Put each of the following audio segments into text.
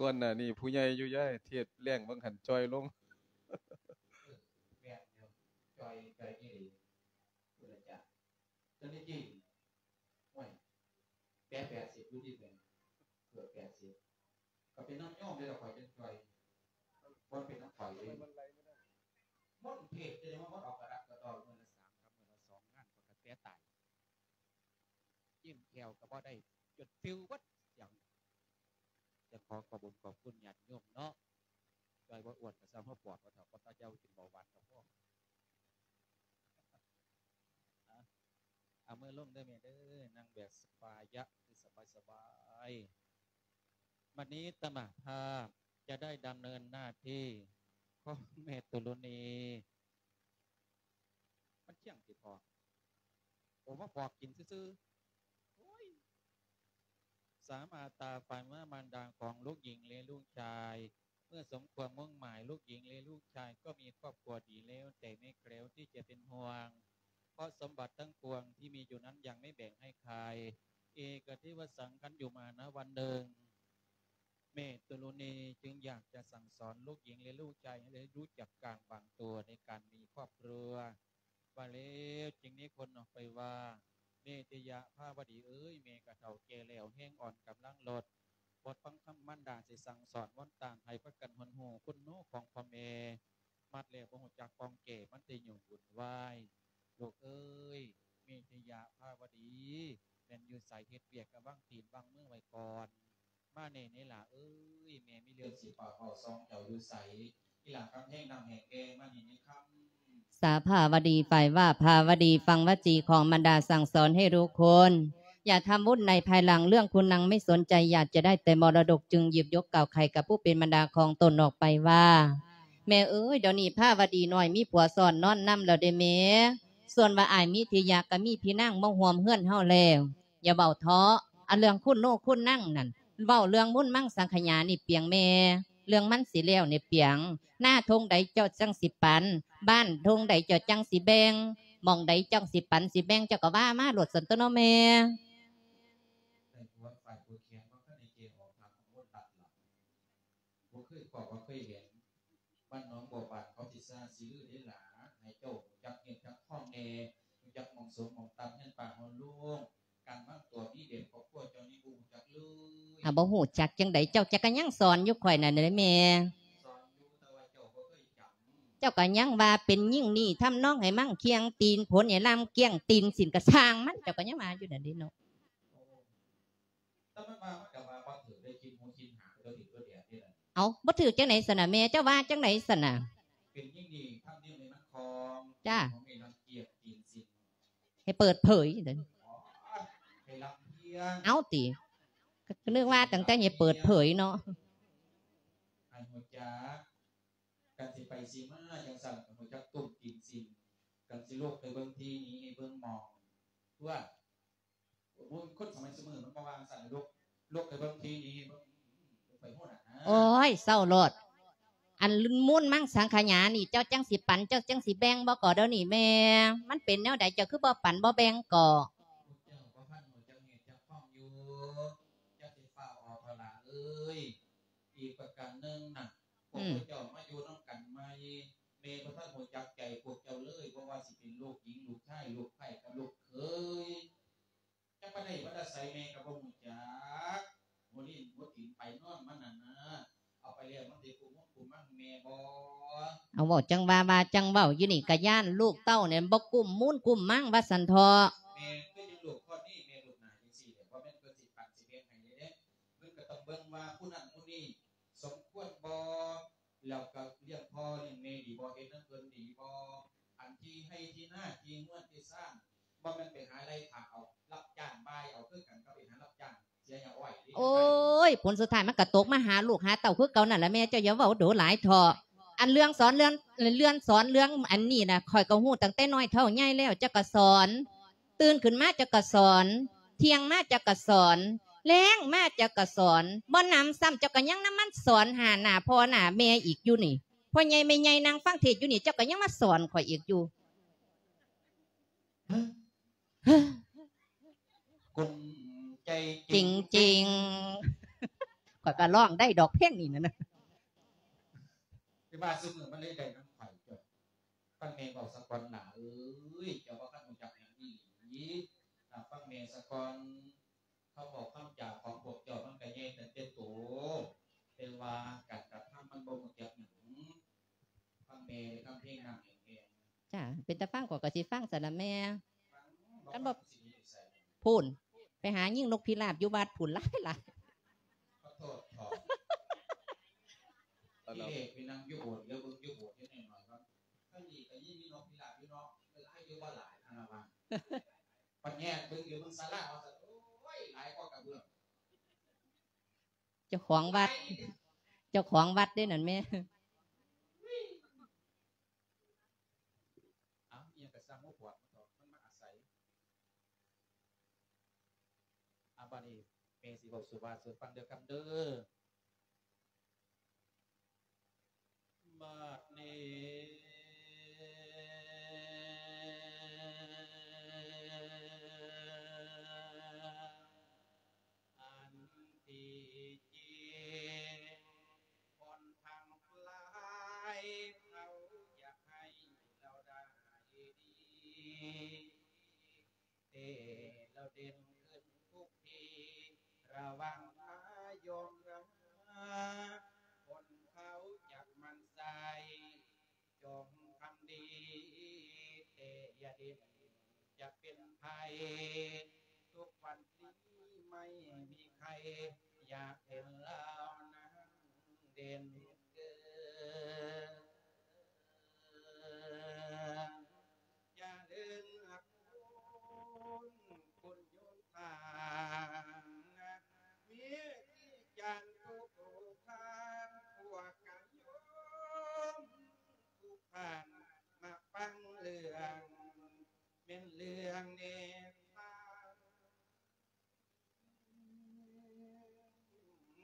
ກ່ອນໜ້ານີ້ຜູ້ໃຫຍ່ຢູ່ ຍາຍ ເທດແລ້ງບາງຫັ້ນຈ່ອຍລົງ. ເອີ ແມ່ນຢູ່ ຈ່ອຍ ຈ່ອຍອີ່ຫຼີ ພຸດທະເຈົ້າ. ຕົວນີ້ຈິງ ໂອ້ຍ ແປດ ແປດສິບຢູ່ຕິແມ່ ເກືອບແປດສິບ ກໍເປັນນຳໂຍມເດ້ລະ ຂ້ອຍຈັ່ງຈ່ອຍ ບໍ່ເປັນນຳຂ້ອຍເດ້. ມົນເທດຈະໄດ້ມາມົນອອກກະດັກກະດໍ້ ມື້ລະສາມກັບມື້ລະສອງງານ ຂ້ອຍກໍແຕ່ຕາຍ ຈິ້ມແຂ້ວກໍບໍ່ໄດ້ ຈົນປິວເບິດສຽງ. ຈະຂໍຂອບບຸນຂອບຄຸນຍາດໂຍມເນາະ ຈ່ອຍບໍ່ອ້ວນກໍຊ່າງ ເຮົາປອດບໍ່ເຖົ້າ ບໍ່ຕາເຍົາ ກິນເບົາຫວານກໍພໍ. ເອົາມືລົງເດີແມ່ເດີ ນັ່ງແບບສະບາຍະ ຄືສະບາຍໆ. ບັດນີ້ອາດຕະມາພາບຈະໄດ້ດຳເນີນໜ້າທີ່ຂອງແມ່ຕຸລຸນີ. ມັນທ່ຽງຕິພໍ່ ໂອ ມາປອກກິນຊື່ໆ. ໂອ້ຍ ສາມາດຕາຝັນວ່າມານດາຂອງລູກຍິງ ແລະ ລູກຊາຍ ເມື່ອສົມຄວາມມຸ່ງໝາຍ ລູກຍິງ ແລະ ລູກຊາຍກໍມີຄອບຄົວດີແລ້ວ ແຕ່ແມ່ແຄວທີ່ຈະເປັນຫ່ວງ ເພາະສົມບັດທັງປວງທີ່ມີຢູ່ນັ້ນຍັງໄມ່ແບ່ງໃຫ້ໃຄ. ເອກະເທວະສັງ ຄັນຢູ່ມານະວັນໜຶ່ງ ແມ່ຕຸລຸນີຈຶ່ງຢາກຈະສັ່ງສອນລູກຍິງ ແລະ ລູກຊາຍໃຫ້ໄດ້ຮູ້ຈັກການວາງຕົວໃນການມີຄອບຄົວ. ວ່າແລ້ວຈຶ່ງນິມົນອອກໄປວ່າ ເມດເຕຍະພາວະດີເອີຍ ແມ່ກະເຖົ້າແກ່ແລ້ວແຮງອ່ອນກຳລັງລົດ ບົດຟັງຄຳມານດາຊິສັ່ງສອນ ວອນຕານໃຫ້ພາກັນຮູ້ຄຸນຮູ້ຂອງພໍ່ແມ່ ມັດແລ້ວບໍ່ຮູ້ຈັກປ່ອງແກ ມັນແຕ່ຫຍຸ້ງວຸ່ນວາຍ. ລູກເອີຍ ເມດເຕຍະພາວະດີ ແມ່ນຢູ່ໃສ ເຮັດວຽກກະວາງຕີນວາງມືໄວ້ກ່ອນ. ມາແນ່ເນລາເອີຍ ແມ່ມີເລື່ອງຊິປາກເວົ້າສອງເຈົ້າຢູ່ໃສ? ອີຫຼ້າຄຳແຮງນຳແຮງແກ່ມານີ້ເນຄຳ. ສາພາວະດີ ຝ່າຍວ່າພາວະດີ ຟັງວະຈີຂອງມານດາສັ່ງສອນໃຫ້ລູກຄົນ ຢ່າທຳບຸນໃນພາຍຫຼັງ ເລື່ອງຄຸນນັງໄມ່ສົນໃຈ ຢາກຈະໄດ້ແຕ່ມໍລະດົກ ຈຶ່ງຫຍິບຍົກກ່າວໄຂກັບຜູ້ເປັນມານດາຂອງຕົນອອກໄປວ່າ ແມ່ເອີຍ ດຽວນີ້ພາວະດີນ້ອຍມີຜົວຊ້ອນນອນນຳແລ້ວເດ້ແມ່. ສ່ວນວ່າອ້າຍເມດເຕຍະກະມີພີ່ນາງມາຮ່ວມເຮືອນເຮົາແລ້ວ. ຢ່າເວົ້າເທາະ ອັນເລື່ອງຄຸນໂນຄຸນນັງນັ້ນ ເວົ້າເລື່ອງມຸນມັງສັງຂະຫຍານີ້ປຽງແມ່ ເລື່ອງມັນຊິແລ້ວນີ້ປຽງ. ນາທົ່ງໃດເຈົ້າຈັ່ງຊິປັນ ບ້ານທົ່ງໃດເຈົ້າຈັ່ງຊິແບ່ງ ໝ່ອງໃດຈັ່ງຊິປັນຊິແບ່ງ ເຈົ້າກໍວ່າມາໂລດຊັ້ນຕົວະເນາະແມ່. ບໍ່ເຄີຍພໍ້ບໍ່ເຄີຍເຫັນ ບ້ານໜອງບົວບານເຂົາຊິຊ່າຊິລືເດ້ຫຼ້າ ໃຫ້ເຈົ້າຮູ້ຈັກເງິນຈັກທອງແດ່ ຮູ້ຈັກໝ່ອງສົມໝ່ອງຕ່ຳ ເຮືອນປ່າເຮືອນໂລງ ການວາງຕົວມີແບບຄອບຄົວເຈົ້ານີ້ບໍ່ຮູ້ຈັກເລີຍ. ອາ ບໍ່ຮູ້ຈັກຈັ່ງໃດ ເຈົ້າຈັກກະຍັງສອນຢູ່ຂ້ອຍນັ້ນເດ້ແມ່. ສອນຢູ່ ແຕ່ວ່າເຈົ້າບໍ່ເຄີຍຈຳ. ເຈົ້າກະຍັງວ່າເປັນຍິງນີ້ທຳນອງໃຫ້ມັງຄຽງຕີນ ຜົນໃຫ້ລຳກຽງຕີນ ສິນກະຊ່າງມັນ ເຈົ້າກະຍັງວ່າຢູ່ນັ້ນເດ້ເນາະ. ແຕ່ມັນວ່າ ມັນກໍວ່າບໍ່ຖືກເດ້ ຄິດຫູຄິດຫາ ບໍ່ຖືກບໍ່ແດດເດ້ລະ. ເອົ້າ ບໍ່ຖືກຈັ່ງໃດຊັ້ນນະແມ່ ເຈົ້າວ່າຈັ່ງໃດຊັ້ນນະ? ເປັນຍິ່ງດີ ທຳເນວໃດມັນຄອງ ຈ້າ ຂອງໃຫ້ລັງກຽດຕີນສິນ ໃຫ້ເປີດເຜີຍເດ້. ອໍ ໃຫ້ລຳພຽງ ເອົ້າຕິ ກໍນຶກວ່າຕັ້ງແຕ່ໃຫ້ເປີດເຜີຍເນາະ ໃຫ້ຮູ້ຈັກ ກັນຊິໄປຊິມາຈັ່ງຊັ້ນ ກໍຮູ້ຈັກຕຸ້ມຕີນສິນ ກັນຊິລຸກໄປເບິ່ງທີ່ນີ້ ເບິ່ງໝ່ອງ ຕົວະ. ໂອ້ຍ ຄົນສະໄໝຊຸມື້ມັນບໍ່ວ່າງຊັ້ນ ລຸກ ລຸກໄປເບິ່ງທີ່ນີ້ ເບິ່ງ ໄປໂນ່ນນະ. ໂອ້ຍ ເຊົາໂລດ ອັນມຸນມັງສັງຂະຫຍານີ້ ເຈົ້າຈັ່ງຊິປັນ ເຈົ້າຈັ່ງຊິແບ່ງບໍ່ກໍດຽວນີ້ແມ່? ມັນເປັນແນວໃດ ເຈົ້າຄືບໍ່ປັນບໍ່ແບ່ງກໍ? ພວກເຈົ້າບໍ່ທັນຮູ້ຈັກເຫດຈັກຂອງຢູ່ ຢ່າຊິຟ້າວອອກເຖາະຫຼ້າເອີຍ. ອີກປະການໜຶ່ງນະ ພວກ ອືມ ພວກເຈົ້າມາຢູ່ນຳກັນໃໝ່ ແມ່ບໍ່ທັນຮູ້ຈັກໃຈພວກເຈົ້າເລີຍ ບໍ່ວ່າຊິເປັນລູກຍິງ ລູກຊາຍ ລູກໃພ້ກັບລູກເຂີຍ ຈັກມາໄດ້ມາແຕ່ໃສແມ່ກໍບໍ່ຮູ້ຈັກ ຫົວລີນຫົວຕີນໄປນອນມັນນັ້ນນະ ເອົາໄປແລ້ວມັນຊິກຸ້ມມຸນກຸ້ມມັງແມ່ບໍ່? ເອົາ ເວົ້າຈັ່ງວ່າ ວ່າຈັ່ງເວົ້າ ຢູ່ນີ້ກະຢ້ານລູກເຕົ້ານີ້ບໍ່ກຸ້ມມູນກຸ້ມມັງວ່າຊັ້ນເຖາະ. ແມ່ນ ຄືຈັ່ງລູກຄົນນີ້ ແມ່ລູກໜ້າຈັ່ງຊີ້ແຫຼະ ບໍ່ແມ່ນເພິ່ນຊິປັນຊິແບ່ງໃຫ້ເດ້ ເພິ່ນກໍຕ້ອງເບິ່ງວ່າຜູ້ນັ້ນຜູ້ນີ້ສົມຄວນບໍ່ ແລ້ວກໍລ້ຽງພໍ່ລ້ຽງແມ່ດີບໍ່ ເຮັດນຳເພິ່ນດີບໍ່? ອັນທີ່ໄຮ່ທີ່ນາທີ່ເຮືອນທີ່ຊານ ບໍ່ແມ່ນໄປຫາໄລ່ຂ້າເອົາ ຮັບຈ້າງບ່າຍເອົາ ຄືກັນກັບໄປຫາຮັບຈ້າງເສຍຫຍ້າອ້ອຍເດ້. ໂອ້ຍ ຜົນສຸດທ້າຍມັນກໍຕົກມາຫາລູກຫາເຕົ້າຄືເກົ່ານັ້ນລະແມ່. ເຈົ້າຢ່າເວົ້າດູຫຼາຍເຖາະ ອັນເລື່ອງສອນເລື່ອງ ເລື່ອງສອນເລື່ອງອັນນີ້ນະ ຂ້ອຍກໍຮູ້ຕັ້ງແຕ່ນ້ອຍເທົ່າໃຫຍ່ແລ້ວ ເຈົ້າກໍສອນ ຕື່ນຂຶ້ນມາເຈົ້າກໍສອນ ທ່ຽງມາເຈົ້າກໍສອນ ແລງມາເຈົ້າກໍສອນ ບໍ່ໜຳຊ້ຳເຈົ້າກໍຍັງນຳມັນສອນຫາໜ້າພໍ່ໜ້າແມ່ອີກຢູ່ນີ້. ພໍ່ໃຫຍ່ແມ່ໃຫຍ່ນັ່ງຟັງເທດຢູ່ນີ້ ເຈົ້າກໍຍັງມາສອນຂ້ອຍອີກຢູ່. ກຸ້ມໃຈຈິງໆ. ກໍຮ້ອງໄດ້ດອກເພງນີ້ນະ. ຄືວ່າຊຸມື້ມັນເລີຍໄດ້ນຳຂ້ອຍເຈົ້າ. ຟັງແມ່ເວົ້າສາກ່ອນຫຼ້າເອີຍ, ເຈົ້າບໍ່ຄັນຮູ້ຈັກຫຍັງອີ່ຫຼີ. ຖ້າຟັງແມ່ສາກ່ອນ, ຄຳເວົ້າຄຳຈາຂອງພວກເຈົ້າມັນກໍໃຫຍ່ຕັ້ງແຕ່ໂຕ, ແຕ່ວ່າການກະທຳມັນບໍ່ຮູ້ຈັກຫຍັງ. ຟັງແມ່ເດີ ຄຳເພງນຳແຮງ. ຈ້າ ເປັນຕາຟັງ ຂ້ອຍກໍຊິຟັງຊັ້ນລະແມ່. ຄັນບໍ່ ພຸ້ນ ໄປຫາຍິງນົກພິລາບຢູ່ວັດພຸ້ນຫຼາຍໆ. ຂໍໂທດເຖາະ. ທີ່ແລກໄປນັ່ງຢູ່ໂບດ ແລ້ວເບິ່ງຢູ່ໂບດແໜ້ໜ້ອຍວ່າ ທາງນີ້ກໍຍິງນົກພິລາບຢູ່ເນາະ, ຫຼາຍຢູ່ບໍ່ຫຼາຍ ອັນລະວ່າ. ບັດແຍກເບິ່ງຢູ່ເບິ່ງສາລາວ່າ ໂອ້ຍ ຫຼາຍກວ່າກະເບື້ອງ. ເຈົ້າຂອງວັດ ເຈົ້າຂອງວັດເດ້ນັ້ນແມ່. ເອົ້າ ອີ່ຫຍັງກະຊ່າງຫົວຂວາດມັນເຖາະ ມັນມາອາໄສ. ອາ ບາດນີ້ແມ່ຊິເວົ້າສູ່ວ່າສູ່ຟັງເດີຄຳເດີ. ບາດນີ້ ອັນທີ່ຈິງ ຄົນທັງຫຼາຍເຂົາຢາກໃຫ້ລາວໄດ້ດີ ແຕ່ລາວເດັ່ນຂຶ້ນທຸກທີ ລະວັງພາຍອມລາ ຄົນເຂົາຈັກໝັ່ນໃສ່ ຈົ່ງທຳດີ ແຕ່ຢ່າເດັ່ນຈະເປັນໄພ ທຸກວັນນີ້ໄມ່ມີໃຄ ຢາກເຫັນລາວນັ້ນເດັ່ນເກີນ. ຈະເລີນອາຄຸນ ຄຸນໂຍທາ ມີທີ່ຈານທຸກທ່ານ ພວກກະໂຍມທຸກທ່ານ ມາຟັງເລື່ອງ ແມ່ນເລື່ອງນິທາ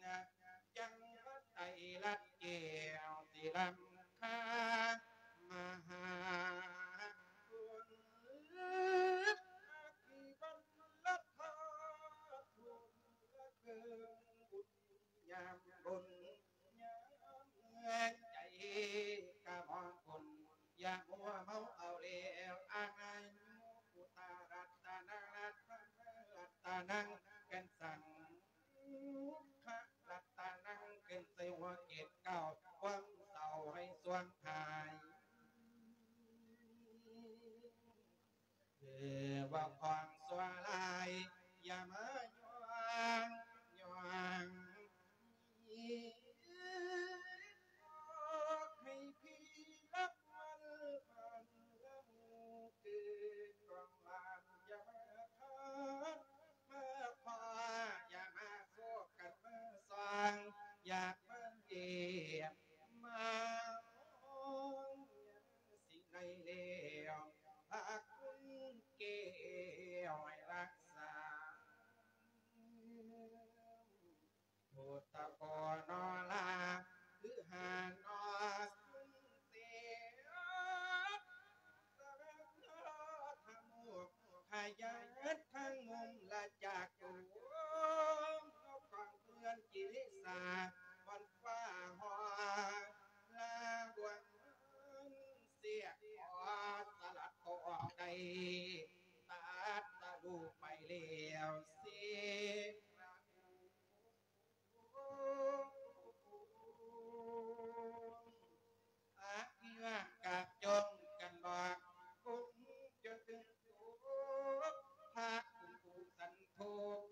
ນ. ຈັ່ງວ່າໄຕລັດແກ້ວທີ່ລ້ຳຄ່າ ມະຫາຄຸນ ທີ່ບັນລະທາດ ບຸນລະເຄິ່ງບຸນຍາມບຸນ ຍາມໃຈກະມອງຄຸນ ຢ່າມົວເມົາເອົາແລ້ວອາຍຸ ພຸດທະລັດຕະນັງ ລັດຕະນັງ ລັດຕະນັງ ສັງຄະລັດຕະນັງ ຂຶ້ນໃສ່ຫົວເຈັດເກົ້າ ຄວາມເສົ້າໃຫ້ສວງຫາຍ ເອີ ເວົ້າຄວາມຊົ່ວຮ້າຍ ຢ່າມາຍ່ວງ ຍ່ວງ ໃຫ້ພີ່ຮັບມັນ ມັນລະມຸງຄືກອງວານ ຢ່າມາທັກມາຂໍ ຢ່າມາໂຊກກັນມາສ່ອງ ຢາກມາຢ້ຽມມາໂຮມ ຊິໄດ້ແລ້ວ ພະຄຸນແກ້ວໃຫ້ຮັກສາ ພຸດທະພໍ່ນໍລາ ຄືຫານໍສຸນເສ ສະເວັນທະມຸກ ຂະຫຍັນທັງມຸມລະຈາໂກ ນອກກອງເພື່ອນກິລິສາ ວັນຟ້າຮອ ລາບວນສຽກຂໍສະຫຼັດໂຕອອກໄດ້ ຕັດສະລຸໄປແລ້ວເສ ອະພິວາກາດຈົ່ງກັນບອກ ຄົງຈະເຖິງໂຕ ພະຄຸນຜູ້ສັນໂທ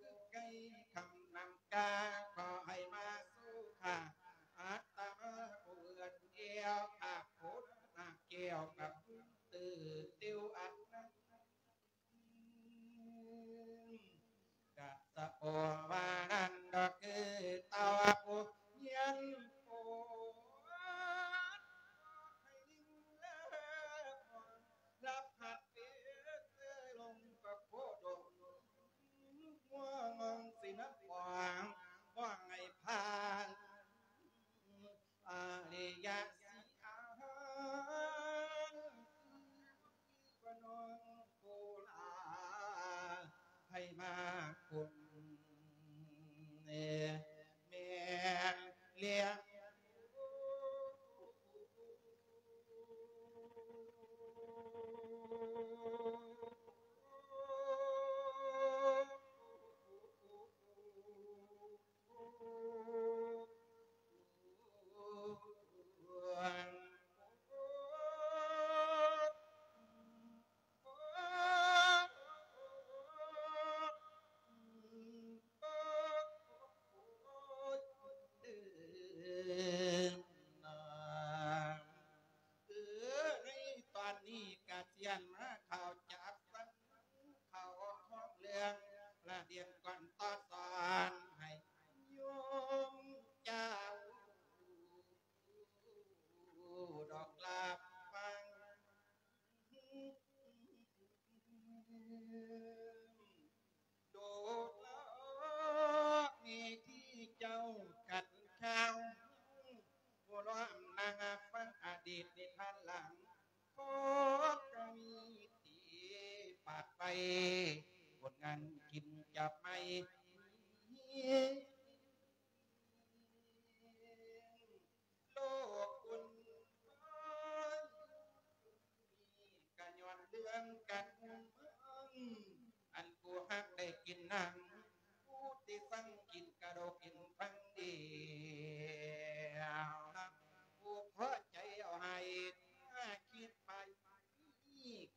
ຄືໄກ່ຄຳນຳກາ ຂໍໃຫ້ມາສູ່ຂ້າ ອາດຕະມາຜູ້ເອື້ອນແອວ ພະໂຄນນາແກ້ວກັບຕື້ຕິວອັນນັ້ນ ກະສະໂອວານັ້ນດອກ ຄືເຕົ້າຜູ້ຮຽນໂພ ໃຫ້ລິງເລີ ລັບຫັດເປັນເສືອລົງປະໂຄດົງ ຫົວງອງສິນນະປອງ ບໍ່ໃຫ້ຜ່ານ ອາລິຍະສີອາ ວ່ານ້ອງໂຄລາ ໃຫ້ມາຄຸນ ແມ່ ຄົນງານກິນຈັບໄມ້ ໂລກອຸ່ນວາຍ ກະຍ້ອນເລື່ອງການຮຸ່ງເຮືອງ ອັນຜູ້ຮັກໄດ້ກິນໜັງ ຜູ້ທີ່ສັງກິນກະດູກກິນຟັງດີ ຜູ້ພໍໃຈເອົາໃຫ້ ຖ້າຄິດໄປ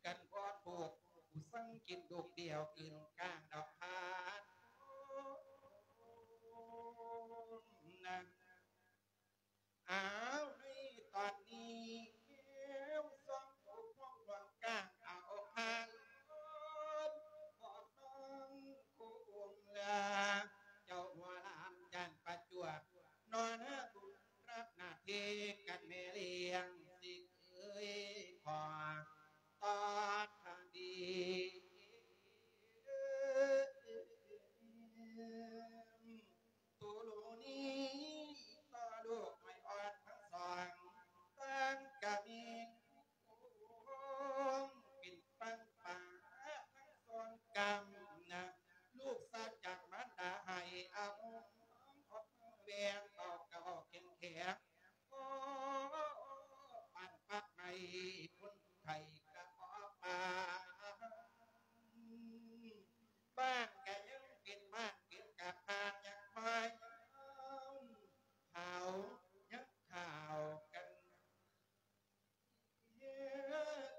ກັນບໍ່ທຸກ ຜູ້ສັງກິນລູກດຽວ ອື່ນກາງດອກທານນະ. ອ້າວ ໃນຕອນນີ້ ແກ້ວສອງຜູ້ຄອງຫຼວງກາງເອົາພານ ພໍ່ນ້ອງໂຄງລາ ເຈົ້າຫົວຫຼານຈານປະຈວບ ນອນຫາບຸນ ຮັບໜ້າທີ່ກັນແມ່ລ້ຽງ ຊິເອີຍຂໍຕອບທາງດີ ໂຕໂລນີ ຕໍ່ລູກໃຫ້ອ່ອນທັງສອງ ຕ່າງກະມີ ເປັນຝັ່ງປ່າທັງສອງກຳນະ ລູກສາກຈາກມານດາໃຫ້ອາຫົງ ອອກແວນເວົ້າກະເວົ້າແຂງແຂງ ໂອ້ ປານປາກໄມ້ ຄົນໄຂ້ກະບໍ່ປານ ບ້ານກະຍັງເປັນບ້ານ ເປັນກະພານຍັງຄອຍ ເຂົາຍັງຂ່າວກັນ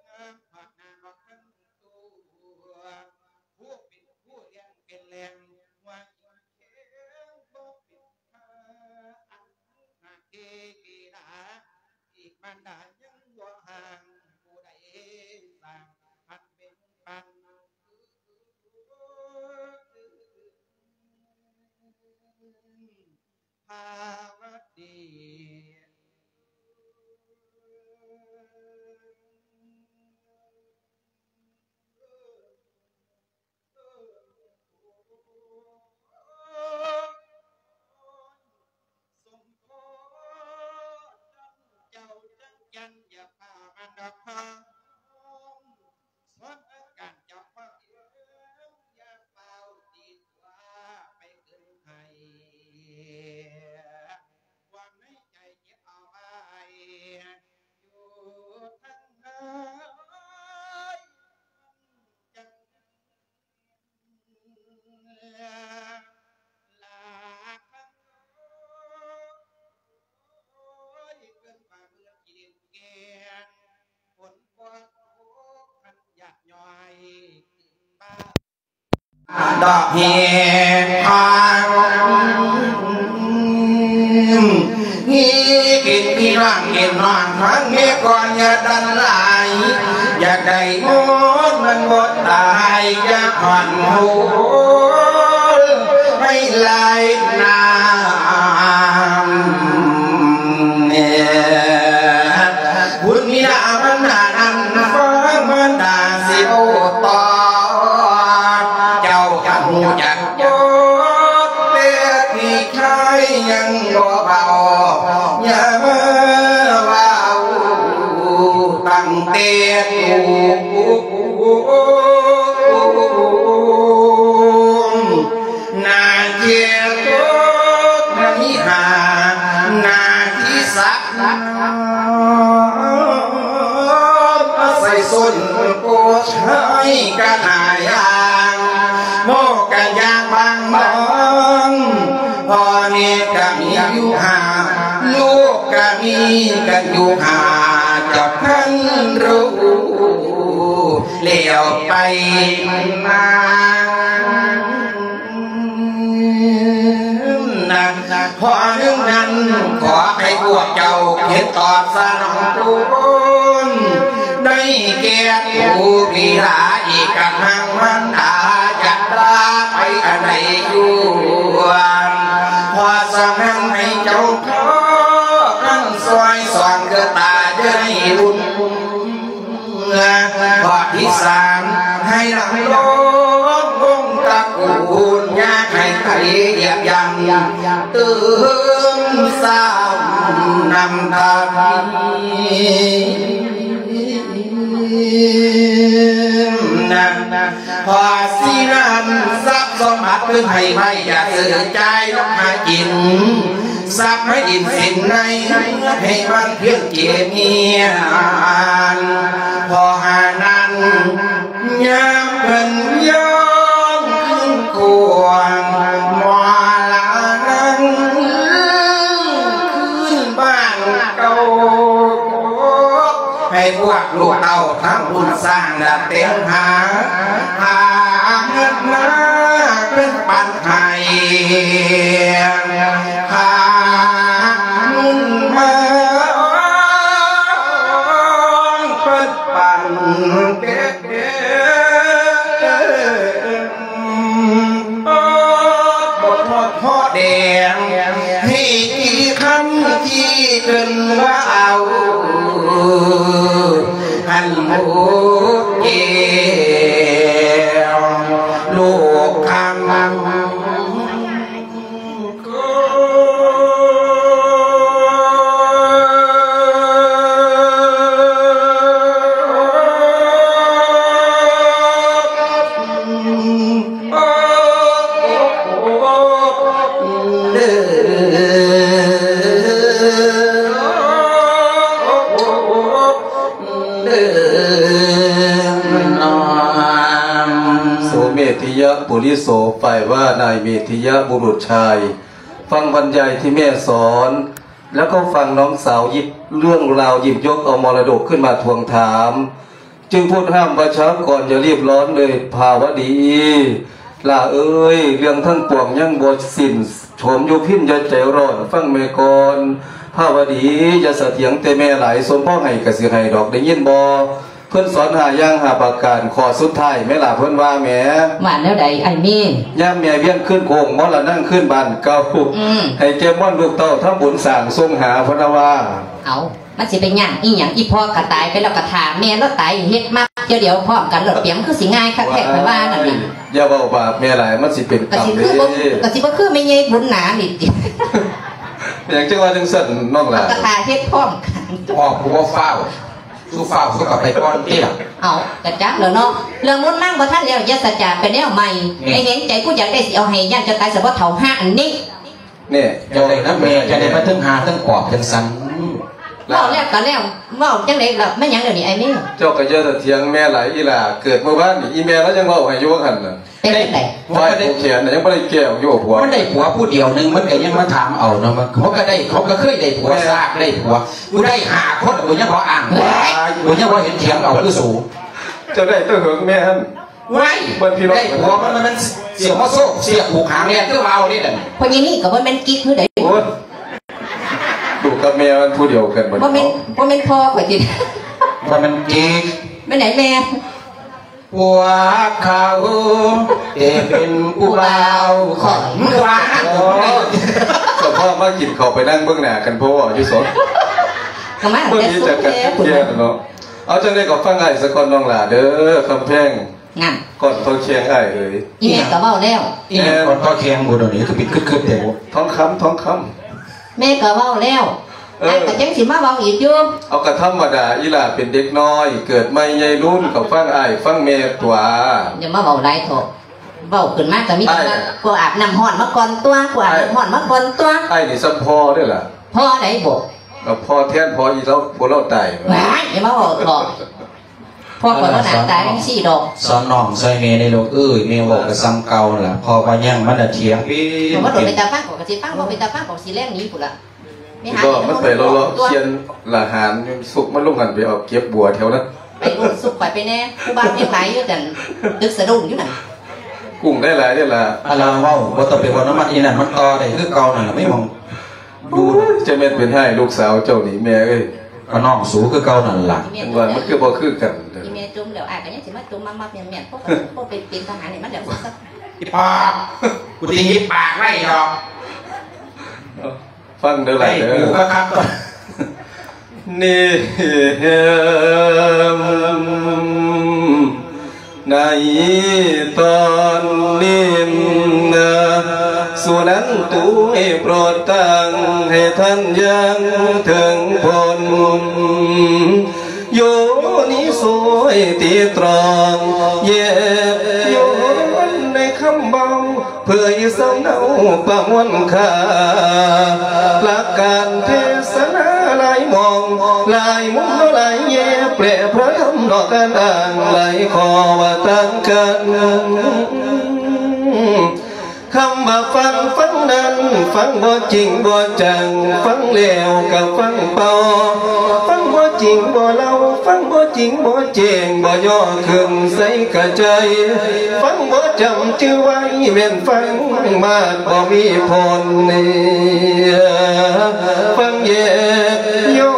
ງາມພາກໜ້າອອກທັງຕົວ ຜູ້ເປັນຜູ້ລ້ຽງເປັນແຫຼ່ງ ຫົວອິນແຂງບໍ່ເປັນທ່າ ອັນໜ້າເກກິລາ ອີກມານດາຍັງບໍ່ຫ່າງ ຜູ້ໃດສ້າງພັນເປັນປັນ ພາວະດີ ສົມພໍນເຈົ້າຈັກຈັນ ຢ່າພາມັນດອກ ສອນອາການເຈົ້າຂອງເອີງ ຢ່າຟ້າວຕີຕົວໄປຂຶ້ນໄຫ້ ຄວາມໃນໃຈເກັບເອົາໄວ້ ຢູ່ທາງໃນ ມັນຈັ່ງລາຄັນ ໂອ້ຍ ເກີນກວ່າໝື່ນກິເລນແກ່ນ ຝົນບໍ່ຕົກ ຄັນຢາກຍ້ອຍຂຶ້ນບ້ານ ດອກເຫັດທາງ ມີກິນມີນອນ ກິນນອນທັງເມກອນ ຢ່າດັນຫຼາຍ ຢາກໄດ້ໝົດມັນບໍ່ຕາຍ ຢ່າຜ່ອນໂຫນໃຫ້ຫຼາຍນາມ ບຸນມີດາມັນດານັ້ນ ຟັງມັນດາຊິເວົ້າຕໍ່ ເຈົ້າກະຮູ້ຈັກ ໂອ້ ແຕ່ພີ່ຊາຍຍັງບໍ່ເວົ້າ ຢ່າມາເວົ້າຕັ້ງແຕ່ຕູ ນາເຂດໂຕກະມີຫາ ນາທີ່ສາມ ມາໃສ່ສົ້ນໂກດໃຫ້ກະຫາຍາງ ໝໍກະຢາກບາງບອງ ພໍ່ແມ່ກະມີຢູ່ຫ້າ ລູກກະມີກັນຢູ່ຫ້າ ເຈົ້າທ່ານຮູ້ແລ້ວໄປມາ ນະ ຂໍໜຶ່ງນັ້ນ ຂໍໃຫ້ພວກເຈົ້າເຮັດຕອບສະໜອງຄຸນ ໄດ້ແກ່ຜູ້ບິດາ ອີກກະທັ່ງມານດາ ຈັກລາໄປອັນໃດຢູ່ ເພາະສະນັ້ນໃຫ້ເຈົ້າພໍ່ ທັງຊ່ອຍສອນເກີດຕາເດີ ໃຫ້ບຸນ ຂໍ້ທີສາມ ໃຫ້ລຳລົງວົງຕະກູນ ຢ່າໃຫ້ໃຜຢຽບຢຳ ຕື່ມຊ້ຳນຳທາງ ເພາະສະນັ້ນ ຊັບສົມບັດເພິ່ນໃຫ້ໄວ້ ຢ່າຊື້ຈ່າຍນຳຫາກິນ ຊັບໃນດິນສິນໃນ ໃຫ້ມັນພຽງເກມຽນ ເພາະຫານັ້ນ ຍາມເພິ່ນຍ້ອນຄືນຄວາມມໍລະນະ ຄືນບ້ານເກົ່າ ໃຫ້ພວກລູກເຕົ້າທຳບຸນສ້າງ ແລະ ແຕ່ງຫາ ຫາເງິນມາເປັນປັນໃຫ້ ຫາເງິນມາເປັນປັນ ເປັນ ເປັນ ບໍ່ທອດພໍແດງ ໃຫ້ທີ່ຄຳທີ່ເພິ່ນວ່າເອົາ ອັນໝູເກວ ລູກຄຳ ໂສເມທິຍະປຸລິໂສ ຝ່າຍວ່ານາຍເມທິຍະບຸລຸດຊາຍ ຟັງບັນຍາຍທີ່ແມ່ສອນ ແລ້ວກໍຟັງນ້ອງສາວຢິບເລື່ອງລາວ ຢິບຍົກເອົາມໍລະດົກຂຶ້ນມາທວງຖາມ ຈຶ່ງໂພດຫ້າມວ່າ ຊາວກອນຢ່າຣີບຮ້ອນເລີຍພາວະດີ ຫຼ້າເອີຍ ເລື່ອງທັງປວງຍັງບໍ່ສິ້ນ ຊົມຢູ່ພິນຢ່າໃຈຮ້ອນ ຟັງແມ່ກ່ອນພາວະດີ ຢ່າສະຖຽງແຕ່ແມ່ຫຼາຍ ສົມພໍໃຫ້ກະຊິໃຫ້ດອກ ໄດ້ຍິນບໍ່? ເພິ່ນສອນຫ້າຢ່າງຫ້າປະການ ຂໍ້ສຸດທ້າຍແມ່ຫຼ້າເພິ່ນວ່າແໝ ວ່າແນວໃດອ້າຍເມ? ຍາມແມ່ວຽນຄືນໂຄ້ງ ມໍລະນັງຄືນບ້ານເກົ່າ ອືມ ໃຫ້ແກ່ມວນລູກເຕົ້າທຳບຸນສ້າງສົ່ງຫາ ເພິ່ນວ່າ ເອົາ ມັນຊິໄປຍາກອີ່ຫຍັງ ອີ່ພໍ່ກໍຕາຍໄປແລ້ວ ກໍຖ້າແມ່ລາວຕາຍເຮັດມາເທື່ອດຽວພ້ອມກັນໂລດ ປຽງຄືຊິງ່າຍຄັກແທ້ ຂ້ອຍວ່ານັ້ນນະ ຢ່າເວົ້າບາບແມ່ຫຼາຍ ມັນຊິເປັນກຳເດ້ ກໍຊິຄື ກໍຊິບໍ່ຄືແມ່ໃຫຍ່ບຸນໜານີ້ຕິ ເປັນຫຍັງຈຶ່ງວ່າຈັ່ງຊັ້ນນ້ອງຫຼ້າ ກໍຖ້າເຮັດພ້ອມກັນ ອອກຜູ້ບໍ່ຟ້າວ ສູ່ຟ້າວສູ່ກໍໄປກ່ອນຕິລະ ເອົາ ກະຈັກແລ້ວເນາະ ເລື່ອງມຸນນາງບໍ່ທັນແລ້ວ ຢ່າສະຈາກໄປແນວໃໝ່ ແມ່ນ ໃຫ້ເຫັນໃຈຜູ້ຢາກໄດ້ ຊິເອົາໃຫ້ ຢ້ານເຈົ້າຕາຍສະບໍ່ເຖົ້າຫາອັນນີ້ ນີ້ ເຈົ້າໄດ້ນຳແມ່ ເຈົ້າໄດ້ມາເຖິງຫາເຖິງປອບຈັ່ງຊັ້ນ ເວົ້າແລ້ວກໍແລ້ວ ເວົ້າຈັ່ງໃດລະ ແມ່ນຫຍັງດຽວນີ້ອ້າຍເມ? ເຈົ້າກໍຢ່າຖຽງແມ່ຫຼາຍ ອີ່ຫຼ້າເກີດມື້ວານນີ້ ອີ່ແມ່ລາວຍັງເວົ້າໃຫ້ຢູ່ວ່າຫັ້ນນະ ເປັນຈັ່ງໃດ? ຝ່າຍຜູ້ແຂນນະຍັງບໍ່ໄດ້ແກ້ວຢູ່ຜົວ ມັນໄດ້ຜົວຜູ້ດຽວໜຶ່ງ ມັນກໍຍັງມາຖາມເອົາເນາະ ມັນ ເຮົາກໍໄດ້ ເຮົາກໍເຄີຍໄດ້ຜົວ ແມ່ນ ຊາກໄດ້ຜົວ ກູໄດ້ຫ້າຄົນ ກູຍັງບໍ່ອ່າງ ກູຍັງບໍ່ເຫັນຖຽງເອົາຄືສູ ເຈົ້າໄດ້ແຕ່ເຫິງແມ່ຫັ້ນ ວ້າຍ ເບິ່ງພີ່ນ້ອງ ໄດ້ຜົວມັນ ມັນ ມັນເສຍຫົວໂຊກ ເສຍຜູກຫາງແລ່ນ ຄືວ່າເອົານີ້ນັ້ນ ພໍ່ໃຫຍ່ນີ້ກໍບໍ່ແມ່ນກິກຄືໃດ ໂອ້ຍ ລູກກັບແມ່ມັນຜູ້ດຽວກັນ ບໍ່ແມ່ນ ບໍ່ແມ່ນພໍ່ຂ້ອຍຕິ ບໍ່ແມ່ນກິກ ແມ່ນໃດແມ່? ພວກເຂົາແຕ່ເປັນຜູ້ບ່າວຂ້ອຍ ມຶງວ່າ ໂອ້ ສະເພາະມາກິນເຂົ້າໄປນັ່ງເບິ່ງໜ້າກັນ ເພາະວ່າຢູ່ສອງ ກໍມາຕັ້ງແຕ່ຊຸມແທ້ພຸ້ນ ເນາະ ເອົາ ຈັ່ງໃດກໍຟັງອ້າຍສາກ່ອນນ້ອງຫຼ້າເດີ ຄຳແພງ ນັ້ນ ກ່ອນຕໍ່ແຂ່ງອ້າຍເອີຍ ອີ່ແມ່ກໍເວົ້າແລ້ວ ອີ່ຫຍັງກ່ອນຕໍ່ແຂ່ງ ບໍ່ດຽວນີ້ຄືປິດຄຶດໆແທ້ ທອງຄຳ ທອງຄຳ ແມ່ກໍເວົ້າແລ້ວ ເອີ ອ້າຍກໍຍັງຊິມາເວົ້າອີກຢູ່ ເອົາ ກໍທຳມະດາ ອີ່ຫຼ້າເປັນເດັກນ້ອຍ ເກີດໃໝ່ໃຫຍ່ລຸນ ກໍຟັງອ້າຍຟັງແມ່ຕົວະ ຢ່າມາເວົ້າຫຼາຍເຖາະ ເວົ້າຂຶ້ນມາກໍມີແຕ່ວ່າ ອ້າຍ ຜູ້ອາບນ້ຳຮ້ອນມາກ່ອນຕົວະ ຜູ້ອາບ ອ້າຍ ນ້ຳຮ້ອນມາກ່ອນຕົວະ ອ້າຍນີ້ສ່ຳພໍ່ເດ້ລະ ພໍ່ໃດບໍ? ກໍພໍ່ແທນພໍ່ອີ່ລາວ ຜົວລາວຕາຍ ວ້າຍ ຢ່າມາເວົ້າເຖາະ ພໍ່ຂ້ອຍບໍ່ໜ້າຕາຈັ່ງຊີ້ດອກ ສອນນ້ອງຊ່ອຍແມ່ແດ່ລູກເອີຍ ແມ່ເວົ້າກໍສ່ຳເກົ່ານັ້ນລະ ເພາະວ່າຍັງມັນນະຖຽງເປັນ ເວົ້າບໍ່ເປັນຕາຟັງ ຂ້ອຍກໍຊິຟັງ ເວົ້າເປັນຕາຟັງ ຂ້ອຍກໍຊິແລ່ນໜີພຸ້ນລະ ແມ່ນຫາ ກໍມັນໄປເລາະໆ ເຂື່ອນລະຫານ ສຸກມັນລົງຫັ້ນ ໄປເອົາເກັບບົວແຖວນັ້ນ ໄປໂລດ ສຸກຂ້ອຍໄປແດ່ ຜູ້ບ່າວຍັງຫຼາຍຢູ່ ອັນຕຶກສະດຸ້ງຢູ່ນັ້ນ ກຸ້ງໄດ້ຫຼາຍເດ້ລະ ອັນລາວເວົ້າ ບໍ່ຕ້ອງໄປເວົ້ານຳມັນ ອີນັ້ນມັນຕໍ່ໄດ້ຄືເກົ່ານັ້ນລະ ແມ່ນບໍ່? ໂອ້ຍ ຈະແມ່ນເປັນຮ້າຍລູກສາວເຈົ້ານີ້ແມ່ເອີຍ ກໍນ້ອງສູຄືເກົ່ານັ້ນລະ ຈັ່ງວ່າມັນຄືບໍ່ຄືກັນ ອີແມ່ຈົ່ມແລ້ວ ອ້າຍກໍຍັງຊິມາຈົ່ມມັບໆແມ່ນໆ ພວກກໍບໍ່ໄປເປັນທະຫານໃຫ້ມັນແລ້ວ ອີປອບ ກູຊິຫຍິບປາກໄວ້ດອກ ຟັງເດີຫຼາຍເດີ ໃຫ້ກູຄັກໆກ່ອນ ນີ້ ໃນຕອນນີ້ນະ ສຸນັນຕຸ ໂປດຕັ້ງໃຫ້ທ່ານຢ່າງເຖິງຜົນ ໂຍນິໂສ ຕີຕຣອງແຍກຍ້ອນໃນຄຳເວົ້າ ເຜີຍສຳເນົາປະມວນຄ່າ ຫຼັກການເທສະນາຫຼາຍໝ່ອງ ຫຼາຍມຸມ ຫຼາຍແຍກ ແປລະພະທຳນອກການອ້າງ ຫຼາຍຂໍ້ວ່າຕ່າງກັນ. ຄຳວ່າຟັງ ຟັງນັ້ນ ຟັງບໍ່ຈິງບໍ່ຈັງ ຟັງແລ້ວກະຟັງເປົ່າ ຟັງບໍ່ຈິງບໍ່ເລົ່າ ຟັງບໍ່ຈິງບໍ່ແຈ້ງ ບໍ່ຍໍຂຶ້ນໃສ່ກະໃຈ ຟັງບໍ່ຈຳຈື່ໄວ້ ແມ່ນຟັງມາດບໍ່ມີຜົນ ຟັງແຍກຍ້ອ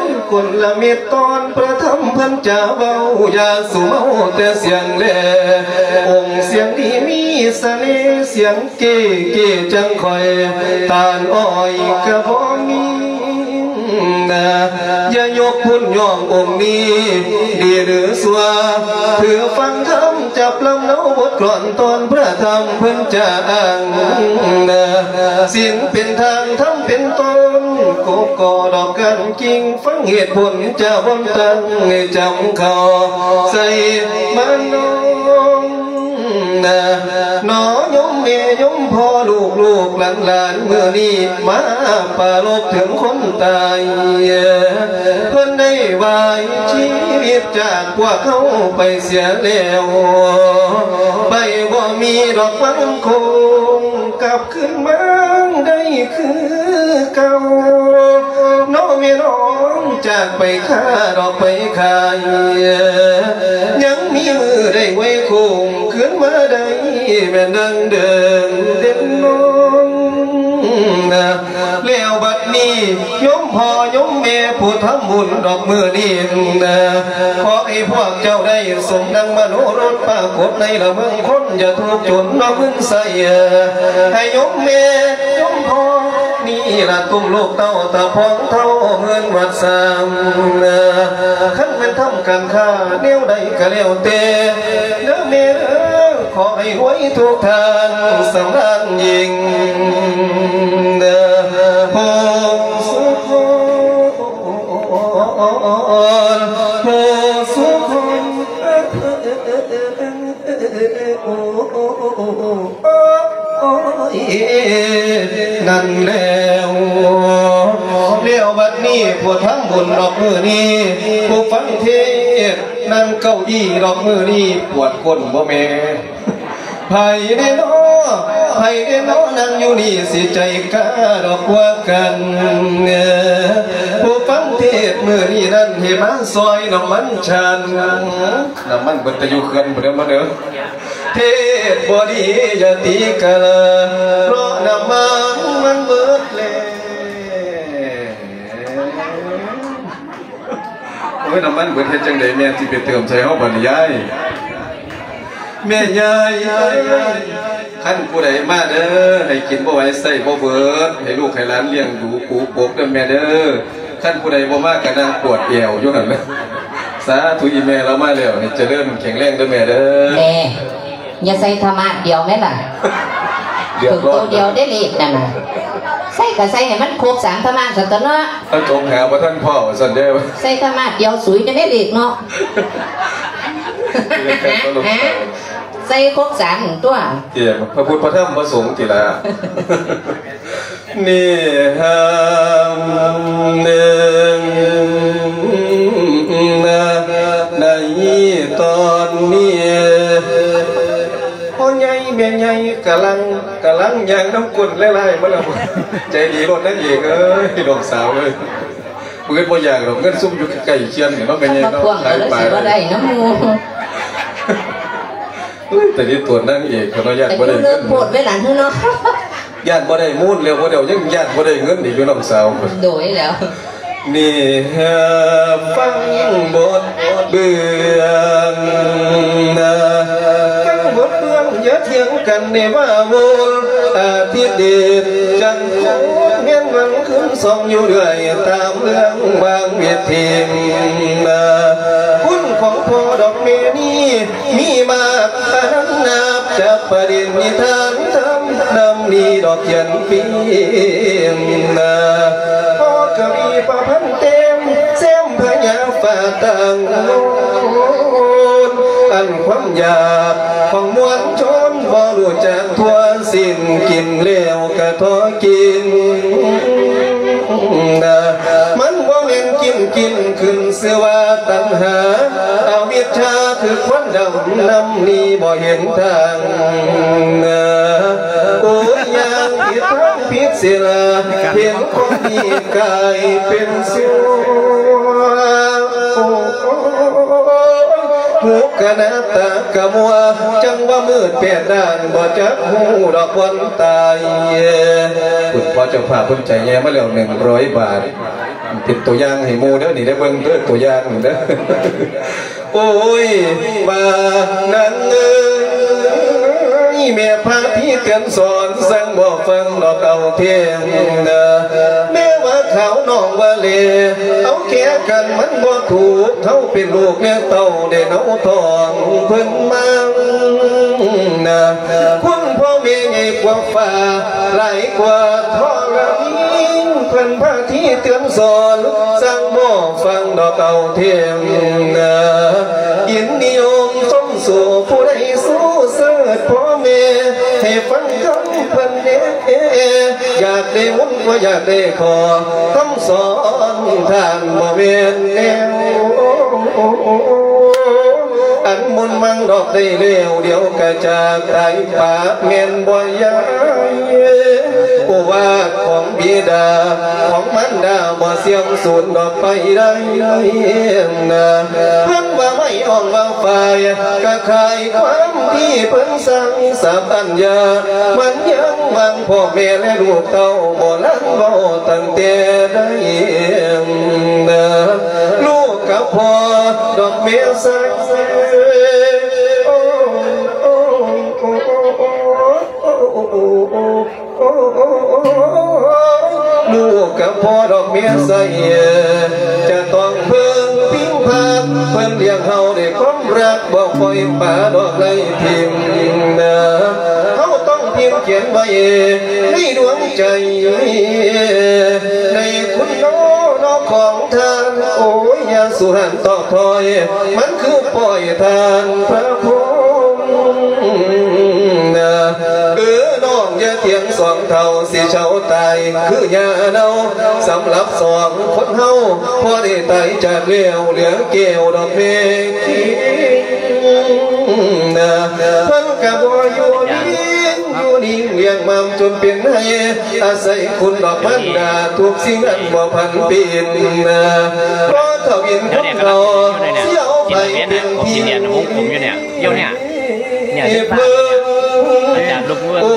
ນ ກົນລະເມັດຕອນພະທຳເພິ່ນຈະເວົ້າ ຢ່າສູ່ເມົາແຕ່ສຽງແລ ອົງສຽງດີມີສະເໜ່ ສຽງເກ້ເກ້ຈັ່ງຂ້ອຍ ຕານອ້ອຍກະບໍ່ມີນາ ຢ່າຍົກພຸ້ນຍ້ອງອົງນີ້ ດີຫຼືຊົ່ວ ຖືຟັງທຳ ຈັບລຳເນົາບົດກລອນຕອນພະທຳເພິ່ນຈະອ້າງນາ ສິນເປັນທາງ ທຳເປັນຕົ້ນ ກົກກໍດອກກັນກິ່ງ ຟັງເຫດຜົນຈະບ່ອນຕັ້ງໃຫ້ຈຳເຂົ້າໃສ່ມານອງນາ ໜໍໂຍມແມ່ໂຍມພໍ່ ລູກໆຫຼານໆ ມື້ນີ້ມາປາລົບເຖິງຄົນຕາຍ ເພິ່ນໄດ້ວາຍຊີວິດຈາກພວກເຮົາໄປເສຍແລ້ວ ໄປບໍ່ມີດອກວັນຄົງກັບ ຄືນມາໄດ້ຄືເກົ່າ ນ້ອງແມ່ນ້ອງຈາກໄປຄ້າດອກໄປຂາຍ ຍັງມີມື້ໄດ້ໄຫວ້ໂຄ້ງ ຄືນມາໄດ້ແມ່ນດັ່ງເດີມເດນນ້ອງນາ ແລ້ວບັດນີ້ໂຍມພໍ່ໂຍມແມ່ຜູ້ທຳບຸນດອກມື້ນີ້ນາ ຂໍໃຫ້ພວກເຈົ້າໄດ້ສົມດັ່ງມະໂນລົດປາກົດໃນລະເມືອງຄົນ ຢ່າທຸກຈົນນອກເງິນໃຊ້ ໃຫ້ໂຍມແມ່ໂຍມພໍ່ນີ້ລະຕຸ້ມລູກເຕົ້າຕາພອງເທົ້າເງິນວັດສ້າງ ຄັນແມ່ນທຳການຄ້າແນວໃດກະແລ້ວແຕ່ເດີແມ່ເດີ ຂໍໃຫ້ຮວຍທຸກທ່ານສຳລານຍິ່ງເດີ ຜູ້ສຸຂອນ ຜູ້ສຸຂອນ ນັ້ນແລ້ວ ແລ້ວບັດນີ້ຜູ້ທຳບຸນດອກມື້ນີ້ ຜູ້ຟັງເທດ ນັ່ງເກົ້າอี้ດອກມື້ນີ້ ປວດກົ້ນບໍ່ແມ່ ໃຜແດ່ນໍ ໃຜແດ່ນໍ ນັ່ງຢູ່ນີ້ຊິໃຈກ້າດອກກວ່າກັນ ຜູ້ຟັງເທດມື້ນີ້ນັ້ນ ໃຫ້ມາຊ່ອຍນ້ຳມັນຊານ ນ້ຳມັນເບິດແຕ່ຢູ່ເຂື່ອນພຸ້ນເດີ ມາເດີ ເທດບໍ່ດີຢ່າຕີກະລາ ເພາະນ້ຳມັນມັນເບິດແລ້ວ. ໂອ້ຍ ນ້ຳມັນເບິດເຮັດຈັ່ງໃດແມ່ຊິໄປເຕີມໃສ່ເຮົາບັດນີ້ຍາຍ? ແມ່ຍາຍເອີຍ ຄັນຜູ້ໃດມາເດີ ໃຫ້ກິນບໍ່ໄຫວໃຊ້ບໍ່ເບິດ ໃຫ້ລູກໃຫ້ຫຼານລ້ຽງດູປູປົກເດີແມ່ເດີ ຄັນຜູ້ໃດບໍ່ມາກະນັ່ງປວດແອວຢູ່ຫັ້ນລະ. ສາທຸ ອີ່ແມ່ລາວມາແລ້ວ ໃຫ້ຈະເລີນແຂງແຮງເດີແມ່ເດີ. ແມ່ ຢ່າໃສ່ທະມາດດຽວແມ່ນລະ ເລືອກຮ້ອນໂຕດຽວເດ້ເລກນັ້ນນະ ໃສ່ກະໃສ່ໃຫ້ມັນຄົບສາມທະມາດຊັ້ນຕົວະເນາະ ເອົາຈົງຫາບໍ່ທັນພໍ້ວ່າຊັ້ນເດ້ ໃສ່ທະມາດດຽວສຸຍແດ່ເລກເນາະ ໃສ່ຄົບສາມຕົວະ ເອີ ພະພຸດພະທຳພະສົງຕິລະ. ນີ້ຫາມເອີງນາ ໃນຕອນນີ້ ພໍ່ໃຫຍ່ແມ່ໃຫຍ່ກຳລັງ ກຳລັງຍ່າງນຳກົ້ນຫຼາຍໆມາແລ້ວ ໃຈດີໂລດນາງເອກເອີຍ ນ້ອງສາວເອີຍ ມື້ອື່ນບໍ່ຢາກດອກ ເງິນຊຸມຢູ່ໃກ້ຄຽນນີ້ເນາະ ແມ່ໃຫຍ່ເນາະ ມາທວງກະຄືຊິບໍ່ໄດ້ນຳໝູ່. ເອີຍ ແຕ່ນີ້ຕົວນາງເອກເຂົາເນາະ ຢ້ານບໍ່ໄດ້ເງິນ ເງິນໂພດເວລານີ້ເນາະ ຢ້ານບໍ່ໄດ້ມູນແລ້ວ ບໍ່ໄດ້ເອົາຫຍັງ ຢ້ານບໍ່ໄດ້ເງິນອີກຢູ່ ນ້ອງສາວ ໂດຍແລ້ວ ນີ້ຫາຟັງບົດເບື້ອງນາ ຟັງບົດເບື້ອງ ຢ່າຖຽງກັນໃນວ່າວົນ ອາທິດເດດຈັນໂຄດ ແມ່ນວັນຄືນສອງຢູ່ເລື້ອຍ ຕາມເລື່ອງບາງເວທີນາ ຄຸນຂອງພໍ່ດອກແມ່ນີ້ ມີມາກອານັນນັບ ຈະປະດິນນິທານທຳ ນຳນີ້ດອກຂຽນປີ້ນາ ພໍກະວີປະພັນແຕ່ງ ແຊມພະຍາຟ້າຕັ້ງໂລນ ອັນຄວາມຢາກຂອງມວນຊົນບໍ່ຮູ້ຈັກທົ່ວສິ້ນ ກິນແລ້ວກະທໍກິນນະ ມັນບໍ່ແມ່ນກິນ ກິນຂຶ້ນຊື່ວ່າຕັນຫາ ອະວິດຊາຄືຄວັນດຳ ນຳໜີບໍ່ເຫັນທາງນະ ໂອ້ຍ ຍ່າງຜິດທາງຜິດສິລາ ເຫັນຄົນດີກາຍເປັນຊົ່ວ ໂອ້ຍ ຫູກະໜາ ຕາກະມົວ ຈັ່ງວ່າມືດແປດດ້ານ ບໍ່ຈັກຮູ້ດອກບ່ອນຕາຍ. ຄຸນພໍ່ເຈົ້າພາບເພິ່ນໃຈແຍ່ມາແລ້ວ ໜຶ່ງຮ້ອຍບາດ ເປັນຕົວຢ່າງໃຫ້ໝູ່ເດີ ນີ້ໄດ້ເບິ່ງເດີ ຕົວຢ່າງເດີ. ໂອ້ຍ ວ່ານາງເອີຍ ແມ່ພາທີ່ເຕືອນສອນ ສັ່ງບໍ່ຟັງດອກເອົາແທ້ນະ ແມ່ວ່າຂາວນ້ອງວ່າແລ ເອົາແກ່ກັນມັນບໍ່ຖືກ ເຮົາເປັນລູກແມ່ເຕົ້າ ໄດ້ເນົາທ້ອງເພິ່ນມານະ ຄຸນພໍ່ແມ່ໃຫຍ່ກວ່າຟ້າ ຫຼາຍກວ່າທໍລະນີ ເພິ່ນພາທີ່ເຕືອນສອນ ສັ່ງບໍ່ຟັງດອກເອົາແທ້ນະ ຍິນນິຍົມຊົມຊູ ຜູ້ໃດສູ້ເສີດພໍ່ແມ່ ໃຫ້ຟັງຄຳເພິ່ນແດ່ ຢາກໄດ້ມົນກໍຢາກໄດ້ຂໍ ຄຳສອນທ່ານບໍ່ແມ່ນແນວ ອັນມົນມັງດອກໄດ້ແລ້ວ ດຽວກະຈາກຕາຍປາກແມ່ນບໍ່ຍາຍ ໂອວາດຂອງບິດາຂອງມານດາ ບໍ່ເສື່ອມສູນດອກໄປໄດ້ນະ ເພິ່ນວ່າໄມ້ອ່ອງວ່າຝ້າຍ ກະຂາຍຄວາມທີ່ເພິ່ນສັ່ງສາບອັນຍາ ມັນຍັງຫວັງພໍ່ແມ່ແລະລູກເຕົ້າ ໂບລານເວົ້າຕັ້ງແຕ່ໃດນະ ລູກກັບພໍ່ດອກແມ່ໃສ ລູກກັບພໍ່ດອກເມຍໃສ ຈະຕ້ອງເພິ່ງພິງພັກ ເພິ່ນລ້ຽງເຮົາດ້ວຍຄວາມຮັກ ບໍ່ປ່ອຍປະດອກໄລ່ຖິ້ມນາ ເຮົາຕ້ອງພິມຂຽນໄວ້ໃນດວງໃຈ ໃນຄຸນນອນອກຂອງທ່ານ ໂອ້ຍ ຢ່າສູ່ຫັນຕອກຖອຍ ມັນຄືປ່ອຍທ່ານພະພົມນາ ເອີ ນ້ອງຢ່າຖຽງສອງເຖົ້າ ຊິເຊົາຕາຍຄືຫຍ້າເນົ່າ ສຳລັບສອງຄົນເຮົາ ພໍໄດ້ຕາຍຈາກແລ້ວ ເຫຼືອແກ້ວດອກແມ່ຄິງນາ ເພິ່ນກະບໍ່ຢູ່ດີ ຢູ່ດີລ້ຽງມາມຈົນເປັນໄຮ ອາໄສຄຸນດອກມານດາ ທຸກສິ່ງອັນບໍ່ພັນປິ່ນນາ ເພາະທະວິນຄົນເກົ່າ ຊິເອົາໃຜເປັນທີ່ ໂອ້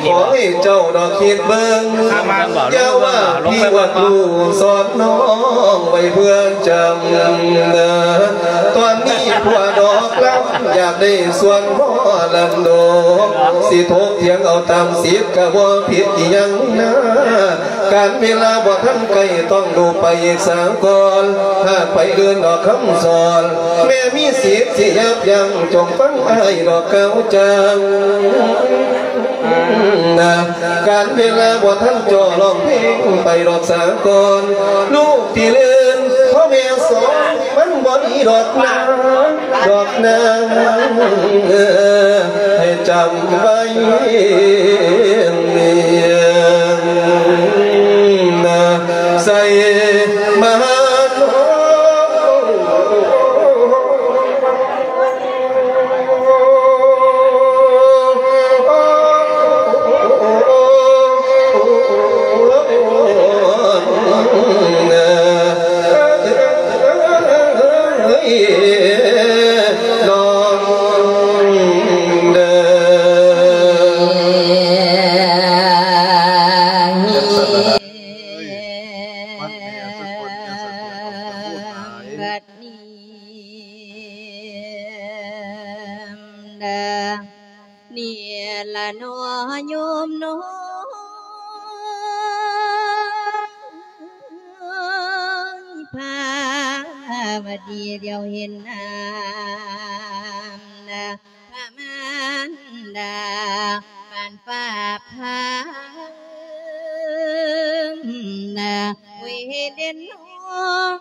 ຍ ຂໍໃຫ້ເຈົ້າດອກຄິດເບິ່ງ ຢ່າວ່າພີ່ວ່າລູກ ສອນນ້ອງໄວ້ເພື່ອຈຳນາ ຕອນນີ້ຜົວດອກລຳ ຢາກໄດ້ສ່ວນໝໍລຳດົກ ຊິຖົກຖຽງເອົາຕາມສິດ ກະບໍ່ຜິດອີ່ຫຍັງນາ ການເວລາບໍ່ທັນໃກ້ ຕ້ອງດູໄປສາກ່ອນ ຫາກໄປເດີນດອກຄຳສອນ ແມ່ມີສິດຊິຍັບຢັ້ງ ຈົ່ງຟັງອ້າຍດອກກ່າວຈ້າງນາ ການເວລາບໍ່ທັນຈໍ້ ຮ້ອງເພງໄປດອກສາກ່ອນ ລູກທີ່ເລີນພໍ່ແມ່ສອນ ມັນບໍ່ດີດອກນາ ດອກນາ ໃຫ້ຈຳໄວ້ນາ ໃສ່ມາໂນ ນີ້ລະເນາະໂຍມເນາະ ພາວະດີ ດຽວເຫັນນາມ ພະມານດາ ປານຟ້າພາ ນາ ເວເດນນ້ອງ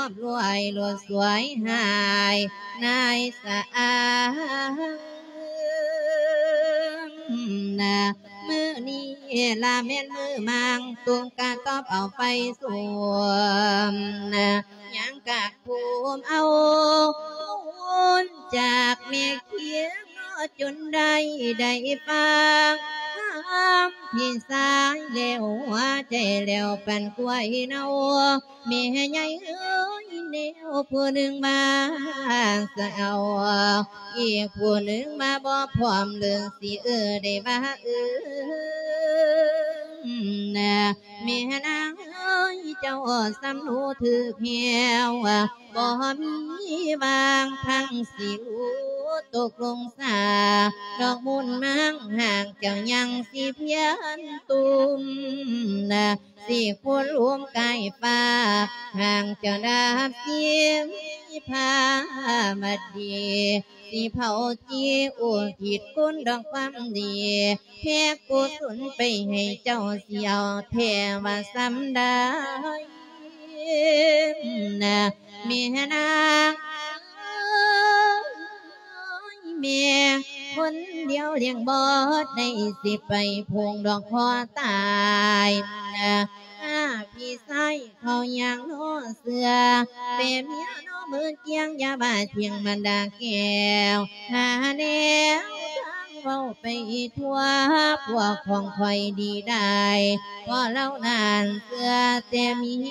ບລວຍ ລົດສວຍຫາຍ ນາຍສະອາງນະ. ມື້ນີ້ລະແມ່ນມື້ມັງ ຕຸງກະຕອບເອົາໄຟສຸມນະ ຍັງກະພູມເອົາມູນຈາກແມ່ຄຽງ ຈົນໄດ້ ໄດ້ຟັງຄຳພີ່ຊາຍແລ້ວ ຫົວໃຈແລ້ວປັນກວາຍເນົາ. ແມ່ໃຫຍ່ເອີຍ ແນວຜູ້ໜຶ່ງມາສະເອົາ ອີກຜູ້ໜຶ່ງມາບໍ່ພ້ອມເລີຍ ຊິເອີ້ນໄດ້ວ່າເອີ້ນນະ. ແມ່ນາງເອີຍ ເຈົ້າສຳຮູ້ຖືກແລ້ວ ບໍ່ມີຫວ່າງທາງຊິຮູ້ຕົກລົງສາ ດອກມູນມັງຫາກເຈົ້າຍັງຊິພຽນຕຸ່ມນະ. ຊິຄູນລຸ່ມກາຍຟ້າ ຫາກເຈົ້າດາບສິມພາມະດີ ຊິເຜົາຈີອຸທິດຄຸນດອກຄວາມດີ ແຜ່ກຸສົນໄປໃຫ້ເຈົ້າ ຊິເອົາແທ້ວ່າສ່ຳໃດນະ ແມ່ນາງເອີຍ ແມ່ຄົນດຽວລ້ຽງບໍ່ໄດ້ ຊິໄປພົງດອກຄໍຕາຍນະ. ອາ ພີ່ຊາຍເຂົາຢ່າງໜໍ່ເຊື່ອ ແຕ່ເມຍໜໍ່ເມີກຽງ ຢ່າວ່າທ່ຽງບັນດາແກ້ວ ຫາແນວທາງເວົ້າໄປທົ່ວ ພວກຂອງຂ້ອຍດີໄດ້ ເພາະລາວນັ້ນເຊື່ອແຕ່ເມຍ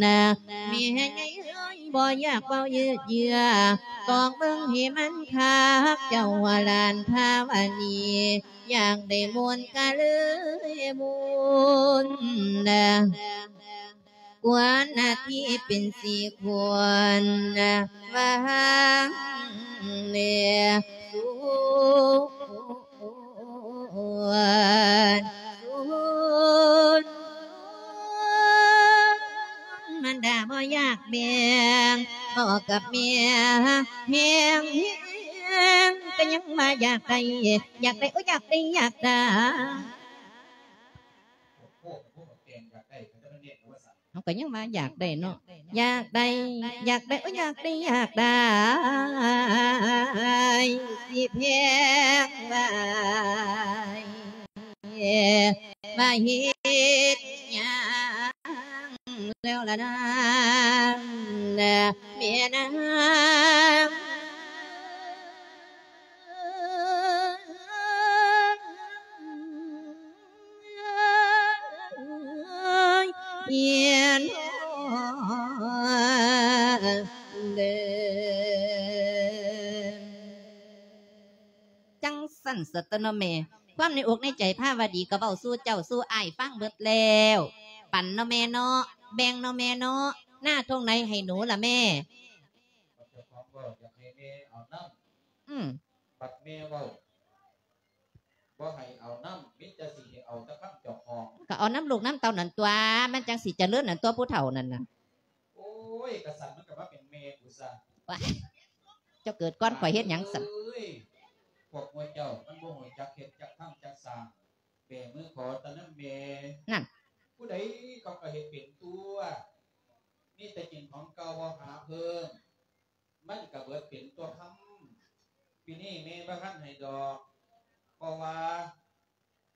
ນະ. ແມ່ໃຫຍ່ເອີຍ ບໍ່ຢາກເວົ້າຍືດເຍື້ອ ຕອກເບິ່ງໃຫ້ມັນຄັກ ເຈົ້າວ່າຫຼານພາວະນີ ຢາກໄດ້ມ່ວນກະເລີຍມ່ວນນະ ຄວນໜ້າທີ່ເປັນສີ່ຄົນນະ ວ່າຫາງແລ ສ່ວນ ສ່ວນ ມັນດາບໍ່ຢາກແບ່ງ ເວົ້າກັບແມ່ແຮງ ແຮງ ກໍຍັງວ່າຢາກໄດ້ ຢາກໄດ້ ໂອ້ ຢາກໄດ້ ຢາກໄດ້ ເຮົາກໍຍັງວ່າຢາກໄດ້ເນາະ ຢາກໄດ້ ຢາກໄດ້ ໂອ້ຍ ຢາກໄດ້ ຢາກໄດ້ ຊິແພງຫຼາຍ ວ່າເຮັດຫຍັງແລ້ວລະນາ ແມ່ນາງ ຈັ່ງຊັ້ນສະຕົວເນາະແມ່ ຄວາມໃນອົກໃນໃຈພາວະດີກໍເວົ້າສູ່ເຈົ້າສູ່ອ້າຍຟັງເບິດແລ້ວ ປັນເນາະແມ່ເນາະ ແບ່ງເນາະແມ່ເນາະ ນາທົ່ງໃດໃຫ້ໜູລະແມ່. ເຈົ້າຂອງເວົ້າຢາກໃຫ້ແມ່ເອົານຳ ອືມ ບັດແມ່ເວົ້າ ບໍ່ໃຫ້ເອົານຳ ມີແຕ່ຊິໃຫ້ເອົາແຕ່ຄຳເຈົ້າຂອງ ກໍເອົານຳລູກນຳເຕົ້ານັ້ນຕົວະ ມັນຈັ່ງຊິຈະເລີນນັ້ນຕົວະ ຜູ້ເຖົ້ານັ້ນນະ. ໂອ້ຍ ກະສັນມັນກໍມາເປັນແມ່ກູຊະ. ວ້າຍ ເຈົ້າເກີດກ່ອນຂ້ອຍເຮັດຫຍັງຊັ້ນ? ເອີຍ ພວກໝູ່ເຈົ້າມັນບໍ່ຮູ້ຈັກເຮັດຈັກທຳຈັກສ້າງ ແບມືຂໍແຕ່ນຳແມ່. ນັ້ນ ຜູ້ໃດເຂົາກໍເຮັດເປັນຕົວະ ມີແຕ່ກິນຂອງເກົ່າບໍ່ຫາເພີ່ມ ມັນກະເບິດເປັນຕົວະຄຳ. ປີນີ້ແມ່ບໍ່ທັນໃຫ້ດອກ ເພາະວ່າ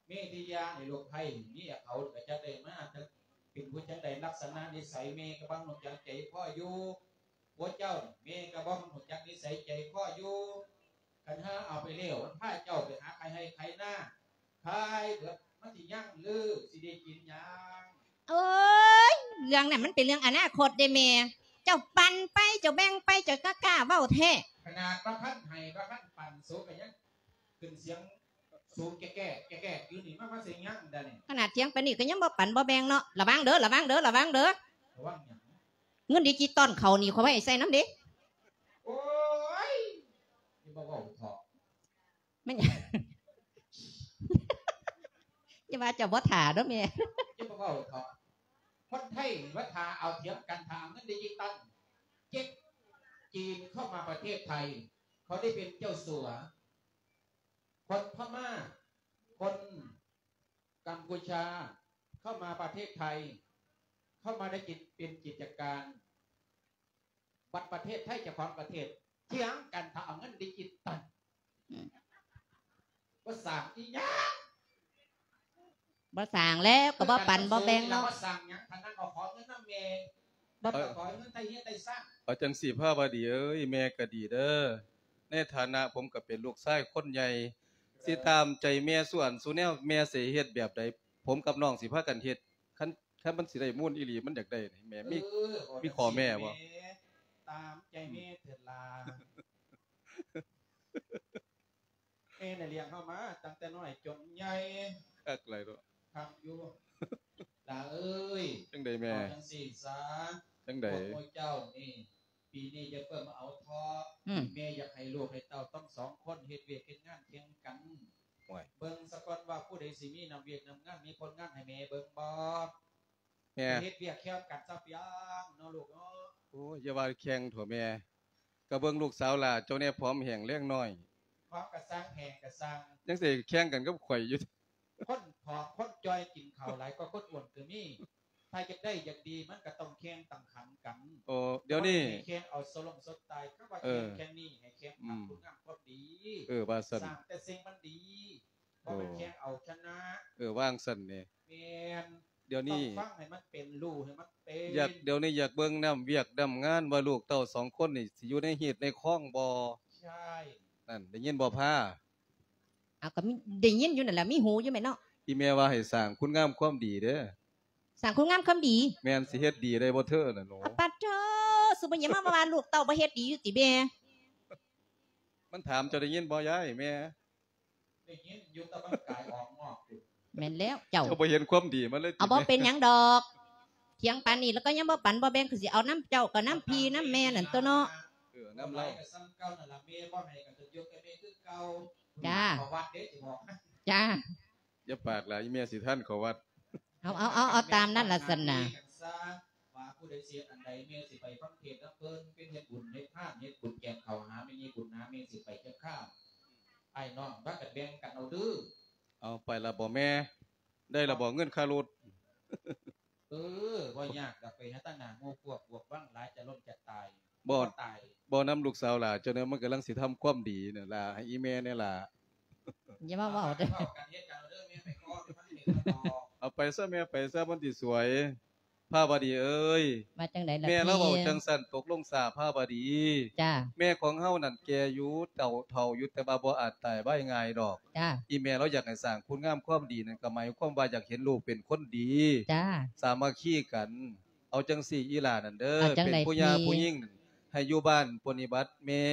ມີທີ່ຢາໃຫ້ລູກໃພ້ເມຍເຂົາກະຈັກໄດ້ມາ ຈັກເປັນຜູ້ຈັ່ງໃດ ລັກສະນະນິໄສແມ່ກະບໍ່ຮູ້ຈັກໃຈຄໍຢູ່. ຜົວເຈົ້າແມ່ກະບໍ່ຮູ້ຈັກນິໄສໃຈຄໍຢູ່. ຄັນຫາເອົາໄປແລ້ວ ມັນພາເຈົ້າໄປຫາຂາຍໄຮ່ຂາຍນາ ຂາຍເບິດມັນຊິຍັງຫຼື ຊິໄດ້ກິນຫຍັງ? ໂອ້ຍ ເລື່ອງນັ້ນມັນເປັນເລື່ອງອະນາຄົດເດ້ແມ່. ເຈົ້າປັນໄປ ເຈົ້າແບ່ງໄປ ເຈົ້າກໍກ້າເວົ້າແທ້. ຂະໜາດວ່າຄັນໃຫ້ ວ່າຄັນປັນ ສູກໍຍັງຂຶ້ນສຽງສູແກ້ໆ ແກ້ໆຢູ່ນີ້ ມາ ມາເສຍງຫຍັງດານີ້? ຂະໜາດຖຽງປານນີ້ກໍຍັງບໍ່ປັນບໍ່ແບ່ງເນາະ. ລະວັງເດີ ລະວັງເດີ ລະວັງເດີ ລະວັງຫຍັງ? ເງິນດິຈິຕອນເຂົານີ້ ຂ້ອຍບໍ່ໃຫ້ໃຊ້ນຳເດ້. ໂອ້ຍ ຢ່າມາເວົ້າເຖາະ. ແມ່ນຫຍັງ? ຢ່າວ່າເຈົ້າບໍ່ຖ້າເດີແມ່. ຢ່າມາເວົ້າເຖາະ. ຄົນໄທວ່າຖ້າເອົາຖຽງກັນ ຖ້າເອົາເງິນດິຈິຕອນ ເຈັດ ຈີນເຂົ້າມາປະເທດໄທ ເຂົາໄດ້ເປັນເຈົ້າສັວ. ຄົນພະມ້າ ຄົນກັມພູຊາ ເຂົ້າມາປະເທດໄທ ເຂົ້າມາໄດ້ກິນເປັນກິດຈະການ ບັດປະເທດໄທເຈົ້າຂອງປະເທດຖຽງກັນຖ້າເອົາເງິນດິຈິຕອນ ອືມ ບໍ່ສ້າງອີ່ຫຍັງ ບໍ່ສ້າງແລ້ວ ກໍບໍ່ປັນບໍ່ແບ່ງເນາະ ບໍ່ສ້າງຫຍັງ ຄັນນັ້ນກໍຂໍເງິນນຳແມ່ ບໍ່ ເອີ ຂໍເງິນໄທເຮັດໄທສ້າງ ເອົາຈັ່ງຊີ້ພາວະດີເອີຍ ແມ່ກໍດີເດີ ໃນຖານະຜົມກໍເປັນລູກຊາຍຄົນໃຫຍ່ ຊິຕາມໃຈແມ່ສູ່ອັນສູ່ແນວ ແມ່ຊິເຮັດແບບໃດ ຜົມກັບນ້ອງຊິພາກັນເຮັດ ຄັນ ຄັນມັນຊິໄດ້ມູນອີ່ຫຼີ ມັນຢາກໄດ້ນີ້ ແມ່ມີ ເອີ ມີຂໍ້ແມ້ບໍ່? ຕາມໃຈແມ່ເທີ້ນລາ ແມ່ນະລ້ຽງເຮົາມາຕັ້ງແຕ່ນ້ອຍຈົນໃຫຍ່ ຄັກຫຼາຍເນາະ ຄັກຢູ່ ຫຼ້າເອີຍ ຈັ່ງໃດແມ່? ເອົາຈັ່ງຊີ້ຊະ ຈັ່ງໃດ? ພວກໝູ່ເຈົ້ານີ້ ປີນີ້ຢ່າເພິ່ງມາເອົາເທາະ ອືມ ແມ່ຢາກໃຫ້ລູກໃຫ້ເຕົ້າທັງສອງຄົນເຮັດວຽກເຮັດງານແຂ່ງກັນ ໂອ້ຍ ເບິ່ງສະກ່ອນວ່າຜູ້ໃດຊິມີນ້ຳວຽກນ້ຳງານ ມີຜົນງານໃຫ້ແມ່ເບິ່ງບໍ່? ແມ່ ເຮັດວຽກແຂ່ງກັນຊະປຽງເນາະລູກເນາະ ໂອ້ຍ ຢ່າວ່າແຂ່ງເຖາະແມ່ ກະເບິ່ງລູກສາວຫຼ້າເຈົ້າແດ່ ຜອມແຫ້ງແຮງໜ້ອຍ ຜອມກະຊ່າງ ແຫ້ງກະຊ່າງ ຍັງຊິແຂ່ງກັນກັບຂ້ອຍຢູ່ ຄົນຜອມຄົນຈ່ອຍກິນເຂົ້າຫຼາຍກວ່າຄົນອ້ວນກະມີ ຖ້າຢາກໄດ້ຢາກດີ ມັນກະຕ້ອງແຂ່ງຕ້ອງຂັນກັນ ໂອ້ ດຽວນີ້ ແຂ່ງເອົາສະຫຼົງສົດຕາຍ ຄຳວ່າແຂ່ງ ເອີ ແຂ່ງນີ້ໃຫ້ແຂ່ງ ອືມ ທຳຄຸນງາມຄວາມດີ ເອີ ວ່າຊັ້ນ ສ້າງແຕ່ສິ່ງມັນດີ ບໍ່ແມ່ນແຂ່ງເອົາຊະນະ ເອີ ວ່າຈັ່ງຊັ້ນເດ ແມ່ນ ດຽວນີ້ ຕ້ອງຟັງໃຫ້ມັນເປັນ ຮູ້ໃຫ້ມັນເປັນ ຢາກ ດຽວນີ້ຢາກເບິ່ງນ້ຳວຽກນ້ຳງານວ່າລູກເຕົ້າສອງຄົນນີ້ຊິຢູ່ໃນຮີດໃນຄອງບໍ່? ໃຊ່ ນັ້ນ ໄດ້ຍິນບໍ່ພາ? ເອົາ ກໍມີ ໄດ້ຍິນຢູ່ນັ້ນແຫຼະ ມີຫູຢູ່ແມ່ນເນາະ ອີ່ແມ່ວ່າໃຫ້ສ້າງຄຸນງາມຄວາມດີເດີ ສ້າງຄຸນງາມຄວາມດີ ແມ່ນ ຊິເຮັດດີໄດ້ບໍ່ເທີນັ້ນໂຫ ອາ ປາດໂທ ຊຸມື້ນີ້ມາວ່າລູກເຕົ້າບໍ່ເຮັດດີຢູ່ຕິແມ່? ມັນຖາມເຈົ້າໄດ້ຍິນບໍ່ຍາຍ ແມ່? ໄດ້ຍິນຢູ່ ແຕ່ມັນກາຍອອກນອກຢູ່ ແມ່ນແລ້ວເຈົ້າ ເຈົ້າບໍ່ເຫັນຄວາມດີມັນເລີຍຕິ ເອົາ ບໍ່ເປັນຫຍັງດອກ ຖຽງປານນີ້ແລ້ວກໍຍັງບໍ່ປັນບໍ່ແບ່ງ ຄືຊິເອົານຳເຈົ້າກໍນຳພີ່ນຳແມ່ນັ້ນຕົວະເນາະ ເອີ ນຳລາວ ກໍສ່ຳເກົ່ານັ້ນລະ ແມ່ບໍ່ໃຫ້ກໍຈະຍົກໃຫ້ແມ່ຄືເກົ່າ ຈ້າ ປະຫວັດເດ້ ຊິບອກ ຈ້າ ຢ່າປາກຫຼາຍ ອີ່ແມ່ຊິທັນເຂົ້າວັດ ເອົາ ເອົາ ເອົາ ເອົາຕາມນັ້ນລະຊັ້ນນະ ວ່າຜູ້ໃດຊິເຮັດອັນໃດ ແມ່ຊິໄປຟັງເທດນຳເພິ່ນ ເປັນເຮັດບຸນເຮັດທານ ເຮັດບຸນແຈກເຂົ້າຫາແມ່ໃຫຍ່ບຸນນາ ແມ່ຊິໄປຈັກຄາບ ອ້າຍນ້ອງພາກັນແບ່ງກັນເອົາເດີ ເອົາ ໄປລະບໍ່ແມ່? ໄດ້ລະບໍ່ເງິນຄ່າລົດ? ເອີ ບໍ່ຍາກດອກ ໄປຫາຕາໜ້າໝູ່ພວກບວກວັງຫຼາຍ ຈະລົ້ມຈະຕາຍ ບໍ່ ບໍ່ຕາຍ ບໍ່ນຳລູກສາວຫຼ້າ ເຈົ້າແນວມັນກຳລັງຊິທຳຄວາມດີນັ້ນລະ ໃຫ້ອີ່ແມ່ແດ່ລະ ຢ່າມາເວົ້າເດີ ເວົ້າກັນເຮັດກັນເອົາເດີ ແມ່ໄປຂໍໄປຟັງເທດນຳດອກ ເອົາໄປຊະແມ່ ໄປຊະ ມັນຊິສວຍ ພາວະດີເອີຍ ວ່າຈັ່ງໃດລະ ແມ່ລາວເວົ້າຈັ່ງຊັ້ນ ຕົກລົງຊາພາວະດີ ຈ້າ ແມ່ຂອງເຮົານັ້ນແກ່ຢູ່ ເຖົ້າ ເຖົ້າຢູ່ ແຕ່ວ່າບໍ່ອາດຕາຍໄວງ່າຍດອກ ຈ້າ ອີ່ແມ່ລາວຢາກໃຫ້ສ້າງຄຸນງາມຄວາມດີນັ້ນ ກໍໝາຍຄວາມວ່າຢາກເຫັນລູກເປັນຄົນດີ ຈ້າ ສາມັກຄີກັນ ເອົາຈັ່ງຊີ້ອີ່ຫຼ້ານັ້ນເດີ ເປັນຜູ້ຍ່າຜູ້ຍິງ ໃຫ້ຢູ່ບ້ານປະຕິບັດແມ່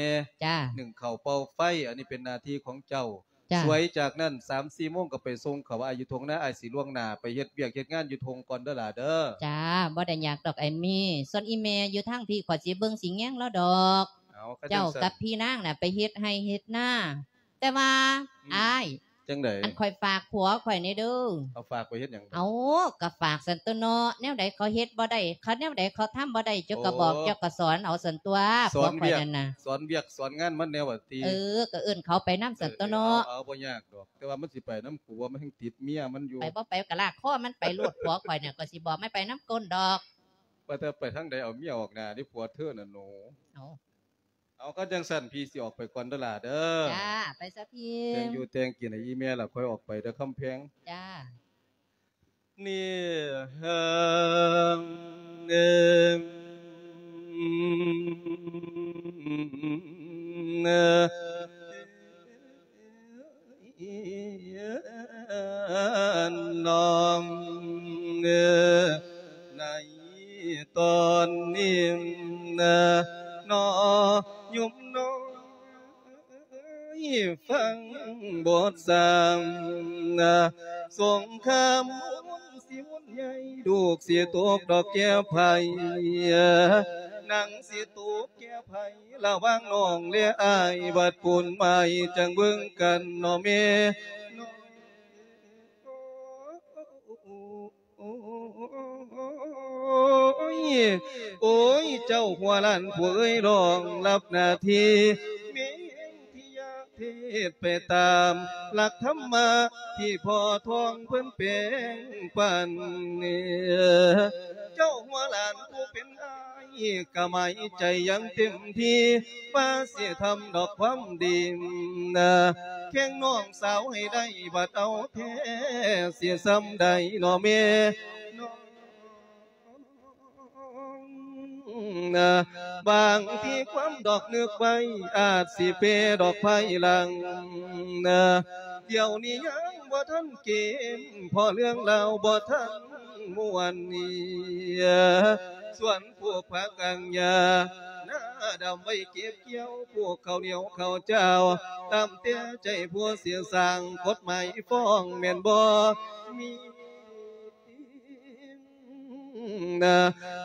ຈ້າ ໜຶ້ງເຂົ້າເປົ່າໄຟ ອັນນີ້ເປັນໜ້າທີ່ຂອງເຈົ້າ ຈ້າ ສວຍຈາກນັ້ນ ສາມສີ່ໂມງກໍໄປສົ່ງເຂົາ ອ້າຍຢູ່ທົ່ງນາ ອ້າຍຊິລ່ວງໜ້າໄປເຮັດວຽກເຮັດງານຢູ່ທົ່ງກ່ອນເດີຫຼ້າເດີ ຈ້າ ບໍ່ໄດ້ຍາກດອກອ້າຍມີ ສ່ວນອີ່ແມ່ຢູ່ທາງພີ້ ຂ້ອຍຊິເບິ່ງຊິແຍງລາວດອກ ເອົາ ເຈົ້າກັບພີ່ນາງນະໄປເຮັດໄຮ່ເຮັດນາ ແຕ່ວ່າ ອືມ ອ້າຍ ຈັ່ງໃດ ອັນຂ້ອຍຝາກຜົວຂ້ອຍແດ່ເດີ ເອົາ ຝາກໄປເຮັດຫຍັງ ເອົາ ກໍຝາກຊັ້ນຕົວະເນາະ ແນວໃດເຂົາເຮັດບໍ່ໄດ້ ຄັນແນວໃດເຂົາທຳບໍ່ໄດ້ ເຈົ້າກໍບອກ ໂອ້ ເຈົ້າກໍສອນເອົາຊັ້ນຕົວະ ຜົວຂ້ອຍນັ້ນນະ ສອນວຽກສອນງານມັນແດ່ວ່າຕິ ເອີ ກໍເອີ້ນເຂົາໄປນຳຊັ້ນຕົວະເນາະ ເອີ ເອົາ ເອົາ ບໍ່ຍາກດອກ ແຕ່ວ່າມັນຊິໄປນຳຜົວ ມັນຍັງຕິດເມຍມັນຢູ່ ໄປບໍ່ໄປກໍລາກຄໍມັນໄປໂລດ ຜົວຂ້ອຍນີ້ ຂ້ອຍຊິບອກມັນໄປນຳກົ້ນດອກ ວ່າແຕ່ໄປທາງໃດ ເອົາເມຍອອກໜ້າເດ້ ຜົວເທີນັ້ນໂຫ ເອົາ ເອົາ ຄັນຈັ່ງຊັ້ນ ພີ່ຊິອອກໄປກ່ອນເດີຫຼ້າເດີ ຈ້າ ໄປຊະພີ່ ແຕ່ງຢູ່ແຕ່ງກິນໃຫ້ອີ່ແມ່ລະ ຄ່ອຍອອກໄປເດີຄຳແພງ ຈ້າ ນີ້ ເອີ ເອີ ເອີ ນ້ອງເອີ ໃນຕອນນີ້ນະ ນ້ອງຍົມນ້ອຍຟັງບົດສ້າງນະ ສົງຄາມ ໃຫຍ່ ລູກຊິຕົກດອກແກ່ໃຜ ນາງຊິຕົກແກ່ໃຜ ລະຫວ່າງນ້ອງແລະອ້າຍ ບັດປູນໄມ້ຈັ່ງເບິ່ງກັນເນາະແມ່ນ້ອງ ໂອ້ຍ ໂອ້ຍ ເຈົ້າຫົວຫຼານຜູ້ເອີຍ ລອງລັບໜ້າທີ່ ແມ່ທີ່ຢາກເທ ດໄປຕາມຫຼັກທຳມະທີ່ພໍ່ທອງເພິ່ນແບ່ງປັນ. ເຈົ້າຫົວຫຼານຜູ້ເປັນອ້າຍ ກະໝາຍໃຈຢ່າງເຕັມທີ່ ວ່າຊິທຳດອກຄວາມດີ ແຂ່ງນ້ອງສາວໃຫ້ໄດ້ ບັດເອົາແທ້ຊິສ່ຳໃດນໍແມ່ນ້ອງ. ບາງທີຄວາມດອກນຶກໄວ້ ອາດຊິເປດອກພາຍຫຼັງ. ດຽວນີ້ຍັງບໍ່ທັນເກມ ເພາະເລື່ອງລາວບໍ່ທັນມ່ວນ. ສວນປູກຜັກອາງຫຍ້າ ນາດຳໄວ້ເກັບກ່ຽວ ປູກເຂົ້າໜຽວເຂົ້າຈ້າວ ຕາມແຕ່ໃຈຜູ້ຊິສ້າງ ກົດໝາຍຟ້ອງແມ່ນບໍ່ມີ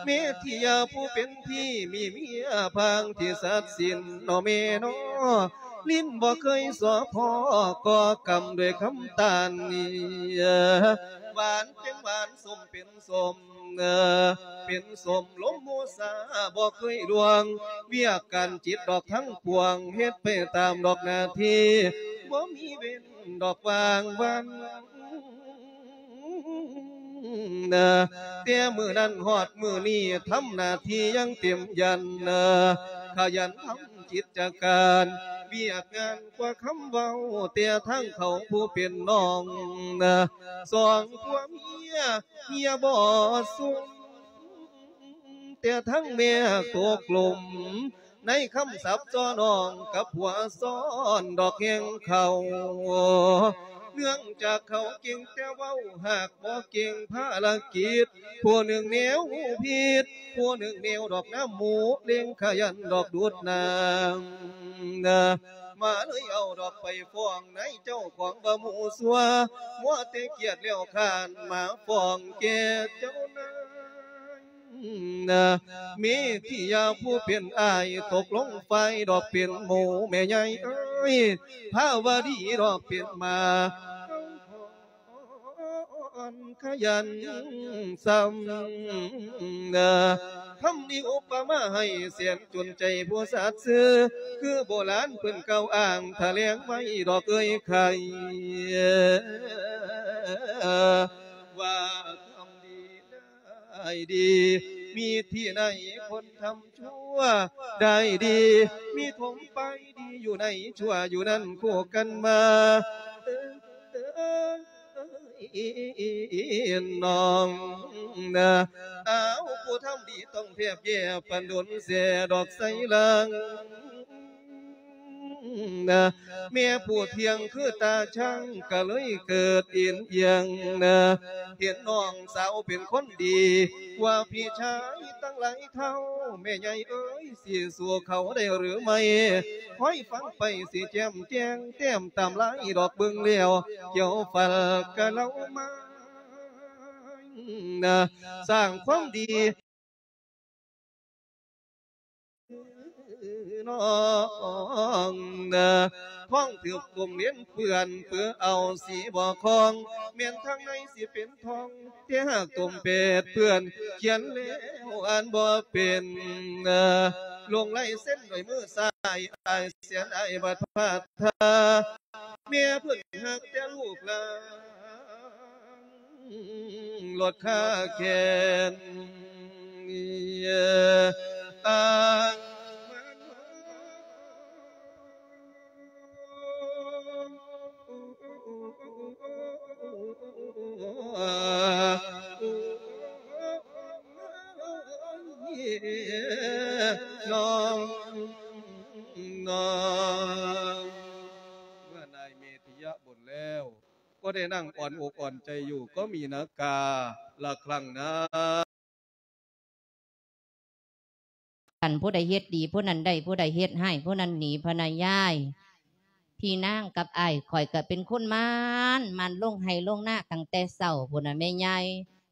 ແມ່ທີ່ຢາຜູ້ເປັນທີ່ ມີເມຍພາງທີ່ສັດສິນ ນໍແມ່ນໍ. ລິ້ນບໍ່ເຄີຍສໍ້ພໍ ກໍ່ກຳດ້ວຍຄຳຕານນີ້ ຫວານເປັນຫວານ ສົ້ມເປັນສົ້ມ ເປັນສົ້ມລົມໂມສາ ບໍ່ເຄີຍລ່ວງ ວຽກການຈິດດອກທັງປວງ ເຮັດໄປຕາມດອກໜ້າທີ່ ບໍ່ມີເວັ້ນດອກວ່າງວັນ. ແຕ່ມື້ນັ້ນຮອດມື້ນີ້ ທຳໜ້າທີ່ຢ່າງເຕັມຢັນ ຂະຫຍັນທຳກິດຈະການ ວຽກງານກວ່າຄຳເວົ້າ ແຕ່ທາງເຂົາຜູ້ເປັນນ້ອງ ສອງຜົວເມຍ ເມຍບໍ່ຊຸມ ແຕ່ທັງແມ່ຕົກຫຼົມ ໃນຄຳສັບສໍ້ນ້ອງກັບຜົວຊ້ອນດອກແຮງເຂົາ. ເນື່ອງຈາກເຂົາເກັ່ງແຕ່ເວົ້າ ຫາກບໍ່ເກັ່ງພາລະກິດ ຜູ້ໜຶ່ງແນວຜິດ ຜູ້ໜຶ່ງແນວດອກນ້ຳໝູ ເລັ່ງຂະຫຍັນດອກດູດນ້ຳ ມາເລີຍເອົາດອກໄປຟ້ອງນາຍເຈົ້າຂອງວ່າໝູ່ຊົ່ວ ມົວແຕ່ກຽດແລ້ວຄ້ານມາຟ້ອງແກ່ເຈົ້ານາຍ. ເມທິຍາຜູ້ເປັນອ້າຍ ຕົກລົງຝ່າຍດອກເປັນໝູ່ ແມ່ໃຫຍ່ເອີຍ ພາວະດີດອກເປັນໝາ ຂະຫຍັນຊ້ຳ ຄຳນີ້ອຸປະມາໃຫ້ແສນ ຈົນໃຈຜູ້ສັດຊື່ ຄືໂບລານເພິ່ນກ່າວອ້າງຖະແຫຼງໄວ້ດອກເອີຍໄຂ່ ວ່າທຳດີໄດ້ດີ ມີທີ່ໃດຄົນທຳຊົ່ວໄດ້ດີ ມີຖົມໄປດີຢູ່ໃນຊົ່ວ ຢູ່ນັ້ນຄູ່ກັນມາ ເອີ ນ້ອງນະ ອ້າວ ຜູ້ທຳດີຕ້ອງແທບແຍ່ ປານດົນແຊ່ດອກໄຊລາງນະ ແມ່ຜູ້ທ່ຽງຄືຕາຊ່າງ ກະເລີຍເກີດເອັນອຽງນະ ເຫັນນ້ອງສາວເປັນຄົນດີ ກວ່າພີ່ຊາຍຕັ້ງຫຼາຍເທົ່າ ແມ່ໃຫຍ່ເອີຍ ຊິສູ້ເຂົາໄດ້ຫຼືໄມ່ ຄອຍຟັງໄປຊິແຈ່ມແຈ້ງ ແຕ້ມຕາມລາຍດອກເບິ່ງແລ້ວ ກ່ຽວຟັນກະເລົ່າມາ ສ້າງຄວາມດີ ນ້ອງນະ ທ້ອງຖືກກົມເນນເປື້ອນ ເປືອເອົາສີບໍ່ຄອງ ແມ່ນທາງໃນຊິເປັນທອງ ແຕ່ຫາກຕົມເປດເປື້ອນ ຂຽນແລ້ວອ່ານບໍ່ເປັນ ລົງລາຍເຊັນດ້ວຍມືຊ້າຍ ອ້າຍແສນອາຍບັດພາດທ່າ ແມ່ເພິ່ນຮັກແຕ່ລູກຫຼານ ລົດຄາແຂນ ອ້າງມານ ນ້ອງ ນ້ອງ ເມື່ອນາຍເມທິຍະບົນແລ້ວ ກໍໄດ້ນັ່ງອ່ອນອົກອ່ອນໃຈຢູ່ກໍມີນາກາລະຄັ້ງນາ. ຄັນຜູ້ໃດເຮັດດີ ຜູ້ນັ້ນໄດ້, ຜູ້ໃດເຮັດຮ້າຍ ຜູ້ນັ້ນໜີ ພະນາຍາຍ. ພີ່ນາງກັບອ້າຍຂ້ອຍກໍເປັນຄົນໝັ່ນ, ໝັ່ນລົງໄຮ່ລົງນາຕັ້ງແຕ່ເຊົ້າພຸ້ນນະແມ່ໃຫຍ່.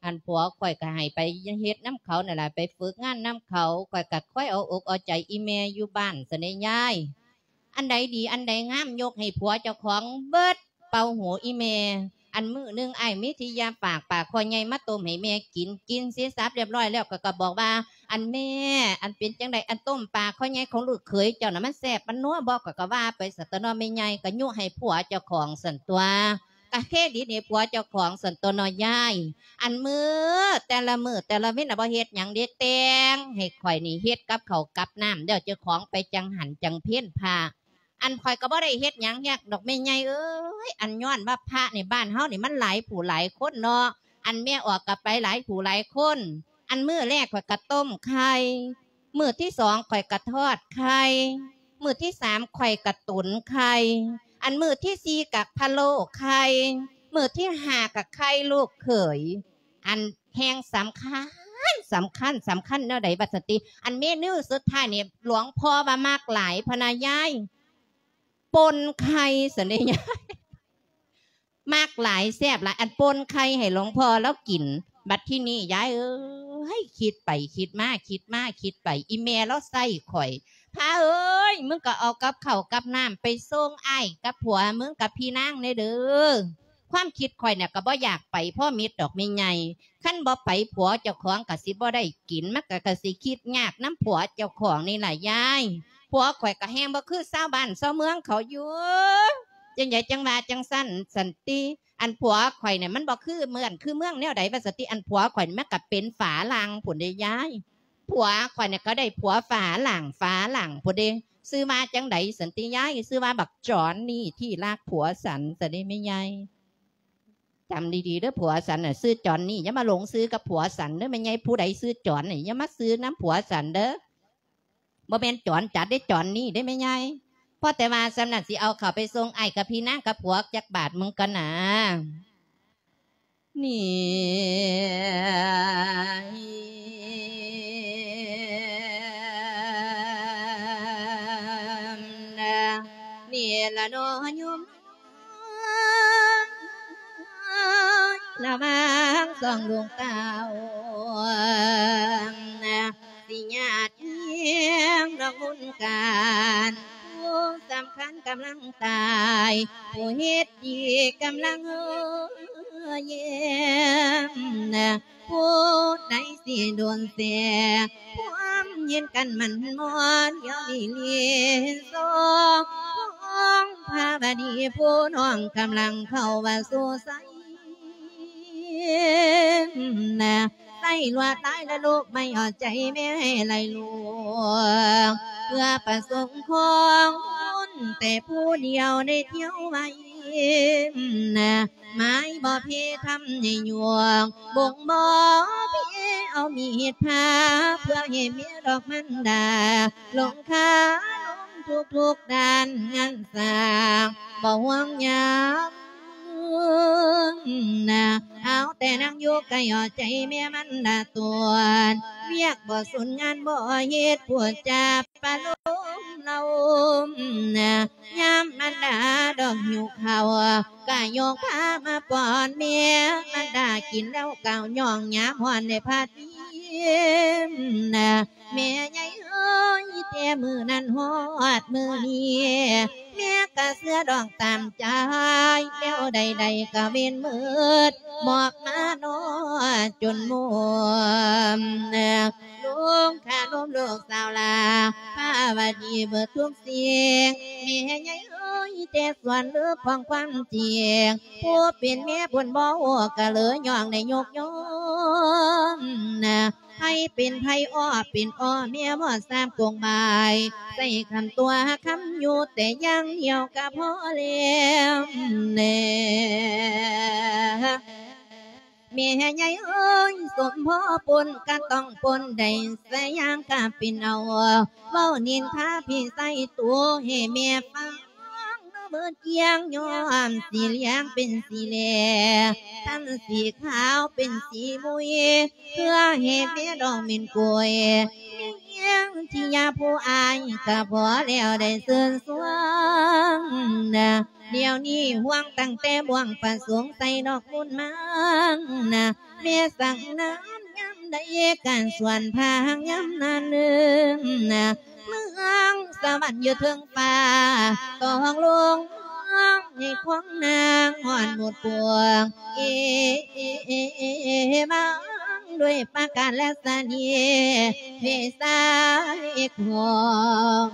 ອັນຜົວຂ້ອຍກໍໃຫ້ໄປເຮັດນຳເຂົານັ້ນລະ, ໄປຝຶກງານນຳເຂົາ, ຂ້ອຍກໍຄອຍເອົາອົກເອົາໃຈອີ່ແມ່ຢູ່ບ້ານຊັ້ນເດ້ຍາຍ. ອັນໃດດີອັນໃດງາມຍົກໃຫ້ຜົວເຈົ້າຂອງເບິດ, ເປົ່າຫູອີ່ແມ່. ອັນມື້ໜຶ່ງອ້າຍມີທີ່ຢາຝາກປາກພໍ່ໃຫຍ່ມາຕົ້ມໃຫ້ແມ່ກິນ, ກິນເສດສັບລຽບຮ້ອຍແລ້ວ ກໍ ກໍບອກວ່າ ອັນແມ່ ອັນເປັນຈັ່ງໃດ ອັນຕົ້ມປາຄໍໃຫຍ່ຂອງລູກເຂີຍເຈົ້ານະ ມັນແຊບມັນນົວບໍ່? ຂ້ອຍກໍວ່າໄປຊັ້ນຕົວະເນາະ ແມ່ໃຫຍ່ກໍຍຸໃຫ້ຜົວເຈົ້າຂອງຊັ້ນຕົວະ ກະເຄຣດິດໃຫ້ຜົວເຈົ້າຂອງຊັ້ນຕົວະເນາະຍາຍ. ອັນມື້ແຕ່ລະມື້ແຕ່ລະເວັນນະ ບໍ່ເຮັດຫຍັງເດ້ ແຕ່ງໃຫ້ຂ້ອຍນີ້ເຮັດກັບເຂົ້າກັບນ້ຳ ແລ້ວເຈົ້າຂອງໄປຈັງຫັນຈັງເພັນພະ. ອັນຂ້ອຍກໍບໍ່ໄດ້ເຮັດຫຍັງຍາກດອກແມ່ໃຫຍ່ເອີຍ ອັນຍ້ອນວ່າພະໃນບ້ານເຮົານີ້ມັນຫຼາຍຜູ້ຫຼາຍຄົນເນາະ ອັນແມ່ອອກກໍໄປຫຼາຍຜູ້ຫຼາຍຄົນ. ອັນມື້ແລກຂ້ອຍກໍຕົ້ມໄຂ່ ມື້ທີສອງຂ້ອຍກະທອດໄຂ່ ມື້ທີສາມຂ້ອຍກະຕຸນໄຂ່ ອັນມື້ທີສີ່ກະພະໂລ້ໄຂ່ ມື້ທີຫ້າກະໄຂ່ລູກເຂີຍ. ອັນແຮ່ງສຳຄັນ ສຳຄັນ ສຳຄັນແນວໃດວ່າຊັ້ນຕິ ອັນເມນູສຸດທ້າຍນີ້ຫຼວງພໍ່ວ່າມັກຫຼາຍພະນະຍາຍ ປົ່ນໄຂ່ຊັ້ນເດ້ຍາຍ. ມັກຫຼາຍ ແຊບຫຼາຍ ອັນປົ່ນໄຂ່ໃຫ້ຫຼວງພໍ່ລາວກິນ. ບັດທີນີ້ຍາຍເອີຍ ຄິດໄປຄິດມາ ຄິດມາຄິດໄປ ອີ່ແມ່ລາວໃສ່ຂ້ອຍ ພະເອີຍ ມຶງກໍເອົາກັບເຂົ້າກັບນ້ຳໄປສົ່ງອ້າຍກັບຜົວມຶງກັບພີ່ນາງແດ່ເດີ້. ຄວາມຄິດຂ້ອຍນະ ກໍບໍ່ຢາກໄປພໍມິດດອກແມ່ໃຫຍ່ ຄັນບໍ່ໄປຜົວເຈົ້າຂອງກໍຊິບໍ່ໄດ້ກິນ ມັນກໍ ກໍຊິຄິດຍາກນຳຜົວເຈົ້າຂອງນີ້ລະຍາຍ. ຜົວຂ້ອຍກໍແຮ່ງບໍ່ຄືຊາວບ້ານຊາວເມືອງເຂົາຢູ່ ຈັ່ງໃດຈັ່ງວ່າຈັ່ງຊັ້ນຊັ້ນຕິ. ອັນຜົວຂ້ອຍນີ້ມັນບໍ່ຄືເມືອງ ຄືເມືອງແນວໃດວ່າຊັ້ນຕິ ອັນຜົວຂ້ອຍນີ້ມັນກໍເປັນຝຣັ່ງພຸ້ນເດ້ຍາຍ. ຜົວຂ້ອຍນີ້ກໍໄດ້ຜົວຝຣັ່ງ ຝຣັ່ງພຸ້ນເດ້. ຊື່ວ່າຈັ່ງໃດຊັ້ນຕິຍາຍ? ຊື່ວ່າບັກຈອນນີ້ທີ່ລັກຜົວສັນຊັ້ນເດ້ແມ່ໃຫຍ່. ຈຳດີໆເດີ້ ຜົວສັນນະຊື່ຈອນນີ້ ຢ່າມາຫຼົງຊື່ກັບຜົວສັນເດີ້ແມ່ໃຫຍ່. ຜູ້ໃດຊື່ຈອນນີ້ ຢ່າມາຊື່ນຳຜົວສັນເດີ້. ບໍ່ແມ່ນຈອນຈັດເດ້ ຈອນນີ້ເດ້ແມ່ໃຫຍ່. ພໍແຕ່ວ່າສ່ຳນັ້ນ ຊິເອົາເຂົ້າໄປສົ່ງອ້າຍກັບພີ່ນາງກັບຜົວຈັກບາດມຶງກ່ອນນາ. ນີ້ ນີ້ລະເນາະໂຍມ ລະວັງສອງດວງຕາ ຊິຍາດຍຽງດອກບຸນການ ຜູ້ສຳຄັນກຳລັງຕາຍ ຜູ້ເຮັດດີກຳລັງແຍ້ມ ຜູ້ໃດຊິດົນແຊ ຄວາມເຫັນກັນໝັ້ນມ່ອນ ດຽວນີ້ລີ້ສອງ ຂອງພະບະດີຜູ້ນ້ອງກຳລັງເຂົ້າວ່າສູ່ໄຊ ໃສ່ລວດລາຍລະລູກໄມ້ເອົາໃຈແມ່ໃຫ້ໄຫຼຫຼວງ ເພື່ອປະສົງຂອງບຸນແຕ່ຜູ້ດຽວໄດ້ທ່ຽວໄວ້ ໝາຍບໍ່ເພທຳໃຫ້ຍວງ ບົ່ງບໍ່ເພເອົາມີດຜ່າ ເພື່ອໃຫ້ເມຍດອກມັນດາ ລົງຄາລົງທຸກໆດ້ານງານສ້າງ ບໍ່ຫ່ວງຍາມນາ ເອົາແຕ່ນັ່ງຢູ່ໃກ້ເອົາໃຈແມ່ມັນດາຕົວນ ວຽກບໍ່ສຸນງານບໍ່ເຮັດ ພູດຈາປະໂລມເລົ່າ ຍາມມັນດາດອກຫິວເຂົ້າ ກະຍົກພາມາປ້ອນແມ່ ມັນດາກິນແລ້ວກະຍ້ອງຍາມຮ້ອນໄດ້ພາດ ແມ່ໃຫຍ່ເອີຍ ແຕ່ມື້ນັ້ນຮອດມື້ນີ້ ແມ່ກະເຊື່ອດອກຕາມໃຈ ແນວໃດໆກະເວັນມືດ ມອບມານອດຈົນໝົດ ລຸງຂ້ານມລູກສາວຫຼ້າ ພາວະດີເບິດທຸກສິ່ງ ແມ່ໃຫຍ່ເອີຍ ແຕ່ສ່ວນເລິກຂອງຄວາມຈິງ ຜູ້ເປັນແມ່ພຸ້ນບໍ່ຮູ້ກະເລີຍຍ້ອງໄດ້ຍົກຍ້ອງ ໃຜເປັນໃຜອ້ອເປັນອ້ອ ແມ່ບໍ່ຊາບກົງບາຍ ໃສ່ຄຳຕົວຄຳຢູ່ແຕ່ຢ່າງດຽວກະພໍແລ້ວແລະ ແມ່ໃຫຍ່ເອີຍ ສົມພໍປົນກະຕ້ອງປົນໄດ້ ສະຢ່າງກະເປັນເອົາ ເວົ້ານິນທາພີ່ໃສ່ໂຕໃຫ້ແມ່ຟັງ ເບີດກຽງຍ້ອມສີຫຼຽງເປັນສີແລ ທັນສີຂາວເປັນສີມຸຍ ເພື່ອໃຫ້ແມ່ດອກເມັນໂກຍ ແມ່ນທີ່ຍາຜູ້ອາຍກະພໍແລ້ວໄດ້ຊື່ນຊວງນະ ດຽວນີ້ຫ່ວງຕັ້ງແຕ່ບ່ວງປະສົງໃສ່ດອກບຸນມານະ ແມ່ສັງນາມຍາມໃດການສວນພາງຍາມນັ້ນເອີນະ ເມືອງສະຫວັນຢູ່ເທິງຟ້າ ຕ້ອງລົງໃຫ້ຂວາງນາງຮອດໝົດປວງ ເອ ເອ ເອ ເອ ເອ ເອ ເອ ເອ ເອ ດ້ວຍປະການລັດສະນີວິໄສຂອງ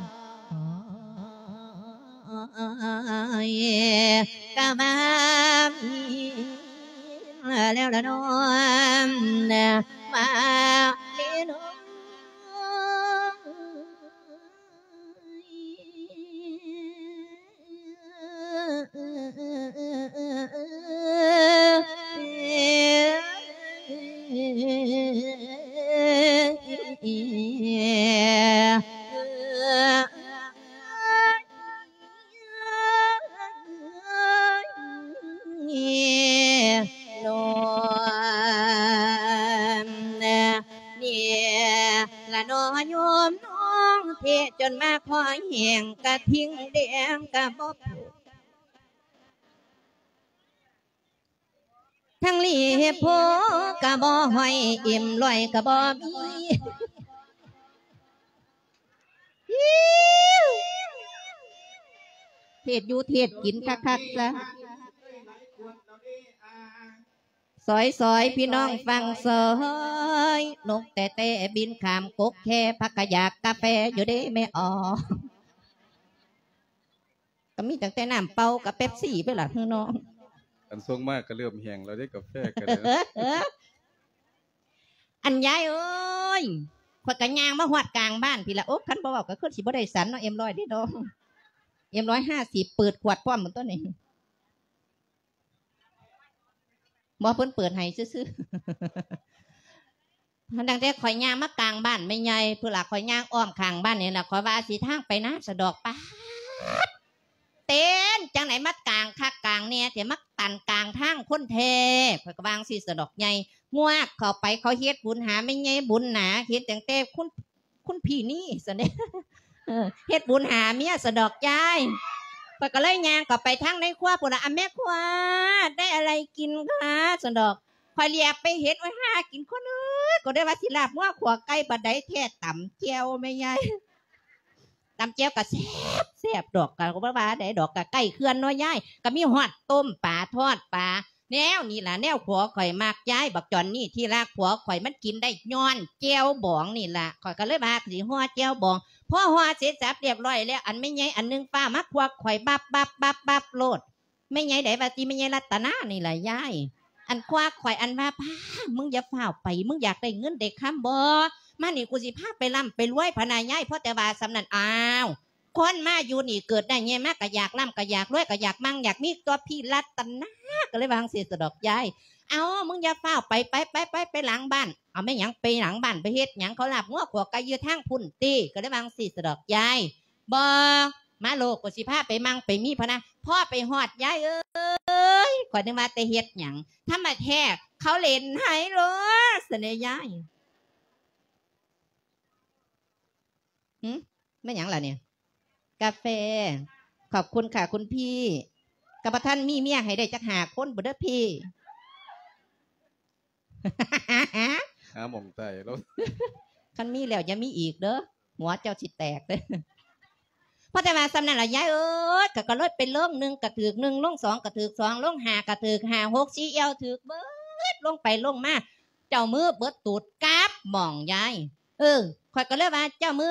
ກະມາມີແລ້ວລະເນາະ ມາເລເນາະ. ນີ້ລະເນາະໂຍມນ້ອງເທະ ຈົນມາພໍແຫ້ງກະທິ່ງແດງກະບໍ່ປູກ ທັງຫຼີໂພກະບໍ່ຫ້ອຍ ເອັມຮ້ອຍກະບໍ່ມີ ເທດຢູ່ເທດກິນຄັກໆຊະ. ຊອຍໆ ພີ່ນ້ອງຝັ່ງຊອຍ ນົກແຕ່ແຕ່ບິນຂ້າມກົກແຄ ພັກກະຢາກກາແຟຢູ່ເດ້ແມ່ອອກ ກໍມີຕັ້ງແຕ່ນ້ຳເປົ່າກັບເປັບຊີໄປລະເຮີນ້ອງ ອັນສົ່ງມາກໍເລີ່ມແຫ້ງແລ້ວເດ້ ກາແຟກໍໄດ້ ອັນຍາຍເອີຍ ຂ້ອຍກໍຍ່າງມາຮອດກາງບ້ານພີ້ລະ ໂອ້ ຄັນບໍ່ເວົ້າກໍຄືຊິບໍ່ໄດ້ສັນເນາະ ເອັມຮ້ອຍເດ້ນ້ອງ ເອັມຮ້ອຍຫ້າສິບ ເປີດຂວດພ້ອມໝົດຕົວນີ້. ບໍ່ ເພິ່ນເປີດໃຫ້ຊື່ໆ ຕັ້ງແຕ່ຂ້ອຍຍ່າງມາກາງບ້ານແມ່ໃຫຍ່ພຸ້ນລະ ຂ້ອຍຍ່າງອ້ອມຂ້າງບ້ານນີ້ລະ ຂ້ອຍວ່າຊິທາງໄປນາສະດອກ ປາດ ເຕັນ ຈັ່ງໃດມາກາງຄັກກາງແນ່ແທ້ ມາຕັນກາງທາງຄົນແທ້ ຂ້ອຍກໍວ່າຈັ່ງຊີ້ສະດອກໃຫຍ່ ງວກເຂົ້າໄປ ເຂົາເຮັດບຸນຫາແມ່ໃຫຍ່ບຸນໜາ ເຫັນຕັ້ງແຕ່ຄຸນ ຄຸນພີ່ນີ້ຊັ້ນເດ້ ເຮັດບຸນຫາເມຍສະດອກຍາຍ ຂ້ອຍກໍເລີຍຍ່າງເຂົ້າໄປທາງໃນຄົວພຸ້ນລະ ອາ ແມ່ຄົວ ໄດ້ອະໄລກິນຄະ ຊັ້ນດອກ ຂ້ອຍຫຼຽບໄປເຫັນ ໂອ້ຍ ຫາກິນຄົນເອີຍ ກໍໄດ້ວ່າຊິລາບງົວຂົ້ວໄກ່ ບັດໃດແທ້ຕຳແຈ່ວແມ່ຍາຍ ຕຳແຈ່ວກໍແຊບ ແຊບດອກ ກໍບໍ່ວ່າໃດດອກ ກໍໃກ້ເຂື່ອນເນາະຍາຍ ກໍມີຮອດຕົ້ມປາ ທອດປາ ແນວນີ້ລະແນວຜົວຂ້ອຍມັກ ຍາຍ ບັກຈອນນີ້ທີ່ລັກ ຜົວຂ້ອຍມັນກິນໄດ້ຍ້ອນແຈ່ວບອງນີ້ລະ ຂ້ອຍກໍເລີຍວ່າຊິຫໍ່ແຈ່ວບອງ ພໍຫໍ່ເສັດສັບລຽບຮ້ອຍແລ້ວ ອັນແມ່ໃຫຍ່ອັນໜຶ່ງຟ້າວມາຄວັກຂ້ອຍບັບໆໆໂລດ ແມ່ໃຫຍ່ໃດວ່າຕິ ແມ່ໃຫຍ່ລັດຕະນານີ້ລະຍາຍ ອັນຄວັກຂ້ອຍ ອັນວ່າ ປ້າ ມຶງຢ່າຟ້າວໄປ ມຶງຢາກໄດ້ເງິນໄດ້ຄຳບໍ ມານີ້ກູຊິພາໄປລ່ຳໄປລວຍ ພະນາຍາຍ ພໍແຕ່ວ່າສ່ຳນັ້ນ ອ້າວ ຄົນມາຢູ່ນີ້ເກີດໄດ້ໃຫຍ່ມາກະຢາກລ່ຳກະຢາກລວຍກະຢາກມັ່ງຢາກມີຕົວະ ພີ່ລັດຕະນາ ກໍເລີຍວ່າຈັ່ງຊີ້ສະດອກຍາຍ ເອົ້າ ມຶງຢ່າຟ້າວໄປ ໄປ ໄປ ໄປ ໄປຫຼັງບ້ານ ເອົາ ແມ່ນຫຍັງ ໄປຫຼັງບ້ານໄປເຮັດຫຍັງ ເຂົາລາບງົວຂົ້ວໄກ່ຢູ່ທາງພຸ້ນຕິ ກໍເລີຍວ່າຈັ່ງຊີ້ສະດອກຍາຍ ບໍ່ ມາໂລດ ກໍຊິພາໄປມັ່ງໄປມີ ພະນາ ພໍໄປຮອດ ຍາຍເອີຍ ຂ້ອຍນຶກວ່າແຕ່ເຮັດຫຍັງ ທຳມະແທ້ ເຂົາຫຼິ້ນໄຮໂລຊັ້ນເດ້ຍາຍ ຫື ແມ່ນຫຍັງລະນີ້? ກາແຟ ຂອບຄຸນຄ່ະຄຸນພີ່ ກໍບໍ່ທັນມີເມຍໃຫ້ໄດ້ຈັກຫ້າຄົນພຸ້ນເດີພີ່ ຫາໝ່ອງຕາຍແລ້ວ ຄັນມີແລ້ວຢ່າມີອີກເດີ ຫົວເຈົ້າຊິແຕກເດີ ພໍແຕ່ວ່າສ່ຳນັ້ນລະຍາຍເອີຍ ກໍ ກໍເລີຍໄປລົງ ໜຶ່ງກໍຖືກໜຶ່ງ ລົງສອງກໍຖືກສອງ ລົງຫ້າກໍຖືກຫ້າ ຫົກສີ່ແອວຖືກເບິດ ລົງໄປລົງມາ ເຈົ້າມືເບິດຕູດກັບໝ່ອງຍາຍ ເອີ ຂ້ອຍກໍເລີຍວ່າ ເຈົ້າມື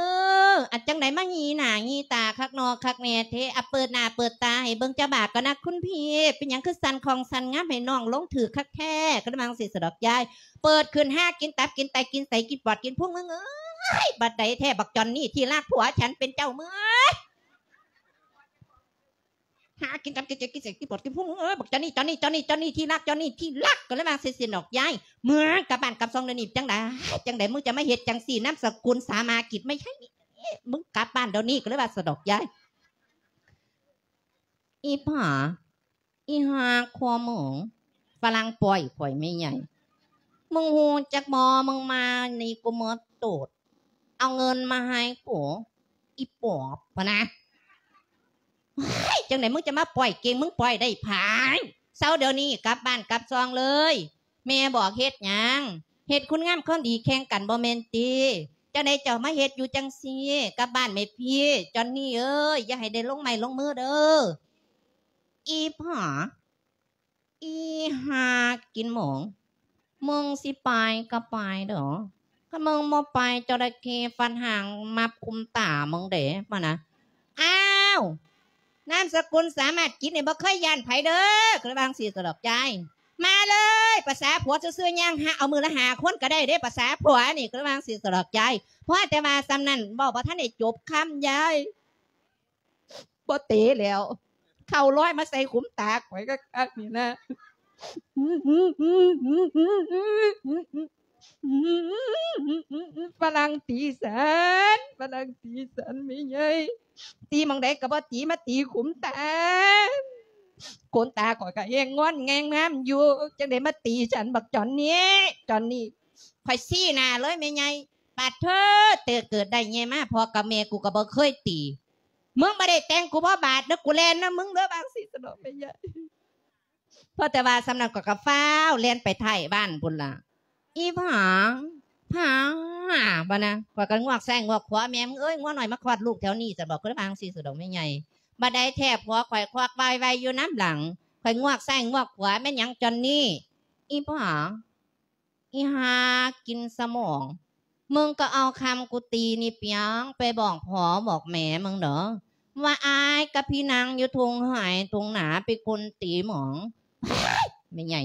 ອັນຈັ່ງໃດມາຫຢີໜ້າຫຢີຕາຄັກນໍຄັກແນ່ເທ ອະ ເປີດໜ້າເປີດຕາໃຫ້ເບິ່ງຈັກບາດກ່ອນນະຄຸນພີ່ ເປັນຫຍັງຄືສັ່ນຄ່ອງສັ່ນງາມໃຫ້ນ້ອງລົງຖືກຄັກແທ້ ກໍເລີຍວ່າຈັ່ງຊີ້ສະດອກຍາຍ ເປີດຂຶ້ນຫາກິນຕັບກິນໄຕກິນໄສ້ກິນປອດກິນພຸງ ມຶງເອີຍ ບັດໃດແທ້ບັກຈອນນີ້ທີ່ລັກຜົວ ສັນເປັນເຈົ້າເມືອ ຫາກິນຕັບກິນໄຕກິນໄສ້ກິນປອດກິນພຸງ ເອີ ບັກຈອນນີ້ ຈອນນີ້ ຈອນນີ້ ຈອນນີ້ທີ່ລັກ ຈອນນີ້ທີ່ລັກ ກໍເລີຍວ່າເຊັ່ນຊີ້ດອກຍາຍ ເມືອງກັບບ້ານກັບຊ່ອງດຽວນີ້ ຈັ່ງໃດ ຈັ່ງໃດມຶງຈະມາເຮັດຈັ່ງຊີ້ ນາມສະກຸນສາມາກິດໄມ່ໃຊ່ ມຶງກັບບ້ານດຽວນີ້ ກໍເລີຍວ່າຊັ້ນດອກຍາຍ ອີ່ຜາ ອີ່ຫ່າຄົວມຶງ ຝຣັ່ງປ່ອຍຂ້ອຍແມ່ໃຫຍ່ ມຶງຮູ້ຈັກບໍ່ ມຶງມານີ້ກູເມີດໂຕດ ເອົາເງິນມາໃຫ້ກູ ອີ່ປອບ ພະນະ ເຮີ້ຍ ຈັ່ງໃດມຶງຈະມາປ່ອຍເກັ່ງ ມຶງປ່ອຍໄດ້ຜາຍ ເຊົາດຽວນີ້ ກັບບ້ານກັບຊ່ອງເລີຍ ແມ່ບອກເຮັດຫຍັງ ເຮັດຄຸນງາມຄວາມດີແຂ່ງກັນບໍ່ແມ່ນຕິ ຈັ່ງໃດເຈົ້າມາເຮັດຢູ່ຈັ່ງຊີ້ ກັບບ້ານແມ່ພີ່ ຈອນນີ້ເອີຍ ຢ່າໃຫ້ໄດ້ລົງໄມ້ລົງມືເດີ ອີ່ຜາ ອີ່ຫ່າກິນໝອງ ມຶງຊິໄປກໍໄປເດີ້ ຄັນມຶງບໍ່ໄປ ຈະໄດ້ເຄຟັນຫາງມັບຄຸມຕາມຶງເດ້ ມານະ. ອ້າວ ນາມສະກຸນສາມາດກິດນີ້ ບໍ່ເຄີຍຢ້ານໃຜເດີ້ ກໍເລີຍວ່າຈັ່ງຊີ້ສະດອກຍາຍ. ມາເລີຍ ປະສາຜົວຊື່ໆ ຍ່າງຫາເອົາມື້ລະຫ້າຄົນກໍໄດ້ເດ້ ປະສາຜົວນີ້ ກໍເລີຍວ່າຈັ່ງຊີ້ສະດອກຍາຍ. ພໍແຕ່ວ່າສ່ຳນັ້ນ ເວົ້າບໍ່ທັນໄດ້ຈົບຄຳ ຍາຍ ບໍ່ເຕະແລ້ວ ເຂົ້າລອຍມາໃສ່ຂຸມຕາຂ້ອຍຄັກໆ ນີ້ນະ. ຝຣັ່ງຕີສັນ ຝຣັ່ງຕີສັນແມ່ໃຫຍ່ ຕີໝ່ອງໃດກໍບໍ່ຕີ ມາຕີຂຸມຕາ. ຂົນຕາຂ້ອຍກໍແຮງງອນແຮງງາມຢູ່ ຈັ່ງໄດ້ມາຕີສັນ ບັກຈອນນີ້ ຈອນນີ້. ຂ້ອຍຊີ້ໜ້າເລີຍແມ່ໃຫຍ່ ປາດເທີ ແຕ່ເກີດໄດ້ໃຫຍ່ມາ ພໍ່ກັບແມ່ກູກໍບໍ່ເຄີຍຕີ. ມຶງບໍ່ໄດ້ແຕ່ງກູບໍ່ບາດເດີ້ ກູແລ່ນນຳມຶງເດີ້ ວ່າຈັ່ງຊີ້ສະດອກແມ່ໃຫຍ່. ພໍແຕ່ວ່າສ່ຳນັ້ນ ຂ້ອຍກໍຟ້າວແລ່ນໄປທ້າຍບ້ານພຸ້ນລະ. ອີ່ຜາ ຜາ ບໍ່ນະ ຂ້ອຍກໍງວກຊ້າຍງວກຂວາ ແມ່ມຶງເອີຍ ງົວນ້ອຍມາຄອດລູກແຖວນີ້ ສະດອກ ກໍເລີຍວ່າຈັ່ງຊີ້ສະດອກແມ່ໃຫຍ່. ບາດໃດແທ້ຜົວຂ້ອຍຄວັກວາຍໄວຢູ່ນຳຫຼັງ ຂ້ອຍງວກຊ້າຍງວກຂວາ ແມ່ນຫຍັງຈອນນີ້? ອີ່ຜາ ອີ່ຫ່າກິນສະໝອງ ມຶງກໍເອົາຄຳກູຕີນີ້ປຽງໄປບອກພໍ່ບອກແມ່ມຶງເດີ້ ວ່າອ້າຍກັບພີ່ນາງຢູ່ທົ່ງໄຮ່ທົ່ງນາເປັນຄົນຕີໝອງ. ແມ່ໃຫຍ່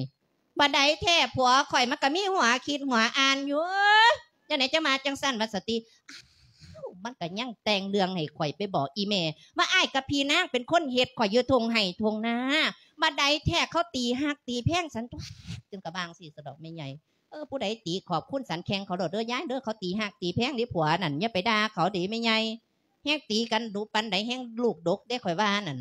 ບາດໃດແທ້ຜົວຂ້ອຍມັນກໍມີຫົວຄິດຫົວອ່ານຢູ່ ຈັ່ງໃດຈັ່ງມາຈັ່ງຊັ້ນວ່າຊັ້ນຕິ. ອ້າວ ມັນກໍຍັງແຕ່ງເລື່ອງໃຫ້ຂ້ອຍໄປບອກອີ່ແມ່ ວ່າອ້າຍກັບພີ່ນາງເປັນຄົນເຮັດຂ້ອຍຢູ່ທົ່ງໄຮ່ທົ່ງນາ. ບາດໃດແທ້ເຂົາຕີຮັກຕີແພງສັນຕົວະ ຈຶ່ງກະວ່າຈັ່ງຊີ້ສະດອກແມ່ໃຫຍ່. ເອີ ຜູ້ໃດຕີຂອບຄຸນສັນແຂ່ງເຂົາໂລດເດີ້ຍາຍເດີ້ ເຂົາຕີຮັກຕີແພງເດ້ຜົວນັ້ນ ຢ່າໄປດ່າເຂົາເດ້ແມ່ໃຫຍ່. ແຮງຕີກັນດຸປານໃດແຮງລູກດົກເດ້ ຂ້ອຍວ່ານັ້ນ.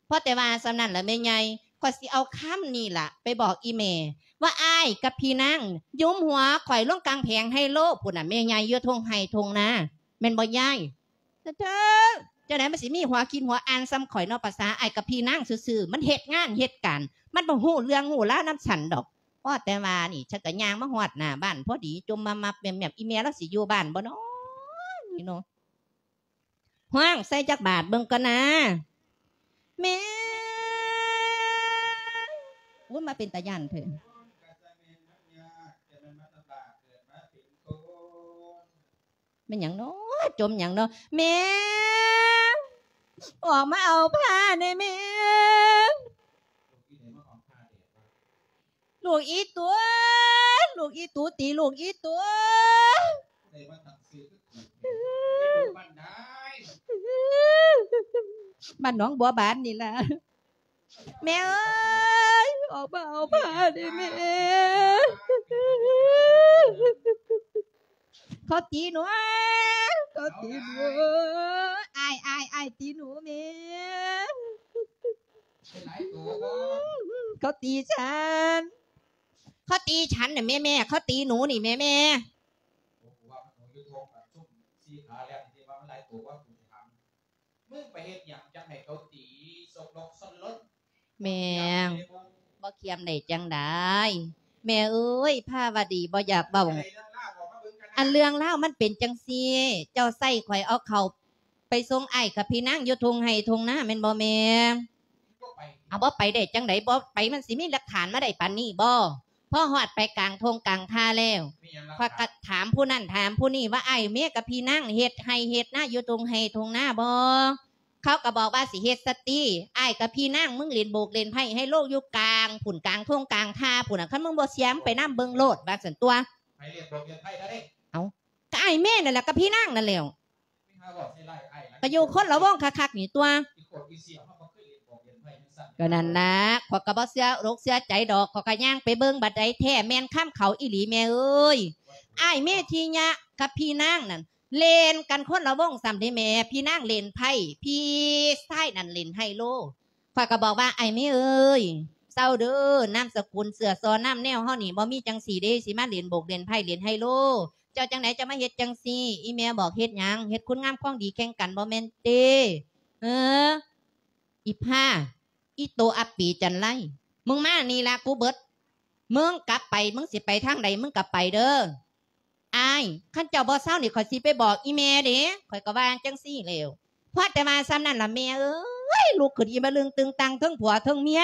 ພໍແຕ່ວ່າສ່ຳນັ້ນລະແມ່ໃຫຍ່ ຂ້ອຍຊິເອົາຄຳນີ້ລະໄປບອກອີ່ແມ່ ວ່າອ້າຍກັບພີ່ນາງຍຸມຫົວຂ້ອຍລົງກາງແຜງໄຮໂລພຸ້ນນະ ແມ່ໃຫຍ່ ຢູ່ທົ່ງໄຮ່ທົ່ງນາ ແມ່ນບໍ່ຍາຍ? ເທີ ຈັ່ງໃດມັນຊິມີຫົວຄິດຫົວອ່ານສ່ຳຂ້ອຍເນາະ ປະສາອ້າຍກັບພີ່ນາງຊື່ໆ ມັນເຮັດງານເຮັດການ ມັນບໍ່ຮູ້ເລື່ອງຮູ້ລາວນຳສັນດອກ. ພໍແຕ່ວ່ານີ້ ສັນກະຍ່າງມາຮອດໜ້າບ້ານພໍດີ ຈົມມາມັບແໝ້ມໆ ອີ່ແມ່ລາວຊິຢູ່ບ້ານບໍ່ນໍນີ້ເນາະ. ຮ້ອງໃສ່ຈັກບາດເບິ່ງກ່ອນນາ ແມ່. ໂອ້ຍ ມາເປັນຕາຢ້ານເທີ. ແມ່ນຫຍັງເນາະ ຈົມຫຍັງເນາະ ແມ່ ອອກມາເອົາຜ້າແດ່ແມ່. ລູກອີ່ຕູ ລູກອີ່ຕູ ຕີລູກອີ່ຕູ. ບ້ານໜອງບົວບານນີ້ລະ. ແມ່ເອີຍ ອອກມາເອົາຜ້າເດ້ແມ່ ເຂົາຕີໜູ ເຂົາຕີໜູ ອ້າຍ ອ້າຍ ອ້າຍຕີໜູແມ່. ເຂົາຕີສັນ ເຂົາຕີສັນນະແມ່ ແມ່ ເຂົາຕີໜູນີ້ແມ່ ແມ່. ມຶງໄປເຮັດຫຍັງຈັ່ງໃຫ້ເຂົາຕີ ຊົກລົກຊົນລົນ? ແມ່ ບໍ່ຄຽມໄດ້ຈັ່ງໃດ ແມ່ເອີຍ ພາວະດີບໍ່ຢາກເວົ້າ. ອັນເລື່ອງລາວມັນເປັນຈັ່ງຊີ້ ເຈົ້າໃຊ້ຂ້ອຍເອົາເຂົ້າໄປສົ່ງອ້າຍກັບພີ່ນາງຢູ່ທົ່ງໄຮ່ທົ່ງນາແມ່ນບໍ່ແມ່? ເອົາ ບໍ່ໄປໄດ້ຈັ່ງໃດ ບໍ່ໄປມັນຊິມີຫຼັກຖານມາໄດ້ປານນີ້ບໍ່? ພໍຮອດໄປກາງທົ່ງກາງທ່າແລ້ວ ຂ້ອຍກໍຖາມຜູ້ນັ້ນຖາມຜູ້ນີ້ວ່າ ອ້າຍແມ່ກັບພີ່ນາງເຮັດໄຮ່ເຮັດນາຢູ່ທົ່ງໄຮ່ທົ່ງນາບໍ່? ເຂົາກໍບອກວ່າຊິເຮັດສະຕິ ອ້າຍກັບພີ່ນາງມຶງຫຼິ້ນໂບກຫຼິ້ນໄພ້ໄຮໂລຢູ່ກາງພຸ້ນ ກາງທົ່ງກາງທ່າພຸ້ນນະ ຄັນມຶງບໍ່ເຊື່ອມຶງໄປນຳເບິ່ງໂລດ ວ່າຊັ້ນຕົວະ. ເອົ້າ ກໍອ້າຍແມ່ນັ້ນແຫຼະ ກັບພີ່ນາງນັ້ນແຫຼ້ວ ກໍຢູ່ຄົນລະວົງຄັກໆນີ້ຕົວະ. ກໍນັ້ນລະ ຂ້ອຍກໍບໍ່ເຊື່ອອົກເຊື່ອໃຈດອກ ຂ້ອຍກໍຍ່າງໄປເບິ່ງ ບັດໃດແທ້ແມ່ນຄຳເຂົາອີ່ຫຼີແມ່ເອີຍ. ອ້າຍເມທິຍະກັບພີ່ນາງນັ້ນ ຫຼິ້ນກັນຄົນລະວົງຊ້ຳເດ້ແມ່ ພີ່ນາງຫຼິ້ນໄພ້ ພີ່ຊາຍນັ້ນຫຼິ້ນໄຮໂລ. ຂ້ອຍກໍບອກວ່າ ອ້າຍເມເອີຍ ເຊົາເດີ້ ນາມສະກຸນເຊື້ອຊໍນາມແນວເຮົານີ້ ບໍ່ມີຈັ່ງຊີ້ເດ້ ຊິມາຫຼິ້ນໂບກຫຼິ້ນໄພ້ຫຼິ້ນໄຮໂລ. ເຈົ້າຈັ່ງໃດຈະມາເຮັດຈັ່ງຊີ້? ອີ່ແມ່ບອກເຮັດຫຍັງ? ເຮັດຄຸນງາມຄວາມດີແຂ່ງກັນບໍ່ແມ່ນຕິ? ເອີ ອີ່ພາ ອີ່ໂຕອັບປີຈັນໄລ ມຶງມານີ້ລະ ກູເບິດ ມຶງກັບໄປ ມຶງຊິໄປທາງໃດ ມຶງກໍໄປເດີ້. ອ້າຍ ຄັນເຈົ້າບໍ່ເຊົານີ້ ຂ້ອຍຊິໄປບອກອີ່ແມ່ເດ້ ຂ້ອຍກໍວ່າຈັ່ງຊີ້ແລ້ວ. ພໍແຕ່ວ່າສ່ຳນັ້ນລະແມ່ເອີຍ ລຸກຂຶ້ນອີ່ມະລຶງຕຶງຕັງ ເທິງຜົວເທິງເມຍ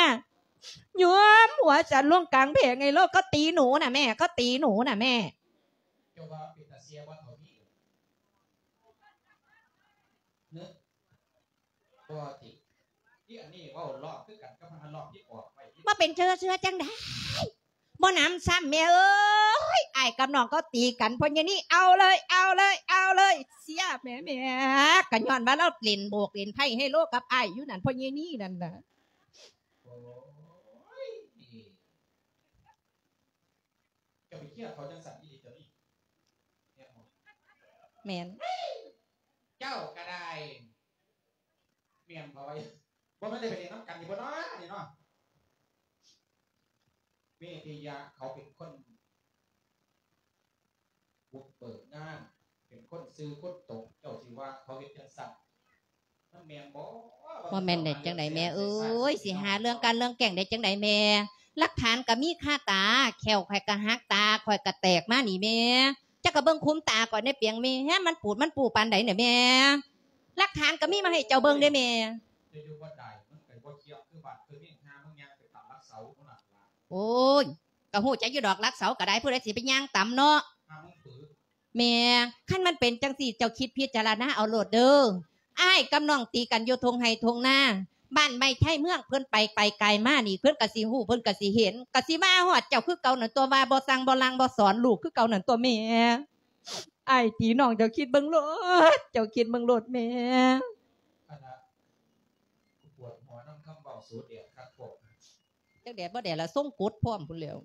ຍວມຫົວສັນລົງກາງແຜງໃຫ້ໂລກ ເຂົາຕີໜູນະແມ່ ເຂົາຕີໜູນະແມ່. ເຈົ້າວ່າເປັນຕາເຊຍບໍ່ເທົ່ານີ້ເນາະ? ບໍ່ຕິ ທີ່ອັນນີ້ເວົ້າລອບຄືກັນກັບມັນລອບທີ່ອອກໄວ້ ບໍ່ເປັນເຊື່ອ ເຊື່ອຈັ່ງໃດ ບໍ່ນຳຊ້ຳແມ່ເອີຍ. ອ້າຍກັບນ້ອງເຂົາຕີກັນ ພໍ່ໃຫຍ່ນີ້ເອົາເລີຍ ເອົາເລີຍ ເອົາເລີຍ ເຊຍແມ່ ແມ່ ກະຍ້ອນວ່າລາວຫຼິ້ນໂບກຫຼິ້ນໄພ້ໄຮໂລກັບອ້າຍຢູ່ນັ້ນ ພໍ່ໃຫຍ່ນີ້ນັ້ນນະ. ໂອ້ຍ ເຈົ້າໄປເຄຍເຂົາຈັ່ງຊັ້ນອີ່ຫຼີຕົວນີ້. ແມ່ນ ເຈົ້າກະໄດ້ ແມ່ນບໍ່ໄວ ບໍ່ແມ່ນໄດ້ໄປຫຼິ້ນນຳກັນນີ້ບໍ່ເນາະ ອັນນີ້ເນາະ. ເມທິຍະເຂົາເປັນຄົນບຸກເບີກງານ ເປັນຄົນຊື່ຄົນຕົງ ເຈົ້າຊິວ່າເຂົາເຮັດຈັ່ງຊັ້ນ ມັນແມ່ນບໍ່? ບໍ່ແມ່ນໄດ້ຈັ່ງໃດແມ່ເອີຍ ຊິຫາເລື່ອງການເລື່ອງແກ້ງໄດ້ຈັ່ງໃດແມ່? ຫຼັກຖານກະມີຄາຕາ ແຂ້ວຂ້ອຍກະຫັກ ຕາຂ້ອຍກະແຕກມານີ້ແມ່. ເຈົ້າກະເບິ່ງຄຸມຕາຂ້ອຍແດ່ປຽງແມ່ ມັນປູດມັນປູປານໃດນະແມ່. ຫຼັກຖານກະມີມາໃຫ້ເຈົ້າເບິ່ງເດ້ແມ່. ເຈົ້າຢູ່ບໍ່ໄດ້ ມັນກະບໍ່ຄຽບຄືບ້ານຄືເມືອງ ຫາມຶງຍ່າງໄປຕາມຫຼັກເສົາພຸ້ນນະ. ໂອ້ຍ ກະຮູ້ຈັກຢູ່ດອກ ຫຼັກເສົາກະໄດ້ ຜູ້ໃດຊິໄປຍ່າງຕຳເນາະ. ຫາມຶງຝືນ ແມ່ ຄັນມັນເປັນຈັ່ງຊີ້ ເຈົ້າຄິດພິຈາລະນາເອົາໂລດເດີ. ອ້າຍກັບນ້ອງຕີກັນຢູ່ທົ່ງໄຮ່ທົ່ງນາ ບ້ານໄມ້ໄທເມືອງ ເພິ່ນໄປໄກໄກມານີ້ ເພິ່ນກະຊິຮູ້ ເພິ່ນກະຊິເຫັນ ກະຊິວ່າຮອດເຈົ້າຄືເກົ່ານັ້ນຕົວະ ວ່າບໍ່ສັ່ງບໍ່ລາງບໍ່ສອນລູກຄືເກົ່ານັ້ນຕົວະແມ່. ອ້າຍຕີນ້ອງ ເຈົ້າຄິດເບິ່ງໂລດ ເຈົ້າຄິດເບິ່ງໂລດແມ່. ອັນລະ ກູປວດຫົວນຳຄຳເວົ້າສູດແດດຄັກໂພດ. ຈັກແດດບໍ່ແດດລະ ຊົງກົດພ້ອມພຸ້ນແລ້ວ.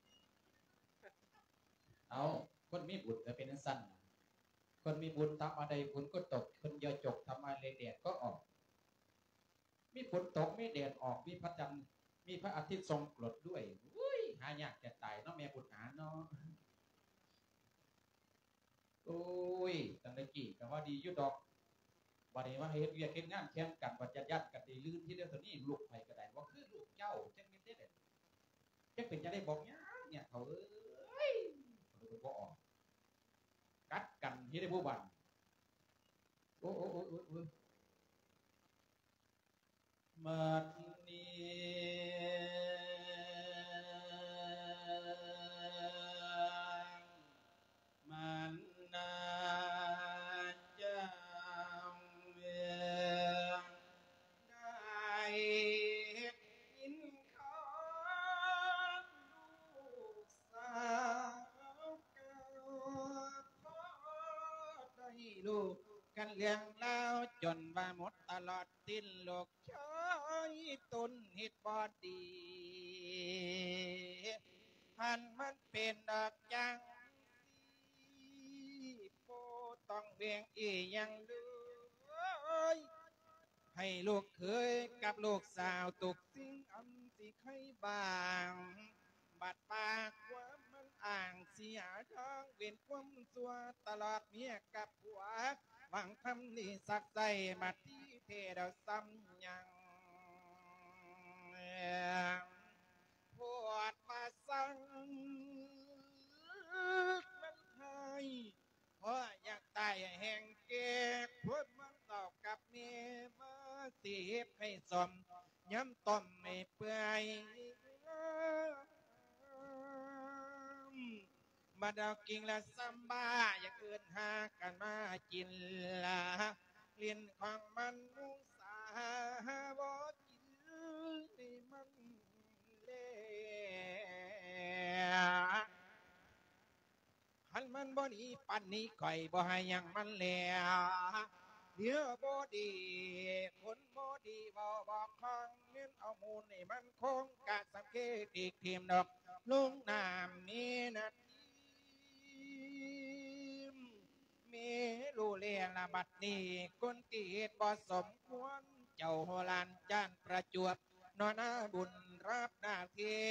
ເອົາ ຄົນມີບຸນກະເປັນຈັ່ງຊັ້ນ ຄົນມີບຸນທຳມະດາຝົນກໍຕົກ ຄົນຢ່າຈົກທຳມະດາແດດກໍອອກ ມີຝົນຕົກ ມີແດດອອກ ມີພະຈັນ ມີພະອາທິດສົ່ງກຣດດ້ວຍ. ໂອ້ຍ ຫາຍາກຈະຕາຍເນາະ ແມ່ບຸນຫາເນາະ. ໂອ້ຍ ຕັ້ງແຕ່ກີ້ກະວ່າດີຢູ່ດອກ ບາດນີ້ມາເຮັດວຽກເຮັດງານແຂ່ງກັນ ບັດຢ້ານໆກັນໄດ້ລື່ນທີດຽວ ຕອນນີ້ລູກຂ້ອຍກະໄດ້ບໍ່ຄືລູກເຈົ້າ ຈັກແມ່ນແນວໃດ ຈັກເປັນຈັ່ງໃດບອກຍາກ ຍາກເຖົ້າເອີຍ ເຂົາເລີຍບໍ່ອອກ ກັດກັນເຮັດໃຫ້ຜູ້ບ້ານ ໂອ້ຍ ໂອ້ຍ ໂອ້ຍ ໂອ້ຍ ໂອ້ຍ. ບັດນີ້ມັນນາເຈົ້າເອີງ ໄດ້ຍິນຄວາມລູກສາວເກົ່າ ພໍໄດ້ຮູ້ກັນເລື່ອງລາວ ຈົນວ່າໝົດຕະຫຼອດສິ້ນ ລູກ ຊາຍຕົນເຮັດບໍ່ດີ ຄັນມັນເປັນດອກຈັ່ງຊີ້ ບໍ່ຕ້ອງແບ່ງອີ່ຫຍັງເລີຍ ໃຫ້ລູກເຂີຍກັບລູກສາວ ທຸກສິ່ງອັນຊິໄຄບ້າງ ບັດວ່າຄວາມມັນອ້າງ ຊິຫາທາງເວັ້ນຄວາມຊົ່ວ ຕະຫຼອດເມຍກັບຜົວ ຫວັງທຳດີສັກໃສ່ ມາທີ່ເທດເອົາຊ້ຳຍັງ ໂພດວ່າສັງມັນໄທ ເພາະຢາກຕາຍແຮງແກ່ ຄົນມັນເວົ້າກັບແມ່ ມາຊິເຮັດໃຫ້ສົມ ຍຳຕົ້ມໃຫ້ເປື່ອຍ ບັດເອົາກິ່ງລະຊຳບ້າ ຢ່າເອີ້ນຫາກັນມາກິນລະ ຫຼິ້ນຂອງມັນນຸງສາ ບໍ່ກິນໃຫ້ມັນແລ. ຄັນມັນບໍ່ໜີປານນີ້ ຂ້ອຍບໍ່ໃຫ້ຫຍັງມັນແລ້ວ ເຫຼືອບໍ່ດີ ຄົນບໍ່ດີເວົ້າບໍ່ຄ່ອງ ແມ່ນເອົາມູນໃຫ້ມັນຄົງ ກະສຳເຄຕິກຖິ້ມດອກ ລົງນ້ຳມີນາທີ ເມໂລແລລະບັດນີ້ ຄົນທີ່ເຮັດບໍ່ສົມຄວນ ເຈົ້າໂຫລານຈານປະຈວບ ນອນໜ້າບຸນຮັບໜ້າທີ່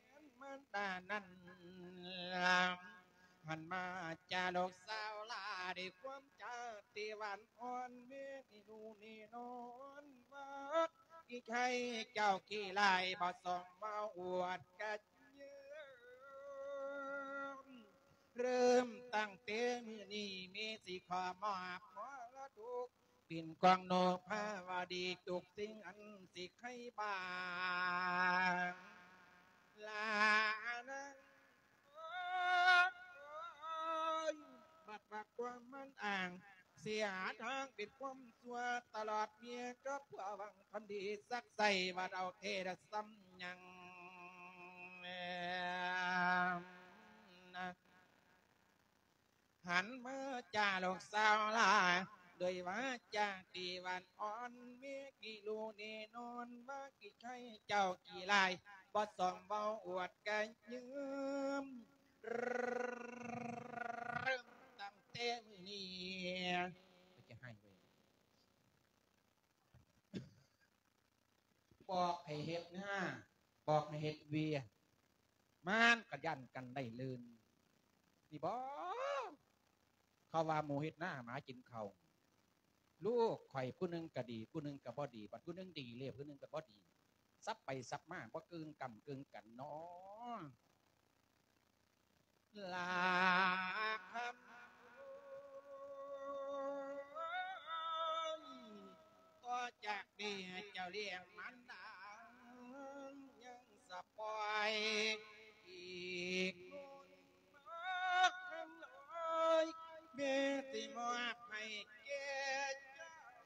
ແທນມານດານັ້ນ ຫັນມາຈາລູກສາວຫຼ້າ ດ້ວຍຄວາມຈາທີ່ຫວານອ່ອນ ເມນູນີ້ນອນວັດ ອີໄທເຈົ້າຂີ້ລ້າຍ ບໍ່ສອງມາອວດກະເຍີ້ມ ເລີ່ມຕັ້ງແຕ່ມື້ນີ້ ເມຊິຂໍມອບມໍລະດົກ ເປັນຂອງໂນພາວະດີ ທຸກສິ່ງອັນຊິໄຄບ້າງ ລານາງເອີຍ ບັດວ່າຄວາມມັນອ້າງ ເສຍທາງເປັນຄວາມຊົ່ວຕະຫຼອດເມຍ ກໍເພື່ອຫວັງຄວາມດີສັກໃສ່ ວ່າເອົາແທ້ລະສ່ຳຫຍັງ. ຫັນມາຈາລູກສາວຫຼາຍ ດ້ວຍວາຈາທີ່ຫວານອ່ອນ ເມຍກິຮູ້ແນ່ນອນວ່າກິໃຊ້ເຈົ້າກີຫຼາຍ ບໍ່ສອມເວົ້າອວດກະຢືມ ເລີ່ມຕັ້ງແຕ່ມື້ນີ້ ຈະໃຫ້ເວີຍ ບອກໃຫ້ເຮັດງານ ບອກໃຫ້ເຮັດວຽກ ມັນກະຢ້ານກັນໄດ້ລື່ນ ນີ້ບໍ? ເຂົາວ່າໝູເຮັດນາໝາກິນເຂົ້າ ລູກຂ້ອຍຜູ້ໜຶ່ງກະດີ ຜູ້ໜຶ່ງກະບໍ່ດີ ບັດຜູ້ໜຶ່ງດີແລ້ວ ຜູ້ໜຶ່ງກະບໍ່ດີ ສັບໄປສັບມາ ບໍ່ເກີງກຳເກີງກັນເນາະ. ລາຄຳເອີຍ ຕໍ່ຈາກແມ່ເຈົ້າລ້ຽງມານດາ ຍັງສະປອຍອີກຄົນມາຄຳເອີຍ ແມ່ຊິມອບໃຫ້ແກ່ເຈົ້າ